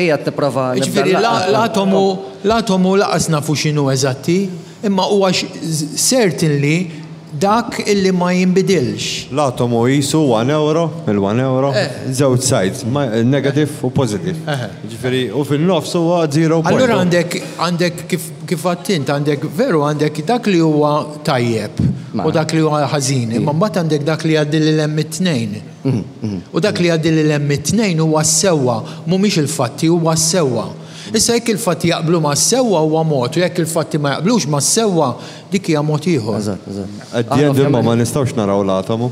Ija tipprova. Ġifieri l-atomu l-atomu lanqas nafu x'inhu eżatti, imma huwa certainly Dak illi ma jinbidilx. L-atomu qisu one euro, il-one euro, żewġ sides, negative u positive. Jiġifieri, u fin-nofs huwa zero point. Allura għandek, għandek kif, kif għedt int, għandek veru għandek dak li huwa tajjeb u dak li huwa ħażin, imma mbagħad għandek dak li jgħaddi lil hemm it-tnejn. U dak li jgħaddi lil hemm it-tnejn huwa s-sewwa, mhumiex il-fatti, huwa s-sewwa. Issa jekk il-fatti jaqblu mas-sewwa huwa mod u jekk il-fatti ma jaqblux mas-sewwa, Dik hija mod ieħor. Eżatt, eżatt. At the end imma ma nistgħux naraw l-atomu.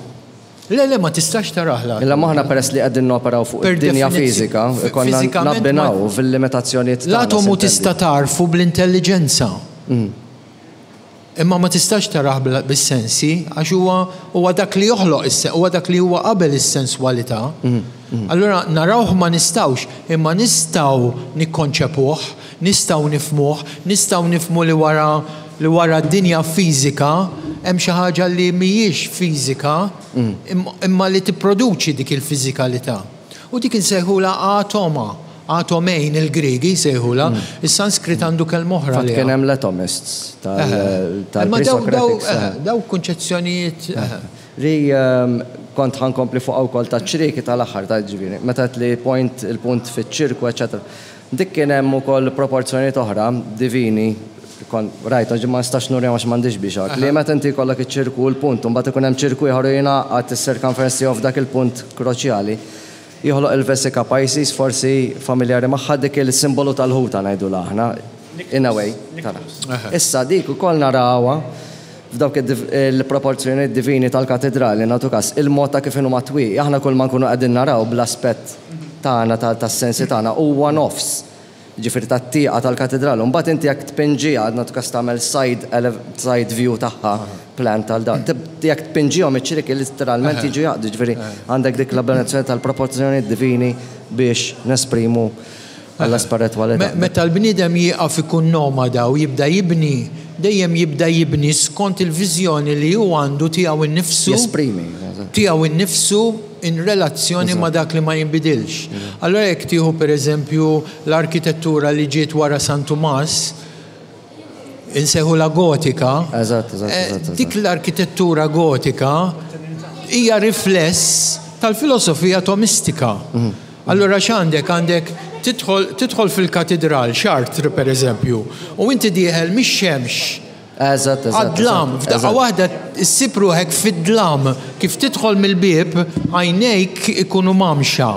Le, le, ma tistax tarah l-atomu. Illa m'aħna peress li qegħdin noperaw fuq id-dinja fiżika, ikollna nabbinaw fil-limitazzjonijiet tagħna. L-atomu tista' tagħrfu bl-intelliġenza. Imma ma tistax tarah bis-sensi għax huwa huwa dak li joħloq is huwa dak li huwa qabel is-senswalità. Allura narawh ma nistgħux, imma nistgħu nikkonċepuh, Nistgħu nifhmuh, nistgħu nifhmu li wara li wara d-dinja fiżika hemm xi ħaġa li mhijiex fiżika imma li tipproduċi dik il-fiżikalità. U dik insejħulha atoma, atomein il-Griegi jsejħulha, is-Sanskrit għandu kelma oħra Fatt għaliha. kien hemm l-atomists tal-pre-Socratics. Dawk kunċezzjonijiet. Li kont ħa nkompli fuqha wkoll taċ-ċrieki tal-aħħar, ta' ġifieri, meta għedt li point, il-punt fiċ-ċirku, eċċetera. Dik kien hemm ukoll proporzjonijiet oħra divini, kont rajthom, ġi ma nistax nurihom għax m'għandix biex hekk, li meta inti jkollok iċ-ċirku u l-punt u mbagħad ikun hemm ċirku ieħor u jingħaqad is-circumference tiegħu f'dak il-punt kroċjali, joħloq il-Vesica Pisces, forsi familjari magħha, dik il-simbolu tal-ħuta ngħidulha aħna, in a way, tara. Issa dik ukoll narawha F'dawk il-proporzjonijiet divini tal-katidrali, nagħtu kas, il-mod ta' kif inhuma t-twieqi, aħna kulma nkunu qegħdin naraw bl-aspett tagħna tas-sensi tagħna huwa nofs, jiġifieri tat-tieqa tal-katidral. U mbagħad inti jekk tpinġiha, nagħtu kas tagħmel side side view tagħha, plan tal da, jekk tpinġihom iċ-ċrieki litteralment jiġu jaqdu, jiġifieri għandek dik l-abbinazzjoni tal-proporzjonijiet divini biex nesprimu għall-ispiritwalità. Meta l-bniedem jieqaf ikun nomada u jibda jibni, dejjem jibda jibni skont il-viżjoni li hu għandu tiegħu nnifsu. Jesprimi. Tiegħu nnifsu in relazzjoni ma' dak li ma jinbidilx. Allura jekk tieħu pereżempju l-arkitettura li ġiet wara San Tumas, insejħulha gotika. Eżatt, eżatt, eżatt. Dik l-arkitettura gotika hija rifless tal-filosofija tomistika. Allura x'għandek? Għandek tidħol tidħol fil-katidral, Chartres pereżempju, u inti dieħel mix-xemx Eżatt, eżatt. Għad-dlam, f'daqqa waħda ssib ruħek fid-dlam. Kif tidħol mill-bieb, għajnejk ikunu mgħammxa.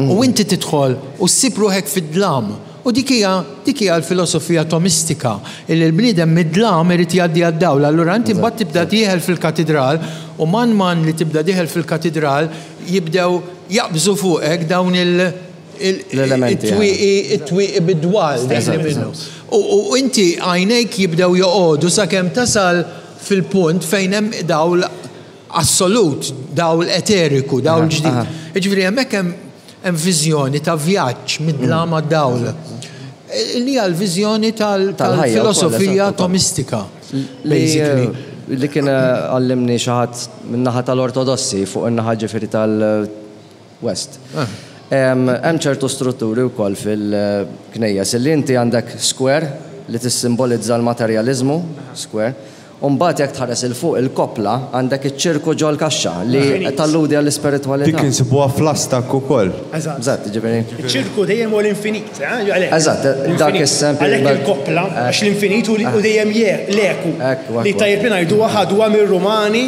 U inti tidħol u ssib ruħek fid-dlam. U dik hija, dik hija l-filosofija tomistika, illi l-bniedem mid-dlam irid jgħaddi għad-dawl. Allura inti mbagħad tibda dieħel fil-katidral u man man li tibda dieħel fil-katidral jibdew jaqbżu fuqek dawn il, L-elementi, it-twieqi, it-twieqi bid-dwal dejjem minnu. U, u inti għajnejk jibdew joqogħdu sakemm tasal fil-punt fejn hemm dawl assolut, dawl eteriku, dawl ġdid. Jiġifieri hemmhekk hemm Hemm viżjoni ta' vjaġġ mid-dlam għad-dawl. Li hija l-viżjoni tal-filosofija tomistika, basically. Li kien għallimni xi ħadd min-naħa tal-Ortodossi fuq in-naħa ġifieri tal-West. Hemm ċertu strutturi wkoll fil-knejjes li inti għandek square li tissimbolizza l-materjaliżmu, square, U mbagħad jekk tħares 'il fuq il-koppla għandek iċ-ċirku ġol-kaxxa li talludi għall-ispiritwalità. Dik insibuha fl-Aztak ukoll. Eżatt. Eżatt, jiġifieri. Iċ-ċirku dejjem huwa l-infinit, eh, għalhekk. Eżatt, dak is-semp. Għalhekk il-koppla, għax l-infinit hu dejjem l-eku. Ekku, ekku. Li tajjeb li ngħiduha ħaduha mir-Rumani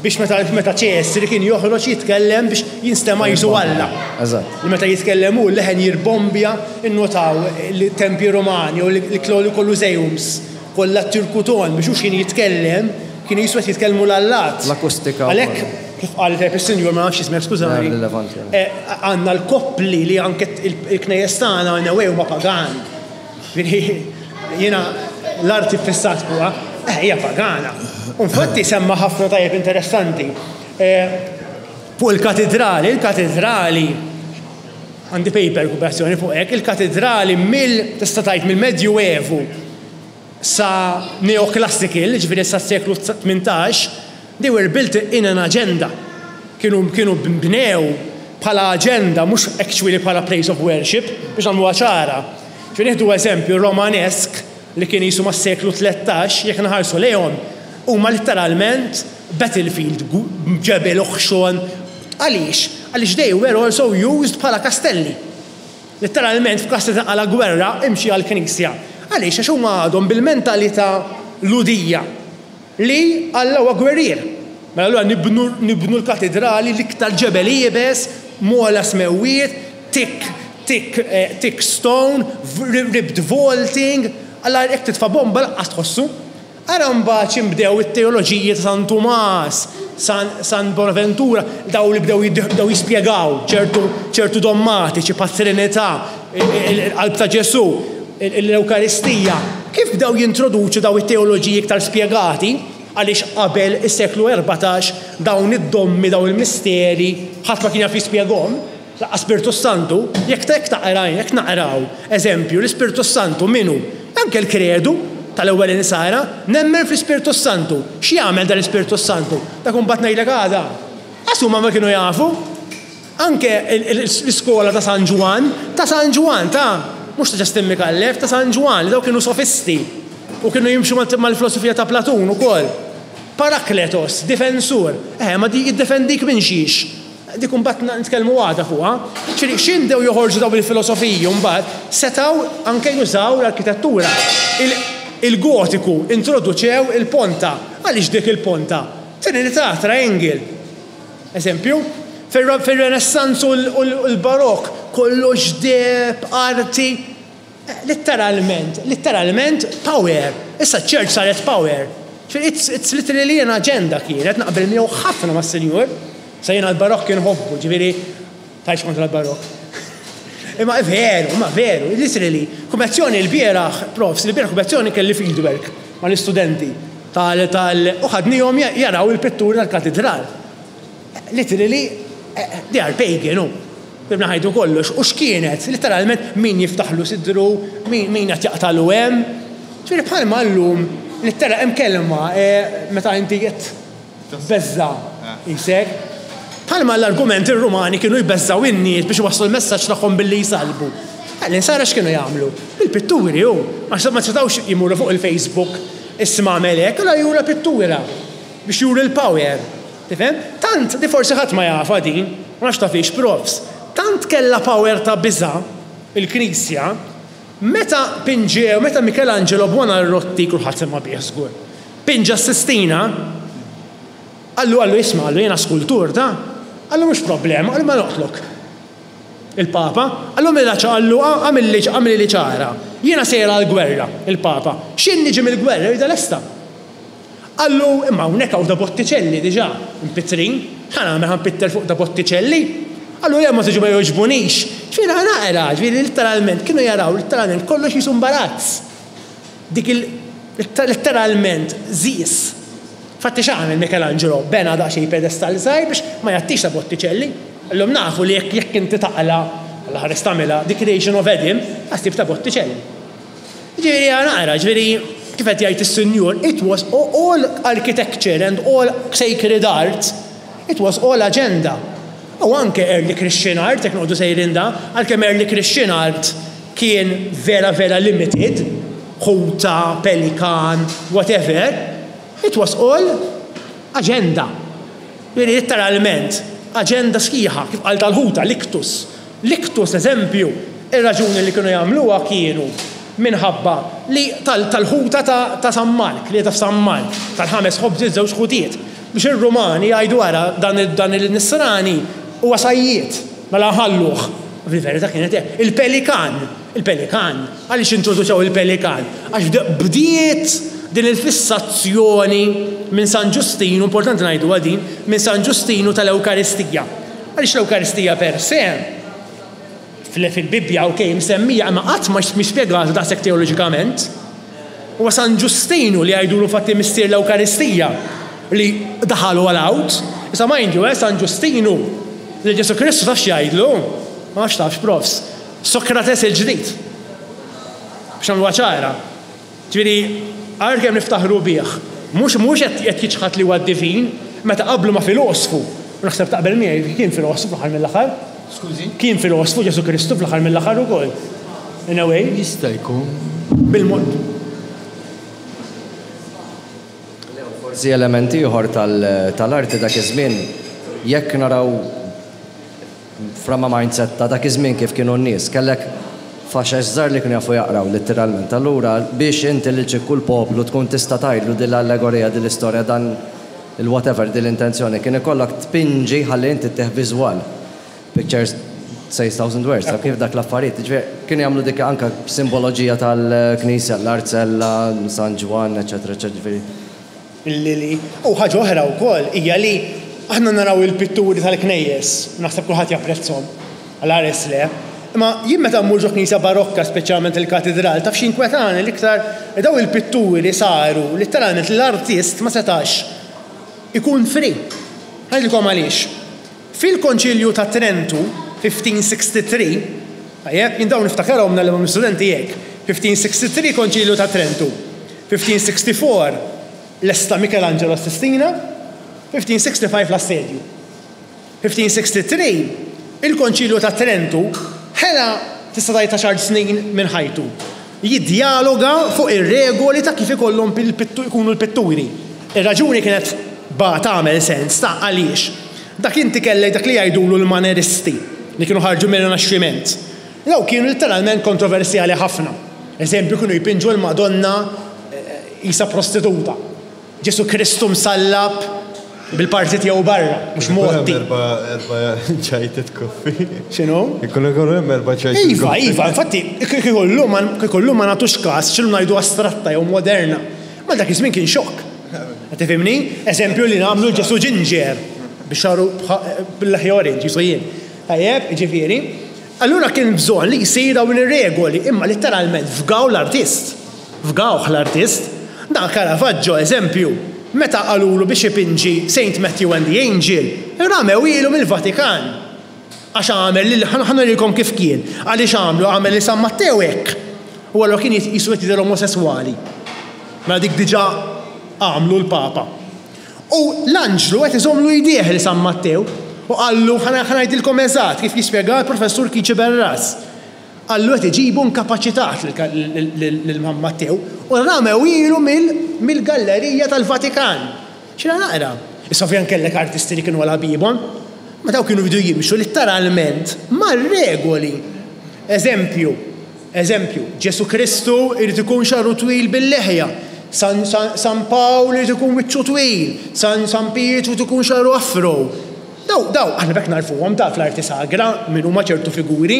biex meta meta Ċesri kien joħroġ jitkellem biex jinstema' qisu Alla. Eżatt. Li meta jitkellem hu l-leħen jirbombja, innotaw li t-tempji Rumani u l-Colosseums Kollha t-tirkuton biex hu x'kien jitkellem, kienu qisu qed jitkellmu l-allat. L-akustika wkoll. Għalhekk, kif qal tajjeb is-Sinjur, ma nafx x'ismek, skużani. Rilevanti. Għandna l-koppli li anke l-knejjes tagħna in a way huma pagani. Jiġifieri jiena l-arti ffissat fuqha, eh hija pagana. U infatti semma ħafna tajjeb interessanti. Fuq il-katidrali, il-katidrali Għandi paper pubblikazzjoni fuq hekk, il-katidrali mill, tista' tgħid mill-Medjuevu sa neoclassical, jiġifieri sa s-seklu 18, they were built in an agenda. Kienu kienu nbnew bħala aġenda mhux actually bħala place of worship, biex nagħmluha ċara. Ġifieri nieħdu eżempju Romanesk li kien qisu mas-seklu 13, jekk inħarsu lejhom, Huma litteralment battlefield, ġebel oħxon. Għaliex? Għaliex they were also used bħala kastelli. Litteralment f'każ li tinqala' gwerra imxi għall-knisja. Għaliex? Għax huma għadhom bil-mentalità Lhudija li Alla huwa gwerrier. Mela allura nibnu nibnu l-katidrali l-iktar ġebel iebes, m'ogħla smewwiet, thick thick thick stone, ribbed vaulting, alla jekk titfa' bomba lanqas tħossu. Ara mbagħad x'in bdew it-teoloġiji ta' San Tumas, San, San Bonaventura, dawn li bdew bdew jispjegaw ċertu, ċertu dommatiċi bħat-Trinità, il-Qalb ta' Ġesù, l-Ewkaristija. Kif bdew jintroduċu dawn it-teoloġiji iktar spjegati, għaliex qabel is-seklu 14 dawn id-dommi, dawn il-misteri, ħadd ma kien jaf jispjegahom. Lanqas Spirtu Santu, jekk jekk taqra, jekk naqraw, eżempju, l-Ispirtu Santu min hu? Anke l-kredu tal-ewwel insara, nemmen fl-Ispirtu Santu. X'jagħmel dan l-Ispirtu Santu? Dak imbagħad ngħidlek għada. Qas huma ma kienu jafu. Anke l-iskola ta' San Ġwann, ta' San Ġwann, ta' mhux ta' Justin Micallef, ta' San Ġwann, li dawk kienu sofisti u kienu jimxu mal-filosofija ta' Platun ukoll. Parakletos, difensur. Eħe, ma jiddefendik minn xiex? Dik imbagħad nitkellmu għada fuqha. Ġifieri x'in bdew joħorġu dawn il-filosofiji mbagħad setgħu anke jużaw l-arkitettura. Il-Gotiku introduċew il-ponta. Għaliex dik il-ponta? Trinità, triangle. Eżempju, fir-Renaissance u l-Barokk kollox deheb, arti. Litteralment, litteralment power. Issa ċ-church saret power. Ġifieri it's, it's literally an agenda kienet, naqbel miegħu ħafna mas-Sinjur. Sa jiena l-Barokk inħobbu, ġifieri tgħidx kontra l-Barokk. Imma veru, imma veru, literally, kummezzjoni l-bieraħ, profs, l-bieraħ kummezzjoni kelli fieldwork mal-istudenti tal, tal, u ħadnihom jaraw il-pitturi tal-katidral. Literally, they are pagan, hu. Bibna ħajtu kollox. U x'kienet? Litteralment min jiftaħlu sidru, min min qed jaqtagħlu hemm. Ġifieri bħalma llum littera hemm kelma meta inti qed tbeżża' qisek. Bħalma l-argument ir-Rumani kienu jbeżżgħu in-nies biex iwasslu l-messaġġ tagħhom billi jsallbu. L-insara x'kienu jagħmlu? Bil-pitturi hu. Għax ma setgħux jmorru fuq il-Facebook isma' għamel hekk, allura jura pittura biex juri l-power. Tifhem? Tant, li forsi ħadd ma jafha din, ma nafx tafhiex profs, tant kellha power ta' biża' il-Knisja, meta pinġew, meta Michelangelo Buonarroti, kulħadd sema' bih żgur, pinġa s-Sistina, qallu qallu isma' qallu jiena skultur ta', qallu mhux problema, qallu ma noqtlok. Il-Papa, qallu mela qallu għamilli għamilli ċara, jiena sejjer għall-gwerra, il-Papa, x'in niġi mill-gwerra rridha lesta. Qallu, imma hawnhekk hawn da Botticelli diġà, mpittrin, x'ħa nagħmel ħa npitter fuq da Botticelli? Qallu, le ma tiġu ma jogħġbunix. Ġifieri ħa naqra, ġifieri litteralment kienu jaraw litteralment kollox qisu mbarazz. Dik il litteralment żiż. Infatti x'għamel Michelangelo? Bena daqsxejn pedestall żgħir biex ma jgħattix ta' Botticelli. Illum nafu li jekk jekk inti taqla', Alla ħares tagħmilha, The Creation of Adam, ħa ssib ta' Botticelli. Ġifieri ħa naqra, ġifieri kif qed jgħid is-Sinjur, it was all architecture and all sacred art, it was all agenda. U anke early Christian art, jekk noqogħdu sejrin da, għalkemm early Christian art kien vera vera limited, ħuta, pelikan, whatever, it was all agenda. Jiġifieri litteralment aġenda sħiħa, kif qal tal-ħuta, l-iktus. L-iktus, eżempju, ir-raġuni li kienu jagħmluha kienu minħabba li tal-ħuta ta' San Mark, li qiegħda f'San Mark, tal-ħames ħobżiet żewġ ħutiet, biex ir-Rumani jgħidu ara dan il-Nisrani huwa sajjied, mela nħalluh. Fil-verità kienet hekk. Il-pelikan, il-pelikan, għaliex introduċew il-pelikan? Għax bdiet din il-fissazzjoni minn San Ġustinu, importanti ngħiduha din, minn San Ġustinu tal-Ewkaristija. Għaliex l-Ewkaristija per se, fil-Bibbja ok msemmija imma qatt ma mhi spjegata daqshekk teoloġikament. Huwa San Ġustinu li jgħidulu infatti missier l-Ewkaristija li daħal all out. Issa mind you, eh, San Ġustinu lil Ġesù Kristu taf x'jgħidlu? Ma nafx tafx, profs. Sokrates il-ġdid. Biex nagħmluha ċara. Ġifieri, għalkemm niftaħru bih, mhux mhux qed qed jiċħad li huwa divin, meta qablu ma' filosfu, u naħseb taqbel miegħi, kien filosfu fl-aħħar mill-aħħar. Skużi? Kien filosfu Ġesù Kristu fl-aħħar mill-aħħar ukoll. In a way. Jista' jkun. Bil-mod. Forsi element ieħor tal-arti dak iż-żmien, jekk naraw from a mindset ta' dak iż-żmien kif kienu n-nies, kellek faxex żgħar li kienu jafu jaqraw litteralment. Allura biex inti lil ċikku l-poplu tkun tista' tgħidlu din l-allegorija, din l-istorja, dan il-whatever, din l-intenzjoni, kien ikollok tpinġi ħalli inti ttih viżwal. Pictures says thousand words, taf kif dak l-affarijiet. Jiġifieri kienu jagħmlu dik anke simboloġija tal-knisja, l-arzella, San Ġwann, eċċetera, eċċetera, jiġifieri. Lili. U ħaġa oħra wkoll hija li aħna naraw il-pitturi tal-knejjes, u naħseb kulħadd japprezzhom, għal ħares le. Imma jien meta mmur ġo knisja barokka, speċjalment il-katidral, taf x'jinkwetani l-iktar? Li dawn il-pitturi saru litteralment li l-artist ma setax ikun free. Ħa ngħidilkom għaliex. Fil-Konċilju ta' Trentu, 1563, tajjeb, jien dawn niftakarhom ngħallimhom l-istudenti hekk, 1563 Konċilju ta' Trentu, 1564 lesta Michelangelo s-Sistina, 1565 l-Assedju. 1563 il-Konċilju ta' Trentu ħela tista' tgħid għaxar snin minn ħajtu jiddjaloga fuq ir-regoli ta' kif ikollhom ikunu l-pitturi. Ir-raġuni kienet ba tagħmel sens ta' għaliex. Dak inti kellek dak li jgħidulu l-Maneristi, li kienu ħarġu mir-Rinaxximent. Dawk kienu litteralment kontroversjali ħafna. Eżempju, kienu jpinġu l-Madonna qisha prostituta. Ġesù Kristu msallab bil-parti tiegħu barra, mhux mgħotti. Ikun hemm erba' ċajtiet koffi. X'inhu? Ikun hemm erba' ċajtiet Iva, iva, infatti, kieku llum kieku llum ma nagħtux kas x'illum ngħidu astratta jew moderna. Ma dak iż-żmien kien xokk. Qed tifhimni? Eżempju li nagħmlu Ġesù ġinġer bix-xagħru bil-leħja orange qisu jien. Tajjeb, jiġifieri. Allura kien bżonn li jsir dawn ir-regoli, imma litteralment fgaw l-artist. Fgawh l-artist. Dan Caravaggio, eżempju, meta qalulu biex ipinġi Saint Matthew and the Angel, ramewielu mill-Vatikan. Għax għamel lil, ħa nurikom kif kien, għaliex għamlu, għamel lil San Mattew hekk. U allura kien qisu qed jidher omosesswali. Mela dik diġà għamlu l-Papa. U l-anġlu qed iżommlu jdejh lil San Mattew u qallu, ħa ngħidilkom eżatt kif jispjega l-Professur Kici Berras. Qallu qed iġibu inkapaċitat lil San Mattew u ramewilu mill-gallerija tal-Vatikan. X'inha naqra? Issa ovvjament kellek artisti li kienu għal ħabibhom, ma dawk kienu jridu jimxu litteralment mar-regoli. Eżempju, eżempju, Ġesù Kristu jrid ikun xagħru twil bil-leħja, San, San, San Pawl irid ikun wiċċu twil, San, San Pietru jrid ikun xagħru afro. Daw, daw, aħna b'hekk nagħrfuhom ta' fl-arti sagra min huma ċertu figuri.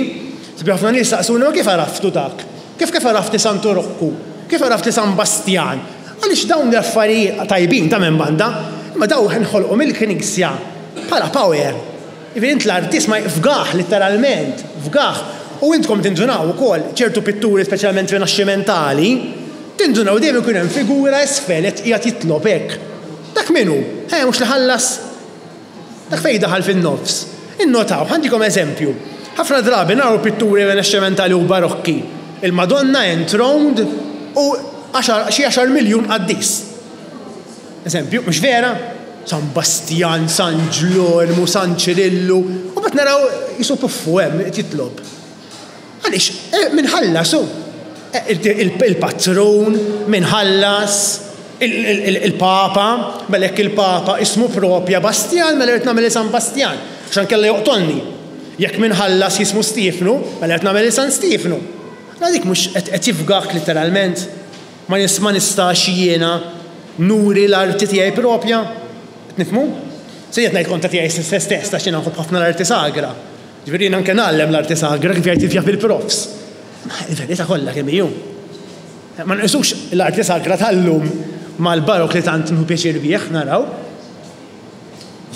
Sabi ħafna nies saqsuni ma kif għaraftu dak? Kif kif għaraft li Santu Rokku? Kif għaraft li San Bastjan? Għaliex dawn l-affarijiet tajbin ta' minn banda, imma daw inħolqu mill-Knisja bħala power. Jiġifieri int l-artist ma fgah litteralment, fgah. U intkom tindunaw ukoll ċertu pitturi speċjalment rinaxximentali, tindunaw dejjem ikun hemm figura isfel qed qiegħed jitlob hekk. Dak min hu? Eh mhux li ħallas? Dak fejn daħal fin-nofs. Innotaw, ħa ntikom eżempju. Ħafna drabi naraw pitturi Rinaxximentali u Barokki, il-Madonna enthroned u xi għaxar miljun qaddis. Eżempju, mhux vera? San Bastjan, San Ġlormu, San Ċirillu, u mbagħad naraw qisu puffu hemm qed jitlob. Għaliex, min ħallas hu? Il-patrun, min ħallas, il-Papa, mela jekk il-Papa ismu propja Bastjan, mela rrid nagħmel San Bastjan, għax inkella joqtolni. Jekk min ħallas jismu Stiefnu, mela rrid nagħmel San Stiefnu. Mela dik mhux qed jifgak litteralment? Ma nistax jiena nuri l-arti tiegħi propja? Qed nifhmu? Se qed ngħid kontra tiegħi stess għax jiena nħobb ħafna l-arti sagra. Ġifieri jien anke ngħallem l-arti sagra kif jgħid jaf il-profs. Ma il-verità kollha kemm hi hu. Ma nqisux l-arti sagra tal-lum mal-barokk li tant nieħu pjaċir bih naraw.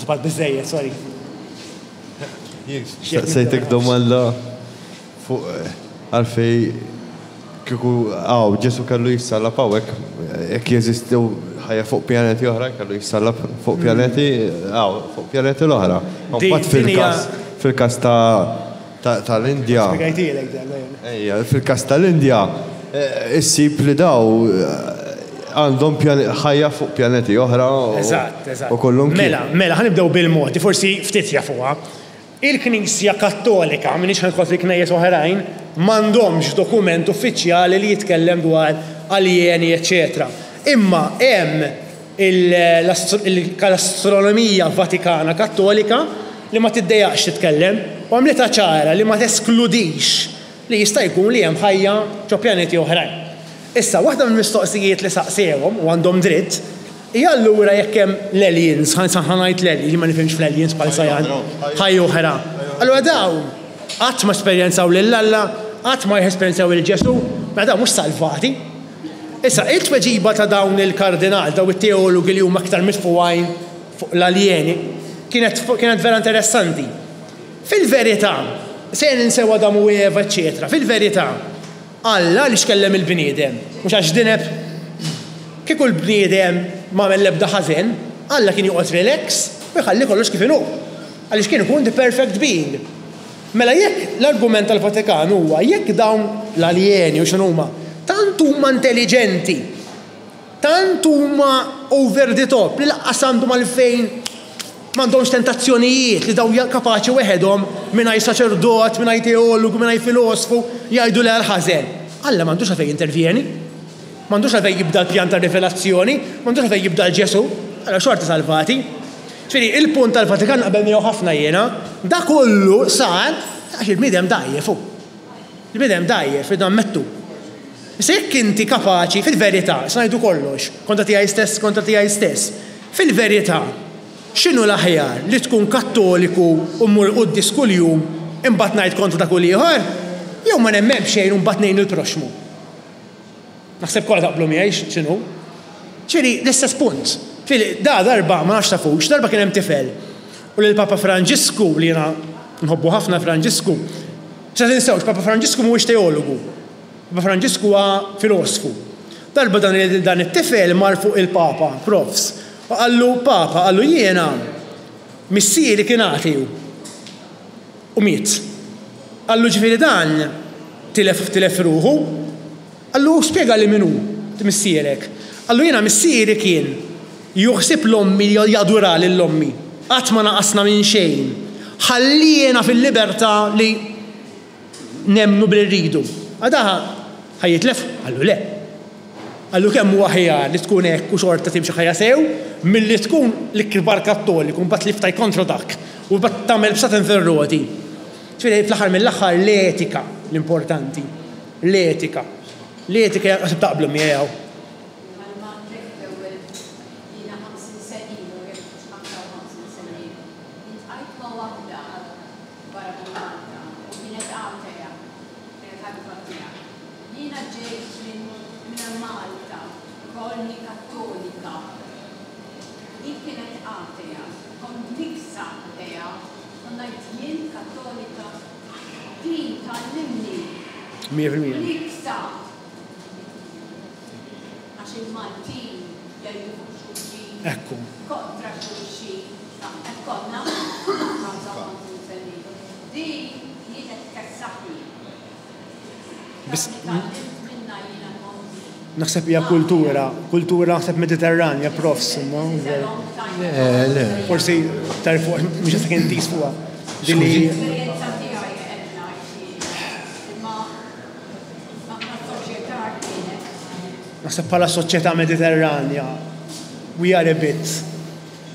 Żball biżżejjed, sorry. Saqsejtek domanda fuq għalfej kieku hawn Ġesù kellu jissallab hawnhekk, jekk jeżistu ħajja fuq pjaneti oħra kellu jissallab fuq pjaneti hawn, fuq pjaneti l-oħra. Mbagħad fil-każ fil-każ ta' tal-Indja. Spjegajtielek dan, ejja. Ejja, fil-każ tal-Indja issib li daw għandhom ħajja fuq pjaneti oħra Eżatt, eżatt. u kullum kien. Mela, mela, ħa nibdew bil-mod, forsi ftit jafuha. Il-Knisja Kattolika, m'iniex ħa nidħol fi knejjes oħrajn, m'għandhomx dokument uffiċjali li jitkellem dwar aljeni eċċetera. Imma hemm L-astronomija Vatikana Kattolika li ma tiddejjaqx titkellem u għamlitha ċara li ma teskludix li jista' jkun li hemm ħajja ġo pjaneti oħrajn. Issa, waħda mill-mistoqsijiet li saqsewhom, u għandhom dritt, hija allura jekk hemm l-aliens, ħa ngħid l-aliens, jien ma nifhimx fl-aliens bħal Sayan, ħajja oħra. Allura dawn qatt ma esperjenzaw lil Alla, qatt ma jesperjenzaw lil Ġesù, mela dawn mhux salvati. Issa, it-tweġiba ta' dawn il-kardinal, dawn it-teologi li huma aktar mitfugħin fuq l-aljeni, kienet kienet vera interessanti. Fil-verità, se ninsew Adam u Eva, eċċetera, fil-verità, Alla għaliex kellem il-bniedem? Mhux għax dineb? Kieku l-bniedem m'għamel l-ebda ħażen, Alla kien joqgħod relax u jħalli kollox kif inhu. Għaliex kien ikun the perfect being. Mela jekk l-argument tal-Vatikan huwa jekk dawn l-aljeni u x'inhuma tant huma intelliġenti, tant huma over the top li lanqas għandhom għalfejn m'għandhomx tentazzjonijiet li dawn kapaċi weħedhom mingħajr saċerdot, mingħajr teologu, mingħajr filosfu jgħidu le għall-ħażen. Alla m'għandux għalfejn jintervjeni. M'għandux għalfejn jibda l-pjan tar-rivelazzjoni, m'għandux għalfejn jibda 'l Ġesù, allura xorta salvati. Ġifieri, il-punt tal-Vatikan naqbel miegħu ħafna jiena, da kollu sar għax il-bniedem dgħajjef hu. Il-bniedem dgħajjef, irridu nammettu. Issa jekk inti kapaċi, fil-verità, issa ngħidu kollox, kontra tiegħi stess, kontra tiegħi stess, fil-verità, x'inhu l-aħjar, li tkun Kattoliku u mmur il-quddies kuljum imbagħad ngħid kontra dak u l-ieħor, jew ma nemmen b'xejn u mbagħad ngħin lill-proxxmu? Naħseb kollha taqblu miegħi x'inhu. Ġifieri l-istess punt. Ġifieri da darba ma nafx tafux, darba kien hemm tifel u lil Papa Franġisku li jiena nħobbu ħafna Franġisku. Issa tinsewx Papa Franġisku mhuwiex teologu. Papa Franġisku huwa filosfu. Darba dan dan it-tifel mar fuq il-Papa, profs, u qallu Papa, qallu jiena missieri kien ateu. U miet. Qallu ġifieri dan tilef tilef ruħu? Qallu spjegali min hu missierek. Qallu jiena missieri kien jieħu ħsieb l-ommi jadura lil ommi. Qatt ma naqasna minn xejn. Ħalliena fil-libertà li nemmnu b'li rridu. Għadaha ħa jitlef? Qallu le. Qallu kemm hu aħjar li tkun hekk u xorta timxi ħajja sew milli tkun l-ikbar Kattoliku mbagħad li ftajt kontra dak u mbagħad tagħmel bsaten fir-roti. Ġifieri fl-aħħar mill-aħħar l-etika l-importanti. L-etika. L-etika hija naħseb taqblu miegħi hawn. Bħalma għedtlek l-ewwel jiena 50 sena ilu jekk mhux 55 sena ilu, iltqajt ma' waħda barra minn Malta u kienet atea. Kienet ħabiba tiegħi. Jiena ġejt minn minn Malta, kolni Kattolika. Hi kienet atea. Kont niksa ħdejha u ngħid jien Kattolika? Din tgħallimni. 100%. Niksa! Għax il-Maltin jgħidu fuq xulxin. Ekku. Kontra xulxin. Hekk konna 55 sena ilu. Din kienet tkessaħni. Biss naħseb hija kultura, kultura naħseb Mediterranja, profs, imma. Le, le. Forsi iktar fuq, mhux qed intis fuqha. Din li. Naħseb bħala soċjetà Mediterranja, we are a bit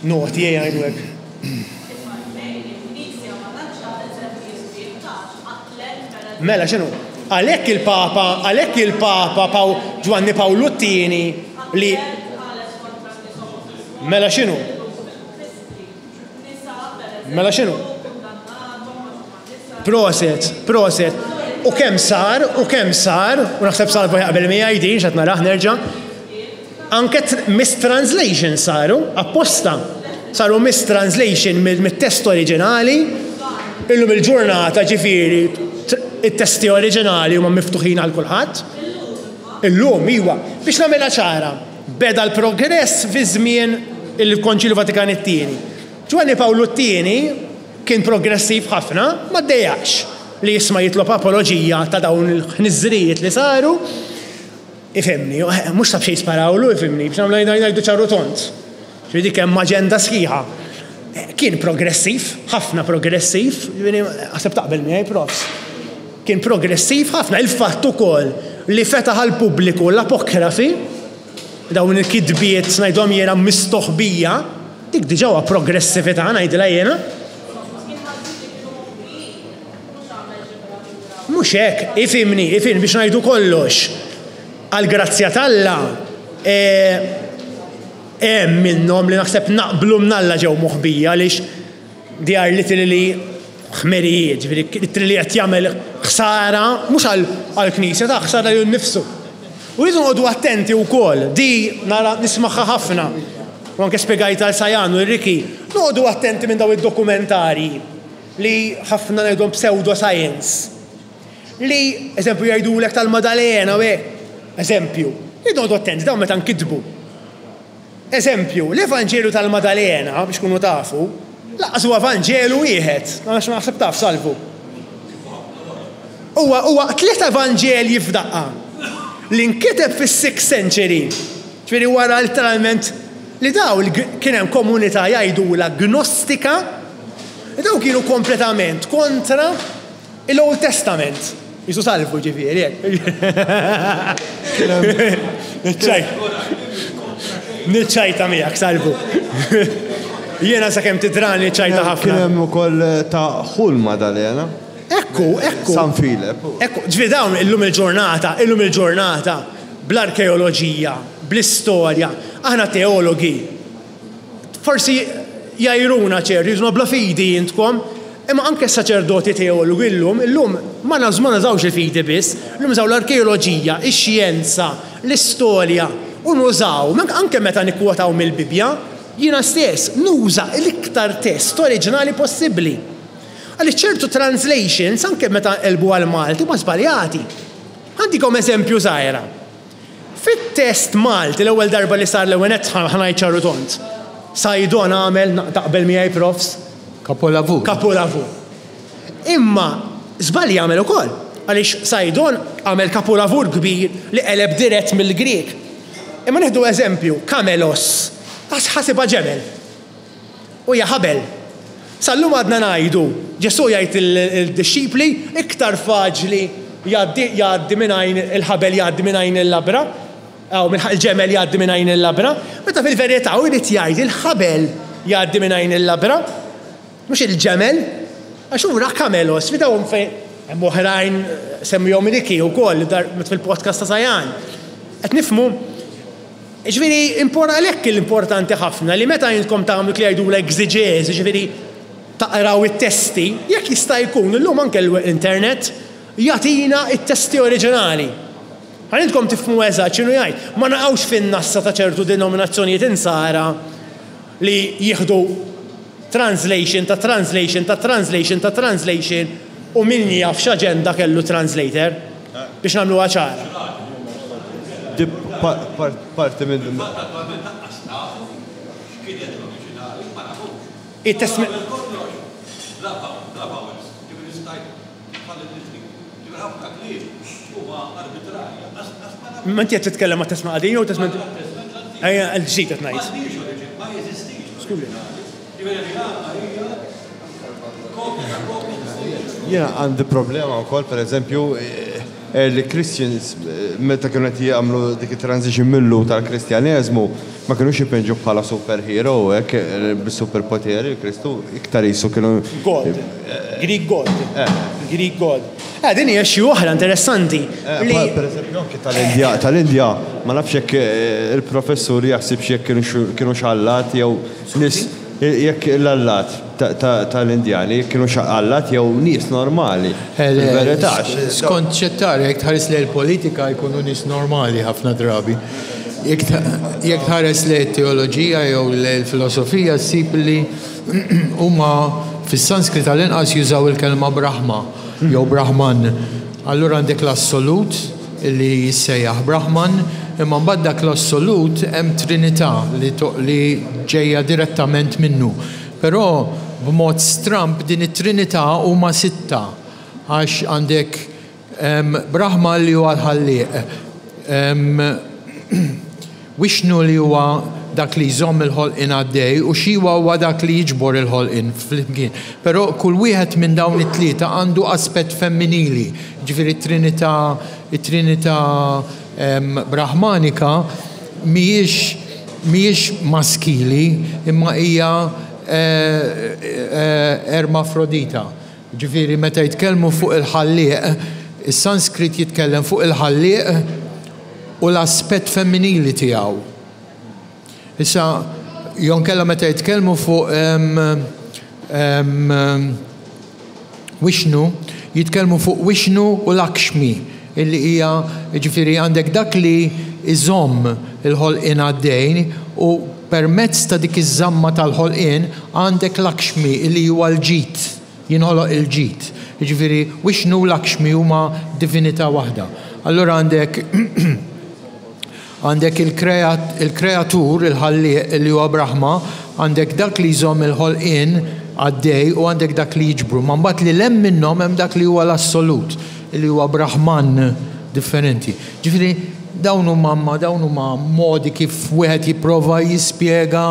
naughty, ejja ngħidu hekk. Mela x'inhu? Għalhekk il-Papa, għalhekk il-Papa Paw Ġwanni Pawlu t-Tieni li Mela x'inhu? Mela x'inhu? Proset, proset. U kemm sar, u kemm sar, u naħseb Salvo jaqbel miegħi din x'qed narah nerġa'. Anke mistranslation saru, apposta. Saru mistranslation mit-test oriġinali. Illum il-ġurnata ġifieri it-testi oriġinali huma miftuħin għal kulħadd. Illum, iwa. Biex nagħmilha ċara, beda l-progress fi żmien il-Konċilju Vatikan it-Tieni. Ġwanni Pawlu t-Tieni kien progressiv ħafna, ma ddejjaqx li jisma' jitlob apoloġija ta' dawn il-ħniżrijiet li saru. Ifhimni, mhux ta' b'xejn sparawlu, ifhimni, biex nagħmlu ngħidu ċar u tond. Ġifieri dik hemm aġenda sħiħa. Kien progressiv, ħafna progressiv, ġifieri naħseb taqbel miegħi profs. Kien progressiv ħafna, il-fatt ukoll li fetaħ għall-pubbliku l-apokrafi. dawn il-kitbiet ngħidhom jiena mistoħbija, dik diġà huwa progressività ngħidilha jiena. Mhux hekk, ifhimni, ifhimni biex ngħidu kollox. Għall-grazzja t'Alla, hemm minnhom li naħseb naqblu mnalla ġew moħbija għaliex they are literally ħmerijiet, ġifieri literally qed jagħmel ħsara mhux għall-Knisja, ta' ħsara lilu nnifsu. U rridu noqogħdu attenti wkoll, di nara nismagħha ħafna, u anke spjegajtha għal Sajan u Ricky, noqogħdu attenti minn dawn id-dokumentarji li ħafna ngħidhom pseudo-science. Li, eżempju, jgħidulek tal-Madalena u hekk. Eżempju, irridu noqogħdu attenti dawn meta nkitbu. Eżempju, l-Evanġelju tal-Madalena, biex tkunu tafu, lanqas huwa Vanġelu wieħed, għax naħseb taf Salvu. Huwa huwa tliet Evanġelji f'daqqa li nkiteb fis-sixth century, ġifieri wara letteralment li daw kien hemm komunità jgħidulha Gnostika, li daw kienu kompletament kontra Il-Old Testament. Jisu salvu ġifieri hekk. Niċċajta miegħek salvu. Jiena sakemm tidrani ċajta ħafna. Kien hemm ukoll ta' Ħul Madalena. Ekku, ekku. San Filep. Ekku, ġifieri dawn illum il-ġurnata, illum il-ġurnata, bl-arkeoloġija, bl-istorja, aħna teologi, Forsi jgħajruna ċerti, jgħidulna bla fidi intkom, imma anke s-saċerdoti teologi llum, illum ma nużawx il-fidi biss, illum nużaw l-arkeoloġija, ix-xjenza, l-istorja, u nużaw, anke meta nikkwotaw mill-Bibbja, jiena stess nuża l-iktar test oriġinali possibbli. Għaliex ċertu translations, anke meta nqelbu għall-Malti, huma żbaljati. Ħa ntikom eżempju żgħira. Fit-test Malti l-ewwel darba li sar l-ewwel nett ħa ngħid ċar u tond. Saydon għamel, taqbel miegħi Profs? Kapolavur. Kapolavur. Imma żball jagħmel ukoll, għaliex Saydon għamel kapolavur kbir li qeleb dirett mill-Grieg. Imma nieħdu eżempju, kamelos, ħasibha ġemel. U hija ħabel. Sal-lum għadna ngħidu, Ġesù jgħid lid-dixxipli, iktar faċli jgħaddi jgħaddi minn għajn il-ħabel jgħaddi minn għajn il-labra, aw il-ġemel jgħaddi minn għajn il-labra, meta fil-verità hu jrid jgħid il-ħabel jgħaddi minn għajn il-labra, mhux il-ġemel, għax hu ra kamelos, fi dawn fejn hemm oħrajn semmihom Ricky wkoll fil-podcast ta' Sajan. Qed nifhmu? Jiġifieri, għalhekk importanti ħafna li meta intkom tagħmlu dik li jgħidulha exegesis, jiġifieri taqraw it-testi, jekk jista' jkun, illum anke l-internet jagħtina t-testi oriġinali. Ħalli intkom tifhmu eżatt x'inhu jgħid. Ma naqgħux fin-nassa ta' ċertu denominazzjonijiet insara li jieħdu translation ta' translation ta' translation ta' translation u min jaf x'aġenda kellu t-translator. Biex nagħmluha ċara. Di parti minn. Fil-fatt attwalment lanqas nafu x'kienet l-oriġinali, ma nafux. It-testment. Qabel kollox bla bla vowels, ġifieri stajt tħalli li trid. Ġifieri ħafna kliem huma arbitrarji, lanqas ma nafux. Ma inti qed titkellem għat-Testment Qadim jew Testment. Għat-Testment l-Antik. Ejja, l-ġdid qed ngħid. M'għandniex oriġin, ma jeżistix l-oriġinali. Ġifieri li għandna hija kopja ta' kopja ta' kopja. Jiena għandi problema wkoll, pereżempju, early Christians meta kienu qed jagħmlu dik it-transition mil-Lhud għall-Kristjaneżmu, ma kinux jpinġuh bħala superhero u hekk bis-superpoteri l-Kristu, iktar qisu kienu. God. Greek God. Greek God. Eh, din hija xi oħra interessanti li. Pereżempju anke tal-Indja, tal-Indja, ma nafx jekk il-professur jaħsibx jekk kinux allat jew nies Jekk l-allat tal-Indjani kienux allat jew nies normali. Fil-verità. Skont x'qed tara, jekk tħares lejn il-politika jkunu nies normali ħafna drabi. Jekk tħares lejn it-teoloġija jew lejn il-filosofija ssib li huma fis-Sanskrit għall-inqas jużaw il-kelma Brahma jew Brahman. Allura għandek l-assolut, li jissejjaħ Brahman, imma mbagħad dak l-assolut hemm Trinità li li ġejja direttament minnu. Però b'mod stramb din it-Trinità huma sitta għax għandek Brahma li huwa l-ħallieq, Wishnu li huwa dak li jżomm il-ħolqien għaddej u Shiwa huwa dak li jiġbor il-ħolqien flimkien. Però kull wieħed minn dawn it-tlieta għandu aspett femminili. Jiġifieri t-Trinità, it-Trinità Brahmanika mhijiex mhijiex maskili imma hija ermafrodita. Ġifieri meta jitkellmu fuq il-ħallieq, is-Sanskrit jitkellem fuq il-ħallieq u l-aspett femminili tiegħu. Issa, jew inkella meta jitkellmu fuq Wishnu, jitkellmu fuq Wishnu u Lakshmi, illi hija, jiġifieri għandek dak li jżomm il-ħolqien għaddej u permezz ta' dik iż-żamma tal-ħolqien għandek Lakshmi illi huwa l-ġid, jinħoloq il-ġid. Jiġifieri Wishnu u Lakshmi huma divinità waħda. Allura għandek Għandek il-Kreatur, il-Ħallieq, li huwa Brahma, għandek dak li jżomm il-ħolqien għaddej u għandek dak li jiġbru. Ma mbagħad lil hemm minnhom hemm dak li huwa l-Assolut, li huwa Brahman differenti. Ġifieri dawn huma ma dawn huma modi kif wieħed jipprova jispjega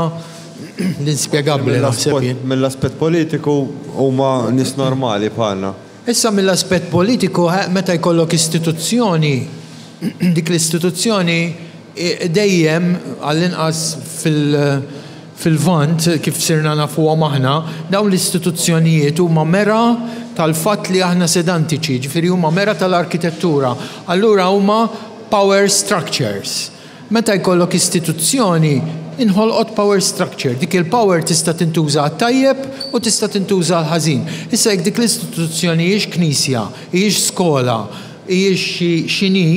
l-inspjegabbli naħseb jien. Mill-aspett politiku huma nies normali bħalna. Issa mill-aspett politiku, meta jkollok istituzzjoni, dik l-istituzzjoni dejjem, għall-inqas fil-Lvant, kif sirna nafuhom aħna, dawn l-istituzzjonijiet huma mera tal-fatt li aħna sedantiċi, jiġifieri huma mera tal-arkitettura. Allura huma power structures. Meta jkollok istituzzjoni, inħolqot power structure. Dik il-power tista' tintuża għat-tajjeb u tista' tintuża għall-ħażin. Issa jekk dik l-istituzzjoni hijiex knisja, hijiex skola, hijiex xi x'inhi,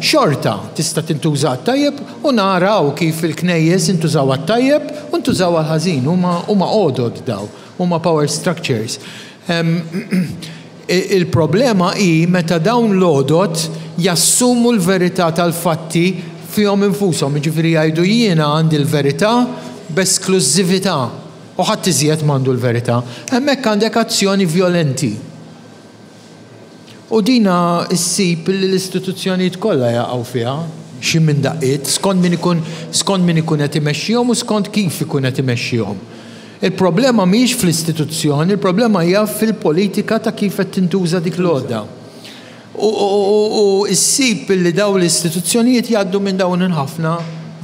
xorta tista' tintuża għat-tajjeb u naraw kif il-knejjes intużaw għat-tajjeb u ntużaw għall-ħażin. Huma huma għodod dawn, huma power structures. Il-problema hi meta dawn l-għodod jassumu l-verità tal-fatti fihom infushom, jiġifieri jgħidu jiena għandi l-verità b'esklużività u ħadd iżjed m'għandu l-verità. Hemmhekk għandek azzjoni vjolenti. U dina ssib li l-istituzzjonijiet kollha jaqgħu fiha xi minn daqqiet, skont min ikun skont min ikun qed imexxihom u skont kif ikun qed imexxihom. Il-problema mhijiex fl-istituzzjoni, il-problema hija fil-politika ta' kif qed tintuża dik l-għodda. U ssib li dawn l-istituzzjonijiet jgħaddu minn dawn il-ħafna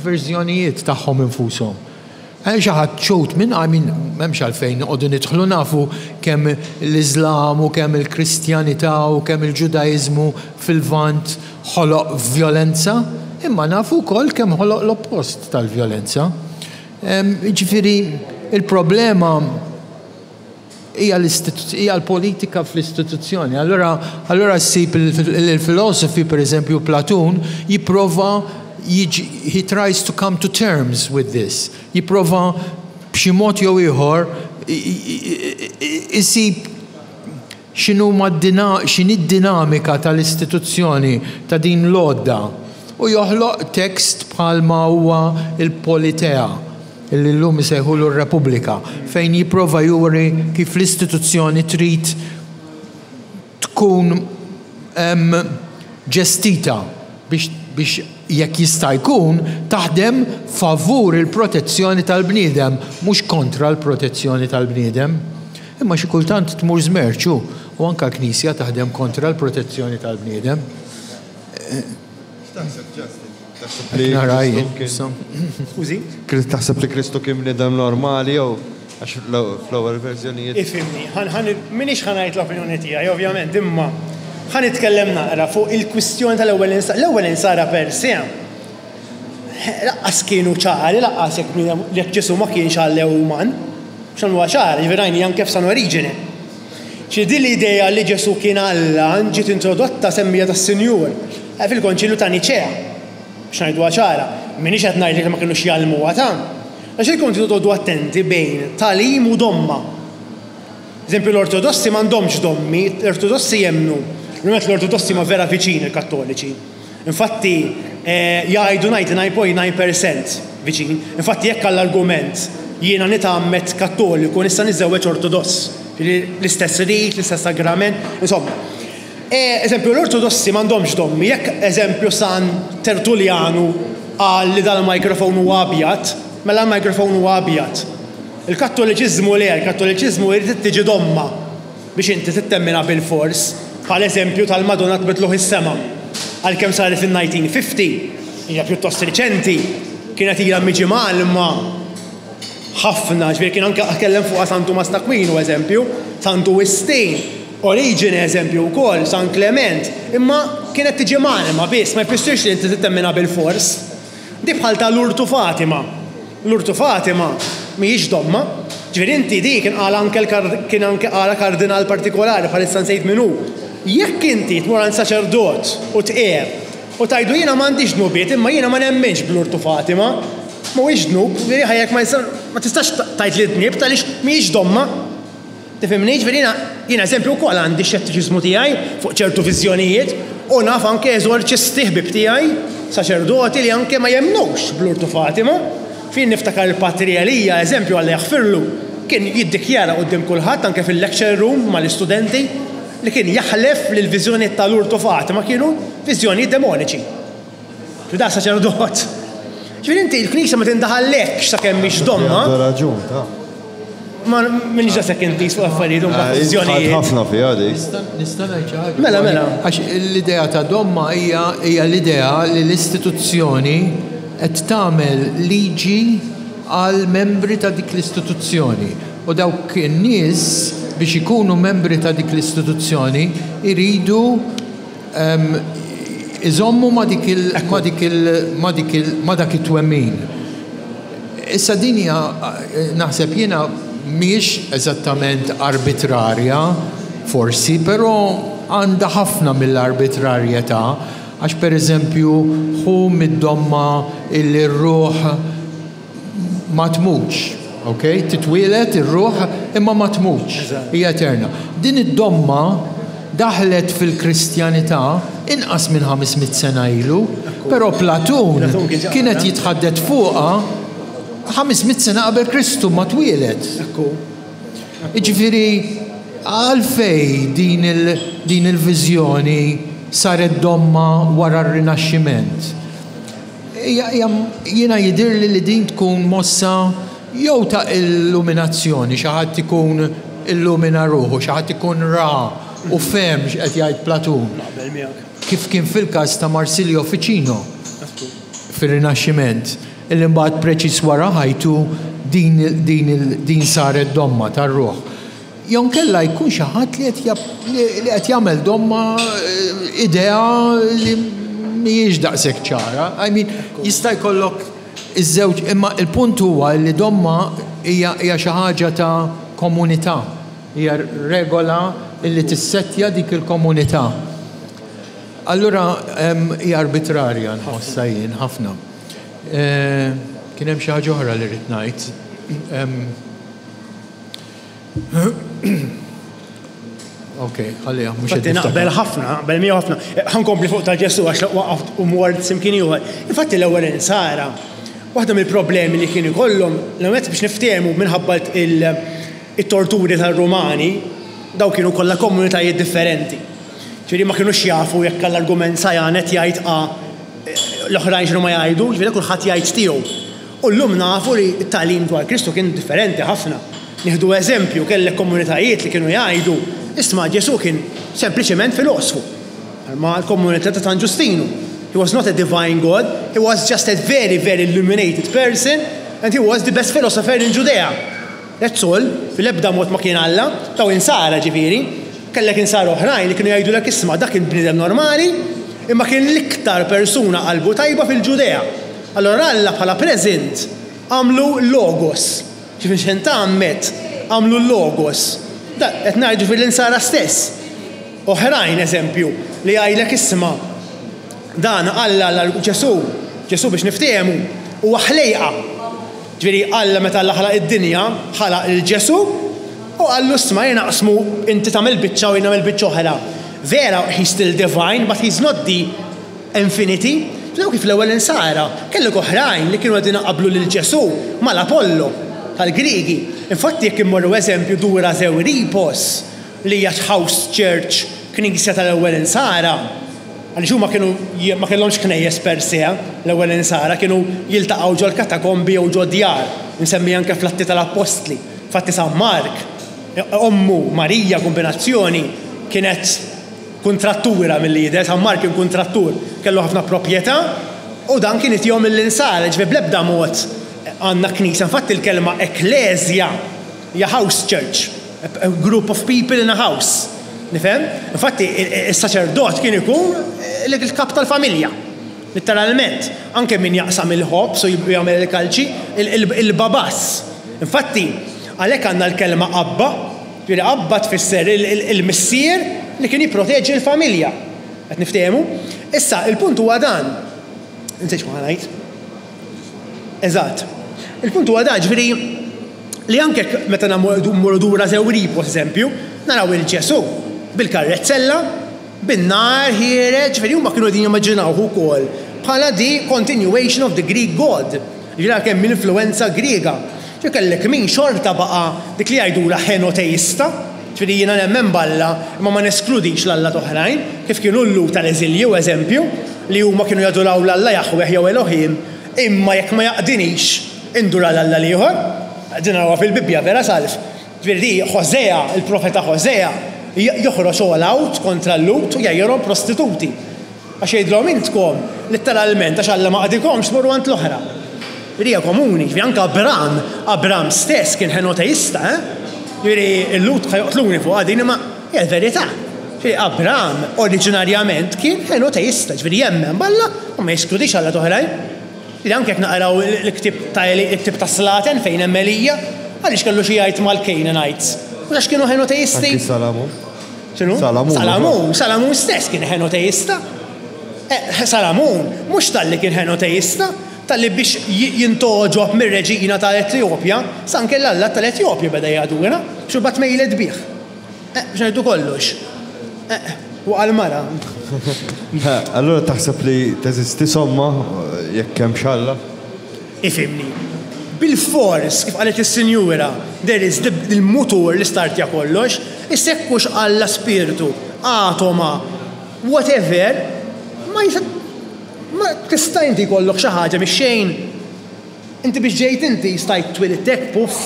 verżjonijiet tagħhom infushom. Hemm xi ħadd xhud minn, I mean, m'hemmx għalfejn noqogħdu nidħlu nafu kemm l-Iżlam u kemm il-Kristjanità u kemm il-Ġudaiżmu fil-Lvant ħoloq vjolenza, imma nafu wkoll kemm ħoloq l-oppost tal-vjolenza. Jiġifieri il-problema hija hija l-politika fl-istituzzjoni. Allura allura ssib il-filosofi, pereżempju Platun, jipprova jiġi he tries to come to terms with this. Jipprova b'xi mod jew ieħor isib x'inhuma x'inhi d-dinamika tal-istituzzjoni ta' din l-għodda u joħloq tekst bħalma huwa l-Politea, li llum isejħulu r-Repubblika, fejn jipprova juri kif l-istituzzjoni trid tkun ġestita biex biex jekk jista' jkun taħdem favur il-protezzjoni tal-bniedem mhux kontra l-protezzjoni tal-bniedem. Imma xi kultant tmur żmerċ hu, u anke l-Knisja taħdem kontra l-protezzjoni tal-bniedem. X'taħseb Justin? Taħseb li Kristu kien. Skużi? Taħseb li Kristu kien bniedem normali jew għax fl-ewwel verżjonijiet. Ifhimni, m'iniex ħa ngħid l-opinjoni tiegħi ovvjament, imma ħa nitkellem naqra fuq il-kwistjoni tal-ewwel insara. L-ewwel insara per se laqqas kienu ċari, laqqas jekk bniedem jekk Ġesù ma kienx Alla jew uman. Biex nagħmluha ċara, jiġifieri rajni anke f'San Oriġene. Ġifieri din l-idea li Ġesù kien Alla ġiet introdotta semmija tas-Sinjur fil-Konċilju ta' Niċea. Biex ngħiduha ċara, m'iniex qed ngħidlek li ma kinux jgħallmuha ta'. Għax ilkom tridu toqgħodu attenti bejn tagħlim u domma. Eżempju l-Ortodossi m'għandhomx dommi, l-Ortodossi jemmnu, l-ewwel l-Ortodossi huma vera viċin il-Kattoliċi. Infatti jgħidu 99.9 percent viċin. Infatti jekk għall-argument jiena nitgħammed Kattoliku nista' niżżewweġ Ortodoss. Jiġifieri l-istess rit, l-istess sagrament, insomma. Eżempju l-Ortodossi m'għandhomx dommi, jekk eżempju San Tertullianu qal li dal-microphone huwa abjad, mela l-microphone huwa abjad. Il-Kattoliċiżmu le, il-Kattoliċiżmu jrid tiġi domma. Biex inti tittemminha bilfors, bħal eżempju tal-Madonna tbiddluh is-sema. Għalkemm saret fin-1950, hija pjuttost riċenti. kienet ilha miġi mgħallma ħafna, ġifieri kien anke tkellem fuqha San Tumas t'Akwinu eżempju, Santu Wistin, Oriġene eżempju wkoll, San Klement, imma kienet tiġi mgħallma biss, ma jfissirx li inti trid temminha bilfors. Di bħal ta' Lurtu Fatima. Lurtu Fatima mhijiex domma. Ġifieri inti di kien qalha anke l kien anke qalha kardinal partikolari bħalissa nsejt min hu. Jekk inti tmur għand saċerdot u tqerr u tgħidlu jiena m'għandix dnubiet imma jiena ma nemminx b'Lurtu Fatima, mhuwiex dnub, ġifieri ħajjek ma ma tistax tgħid li dnibt għaliex mhijiex domma. Tifhimni? Jiġifieri jiena, jiena eżempju wkoll għandi x-xettiċiżmu tiegħi fuq ċertu viżjonijiet u naf anke eżorċisti ħbieb tiegħi, saċerdoti li anke ma jemmnux bl-Urtu Fatima. F'jien niftakar il-Patri Elija, eżempju Alla jaħfirlu, kien jiddikjara quddiem kulħadd anke fil-lecture room mal-istudenti li kien jaħlef li l-viżjonijiet tal-Urtu Fatima kienu viżjonijiet demoniċi. Ġifieri da saċerdot. Ġifieri inti l-Knisja ma tindaħallekx sakemm mhix domma. Għandu raġun, ta. Ma minix daqshekk intiż fuq affarijiet u mbagħad viżjonijiet. Ħafna fiha dik. Nista' ngħid xi ħaġa? Mela, mela. Għax l-idea ta' domma hija hija l-idea li l-istituzzjoni qed tagħmel liġi għal membri ta' dik l-istituzzjoni u dawk in-nies biex ikunu membri ta' dik l-istituzzjoni jridu Iżommu ma' dik il, ma' dik il, ma' dik il, ma' dak it-twemmin. Issa din hija, naħseb jiena, mhijiex eżattament arbitrarja, forsi, però għandha ħafna mill-arbitrarjetà, għax pereżempju ħu mid-domma illi r-ruħ ma tmutx, ok? Titwieled ir-ruħ imma ma tmutx, hija eterna. Din id-domma daħlet fil-Kristjanità inqas minn 500 sena ilu, però Platun kien qed jitħaddet fuqha 500 sena qabel Kristu ma twieled. Jiġifieri għalfejn din din il-viżjoni saret domma wara r-Rinaxximent? Jiena jidhirli li din tkun mossa jew ta' illuminazzjoni, xi ħadd ikun illumina ruħu, xi ħadd ikun ra u fehem x'qed jgħid Platun. Kif kien fil-każ ta' Marsilio Ficino fir-Rinaxximent, illi mbagħad preċiż wara ħajtu din din saret domma tar-ruħ. Jew inkella jkun xi ħadd li qed li qed jagħmel domma idea li mhijiex daqshekk ċara. I mean, jista' jkollok iż-żewġ, imma l-punt huwa li domma hija hija xi ħaġa ta' komunità, hija regola li tissettja dik il-komunità. Allura hija arbitrarja nħossha jien ħafna. Kien hemm xi ħaġa oħra li ridt ngħid. Ok, ħalliha, mhux Infatti naqbel ħafna, naqbel miegħu ħafna. Ħa nkompli fuq ta' Ġesù għax waqaft u mort x'imkien ieħor. Infatti l-ewwel insara, waħda mill-problemi li kien ikollhom, l-ewwel nett biex niftehmu minħabba it-torturi tar-Rumani, dawn kienu kollha komunitajiet differenti. Ġifieri ma kinux jafu jekk għall-argument Sajan qed jgħid A, l-oħrajn x'inhuma jgħidu, ġifieri kulħadd jgħid tiegħu. U llum nafu li t-tagħlim dwar Kristu kien differenti ħafna. Nieħdu eżempju, kellek komunitajiet li kienu jgħidu, isma' Ġesù kien sempliċement filosfu. Bħalma l-komunità ta' San Ġustinu. He was not a divine God, he was just a very, very illuminated person and he was the best philosopher in Judea. That's all, fil-ebda mod ma kien Alla, dawn insara ġifieri. Kellek insara oħrajn li kienu jgħidulek isma' dak kien bniedem normali, imma kien l-iktar persuna qalbu tajba fil-Ġudea. Allura Alla bħala present għamlu logos. Ġifieri x'ħin tgħammed għamlu l-logos. Dan qed ngħid ġifieri l-insara stess. Oħrajn eżempju li jgħidlek isma' dan Alla Alla Ġesù, Ġesù biex niftehmu huwa ħlejqa. Ġifieri Alla meta Alla ħalaq id-dinja ħalaq lil Ġesù u qallu isma' ejja naqsmu inti tagħmel biċċa u jien nagħmel biċċa oħra. Vera he's still divine but he's not the Infinity, Taraw kif l-ewwel insara, kellek oħrajn li kienu qegħdin iqabblu lil Ġesù mal-Apollo tal-Griegi. Infatti jekk immorru eżempju Dura Zeuripos, li hija house church, knisja tal-ewwel insara, għaliex huma kienu ma kellhomx knejjes per se, l-ewwel insara kienu jiltaqgħu ġol-katakombi jew ġo djar, imsemmi anke fl-Atti tal-Appostli. Infatti San Mark, ommu Marija kombinazzjoni, kienet Kuntrattura milli jidher, San Mark kien kuntrattur, kellu ħafna proprjetà. U dan kien itihom lill-Insara, jiġifieri bl-ebda mod għandna knisja. Infatti l-kelma ekkleżja hija house church, a group of people in a house. Nifhem? Infatti is-saċerdot kien ikun il-kap tal-familja. Litteralment. Anke min jaqsam il-ħobż u jagħmel il-kalċi, il-babas. Infatti, għalhekk għandna l-kelma abba, jiġifieri abba tfisser il-missier li kien jipproteġi l-familja. Qed niftehmu? Issa, il-punt huwa dan. Insejt x'kont ħa ngħid. Eżatt. Il-punt huwa dan, ġifieri li anke meta mmorru dura Żewripos, eżempju, naraw il-Ġesù bil-karrezzella, bin-nar ħiereġ, ġifieri huma kienu qegħdin jimmaġinawh ukoll bħala the continuation of the Greek god. Ġifieri għalkemm l-influwenza Griega. Ġifieri kellek min xorta baqa' dik li jgħidulha henoteista, ġifieri jiena nemmen b'Alla imma ma neskludix l-allat oħrajn, kif kienu l-Lhud tal-eżilju eżempju, li huma kienu jaduraw l-Alla Jaħweh jew Elohim, imma jekk ma jaqdinix indur għal Alla l-ieħor. Din narawha fil-Bibbja, vera Salv? Ġifieri di Hosea, il-profeta Hosea, joħroġ all out kontra l-Lhud u jgħajjarhom prostituti. Għax jgħidilhom intkom, litteralment, għax Alla ma qadikomx tmorru għand l-oħra. Ġifieri hija komuni, ġifieri anke Abram, Abram stess kien henoteista, eh? Ġifieri l-Lhud ħa joqtluni fuqha din imma hija l-verità. Ġifieri Abram oriġinarjament kien henoteista, ġifieri jemmen b'Alla u ma jeskludix allat oħrajn. Ġifieri anke jekk naqraw il-ktieb ta' il-ktieb tas-Slaten fejn hemm Elija, għaliex kellu xi jgħid mal-Canaanites? Mhux għax kienu henoteisti? Anki Salamun. X'inhu? Salamun. Salamun, Salamun stess kien henoteista. Eh, Salamun mhux talli kien henoteista, talli biex jintgħoġob mir-reġina tal-Etjopja, sa anke l-allat tal-Etjopja beda jadura, biex imbagħad mejlet bih. Eh, biex ngħidu kollox. Eh, waqa' l-mara. Allura taħseb li teżisti somma jekk hemmx Alla? Ifhimni. Bilfors, kif qalet is-sinjura, there is the il-mutur li startja kollox, issa jekk hux Alla spirtu, atoma, whatever, ma jista' ma tista' inti jkollok xi ħaġa mix-xejn? Inti biex ġejt inti stajt twilidt hekk puff?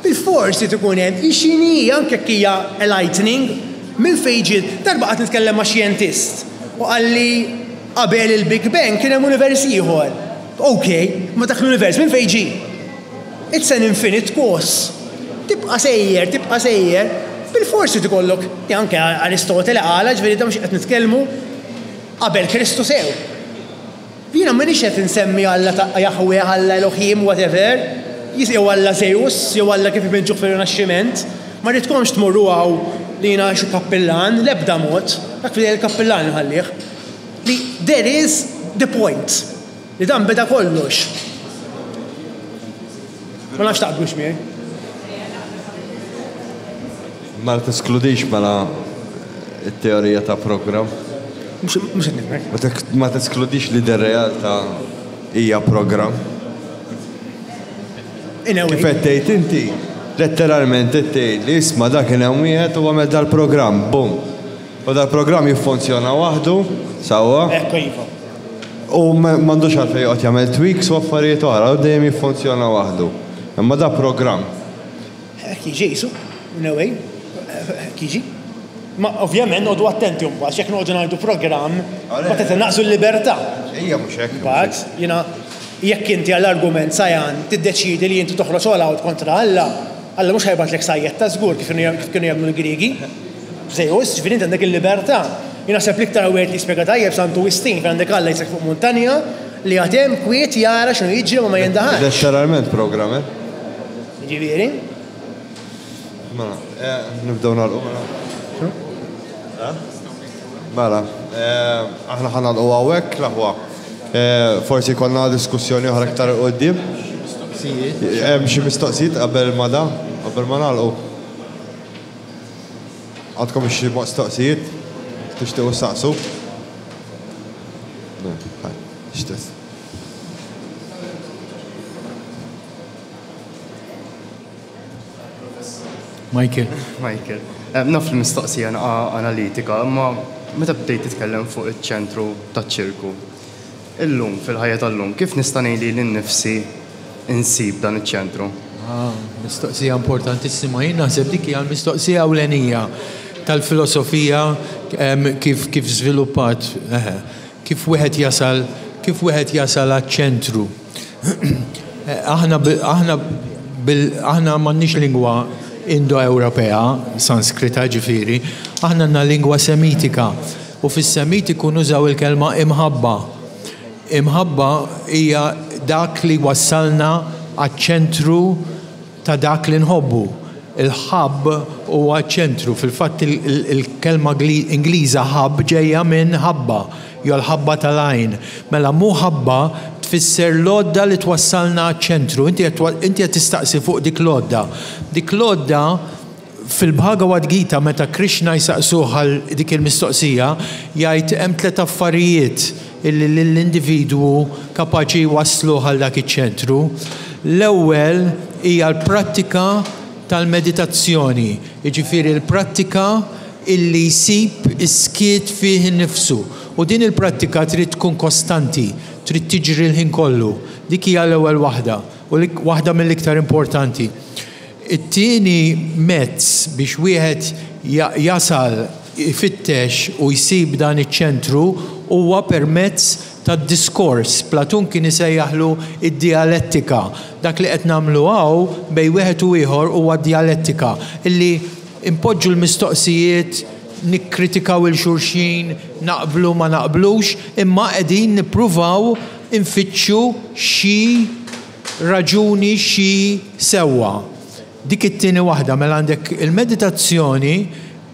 Bilfors irid ikun hemm, hi x'inhi, anke jekk hija a lightning, minn fejn ġiet. Darba qgħadt nitkellem ma' xjentist u qalli qabel il-Big Bang kien hemm univers ieħor. Ok, imma dak l-univers minn fejn ġie? It's an infinite cause. Tibqa' sejjer, tibqa' sejjer, bilfors irid ikollok, anke Aristotele qalha, ġifieri da mhux qed nitkellmu qabel Kristu sew. Jiena m'iniex qed insemmi Alla ta' Jahweh, Alla Elohim, whatever, jew Alla Zeus, jew Alla kif ipinġuh fir-Rinaxximent. Ma rridkomx tmorru hawn li jiena xi kappillan, l-ebda mod. Dak f'idej il-kappillan inħallih. Li there is the point. Li dan beda kollox. Ma nafx taqblux miegħi. Ma teskludix mela t-teorija ta' programm? Mhux qed nifhmek. Ma teskludix li dir-realtà hija programm? In a way. Kif qed tgħid inti, letteralment qed tgħid li isma' dak kien hemm wieħed u għamel dal-programm, bum. U dal-programm jiffunzjona waħdu, sewwa? Ekku iva. U m'għandux għalfejn joqgħod jagħmel tweaks u affarijiet oħra, u dejjem jiffunzjona waħdu. Imma da programm. Hekk jiġi qisu, in a way, hekk jiġi. Ma ovvjament noqogħdu attenti mbagħad, jekk noqogħdu ngħidu programm, mbagħad qed innaqqsu l-libertà. Ejja mhux hekk. Mbagħad jiena jekk inti għall-argument Sajan tiddeċiedi li inti toħroġ all out kontra Alla, Alla mhux ħa jibgħatlek sajjetta żgur kif kienu jagħmlu l-Griegi. Zeus, ġifieri inti għandek il-libertà. Jien naħseb l-iktar wieħed li jispjega tajjeb Santu Wistin fejn għandek Alla jisek fuq muntanja li għad hemm kwiet jara x'inhu jiġri ma ma jindaħalx. Letteralment programm, eh? Jiġifieri? Mela, eh, nibdew nagħlqu mela. Eh? Mela, eh, aħna ħa nagħlqu hawnhekk l-aħwa. Eh, forsi jkollna diskussjoni oħra iktar quddiem. Hemm xi mistoqsijiet qabel ma da, qabel ma nagħlqu. Għandkom xi mistoqsijiet tixtiequ ssaqsu? X'test. Michael. Michael. Eh, naf li mistoqsija naqa analitika, imma meta bdejt titkellem fuq iċ-ċentru taċ-ċirku, illum fil-ħajja tal-lum, kif nista' ngħin lili nnifsi insib dan iċ-ċentru? Ah, mistoqsija importantissima. Jien naħseb dik hija l-mistoqsija ewlenija tal-filosofija kif kif żviluppat, kif wieħed jasal. kif wieħed jasal għaċ-ċentru. Aħna aħna bil aħna m'għandniex lingwa Indo-Ewropea, Sanskrita ġifieri, aħna għandna lingwa Semitika u fis-Semitiku nużaw il-kelma imħabba. Imħabba hija dak li jwassalna għaċ-ċentru ta' dak li nħobbu. Il-hub huwa ċ-ċentru. Fil-fatt il-kelma Ingliża hub ġejja minn ħabba, jew l-ħabba tal-għajn. Mela muħabba tfisser l-għodda li twassalna għaċ-ċentru. Inti qed tistaqsi fuq dik l-għodda. Dik l-għodda Fil-Bhagavad Gita meta Krishna jsaqsuh għal dik il-mistoqsija, jgħid hemm tlett affarijiet illi lill-individwu kapaċi jwassluh għal dak iċ-ċentru. L-ewwel hija l-prattika tal-meditazzjoni, jiġifieri l-prattika illi jsib is-skiet fih innifsu. U din il-prattika trid tkun kostanti, trid tiġri l-ħin kollu. Dik hija l-ewwel waħda u waħda mill-iktar importanti. It-tieni mezz biex wieħed jasal ifittex u jsib dan iċ-ċentru huwa permezz tad-diskors. Platun kien isejjaħlu d-dijalettika. Dak li qed nagħmlu hawn bejn wieħed u ieħor huwa djalettika, illi npoġġu l-mistoqsijiet, nikkritikaw 'il xulxin, naqblu ma naqblux, imma qegħdin nippruvaw infittxu xi raġuni xi sewwa. Dik it-tieni waħda, mela għandek il-meditazzjoni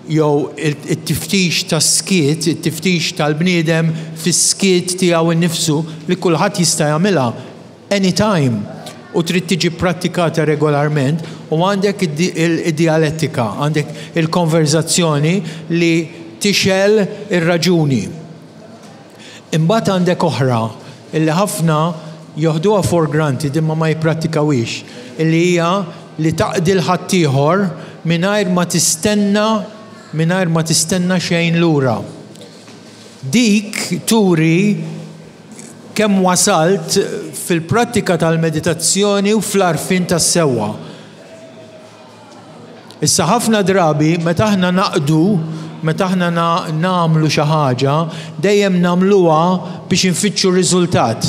jew it-tiftix tas-skiet, it-tiftix tal-bniedem fis-skiet tiegħu nnifsu li kulħadd jista' jagħmilha anytime u trid tiġi pprattikata regolarment u għandek id-dijalettika, għandek il-konverżazzjoni li tixgħel ir-raġuni. Imbagħad għandek oħra illi ħafna joħduha for granted imma ma jipprattikawhiex, illi hija li taqdi 'l ħaddieħor mingħajr ma tistenna mingħajr ma tistenna xejn lura. Dik turi kemm wasalt fil-prattika tal-meditazzjoni u fl-għarfien tas-sewwa. Issa ħafna drabi meta aħna naqdu, meta aħna nagħmlu xi ħaġa, dejjem nagħmluha biex infittxu riżultat.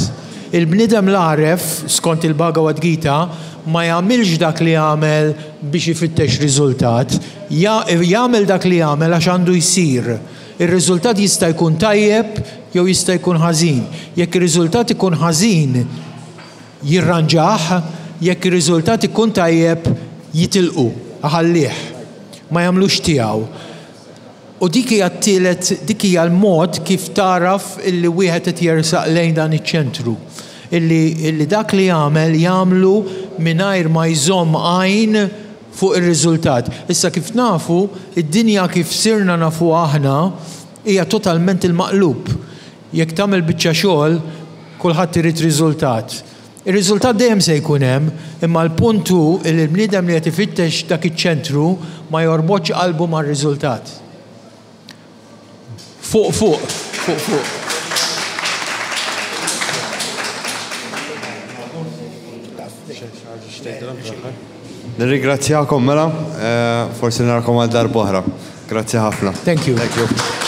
Il-bniedem l-għaref, skont il-Bhagavad Gita, ma jagħmilx dak li jagħmel biex ifittex riżultat. Jagħmel dak li jagħmel għax għandu jsir. Ir-riżultat jista' jkun tajjeb jew jista' jkun ħażin. Jekk ir-riżultat ikun ħażin, Jirranġah, jekk ir-riżultat ikun tajjeb jitilqu, iħallih. Ma jagħmlux tiegħu. U dik hija t-tielet, dik hija l-mod kif tagħraf illi wieħed qed jersaq lejn dan iċ-ċentru. Illi, illi dak li jagħmel jagħmlu mingħajr ma jżomm għajn fuq ir-riżultat. Issa kif nafu, id-dinja kif sirna nafuha aħna hija totalment il-maqlub. Jekk tagħmel biċċa xogħol, kulħadd irid riżultat. Ir-riżultat dejjem se jkun hemm, imma l-punt hu li l-bniedem li qed ifittex dak iċ-ċentru ma jorbotx qalbu mar-riżultat. Fuq fuq, fuq fuq. Nirringrazzjakom mela, forsi narakom għal darb'oħra. Grazzi ħafna. Thank you. Thank you.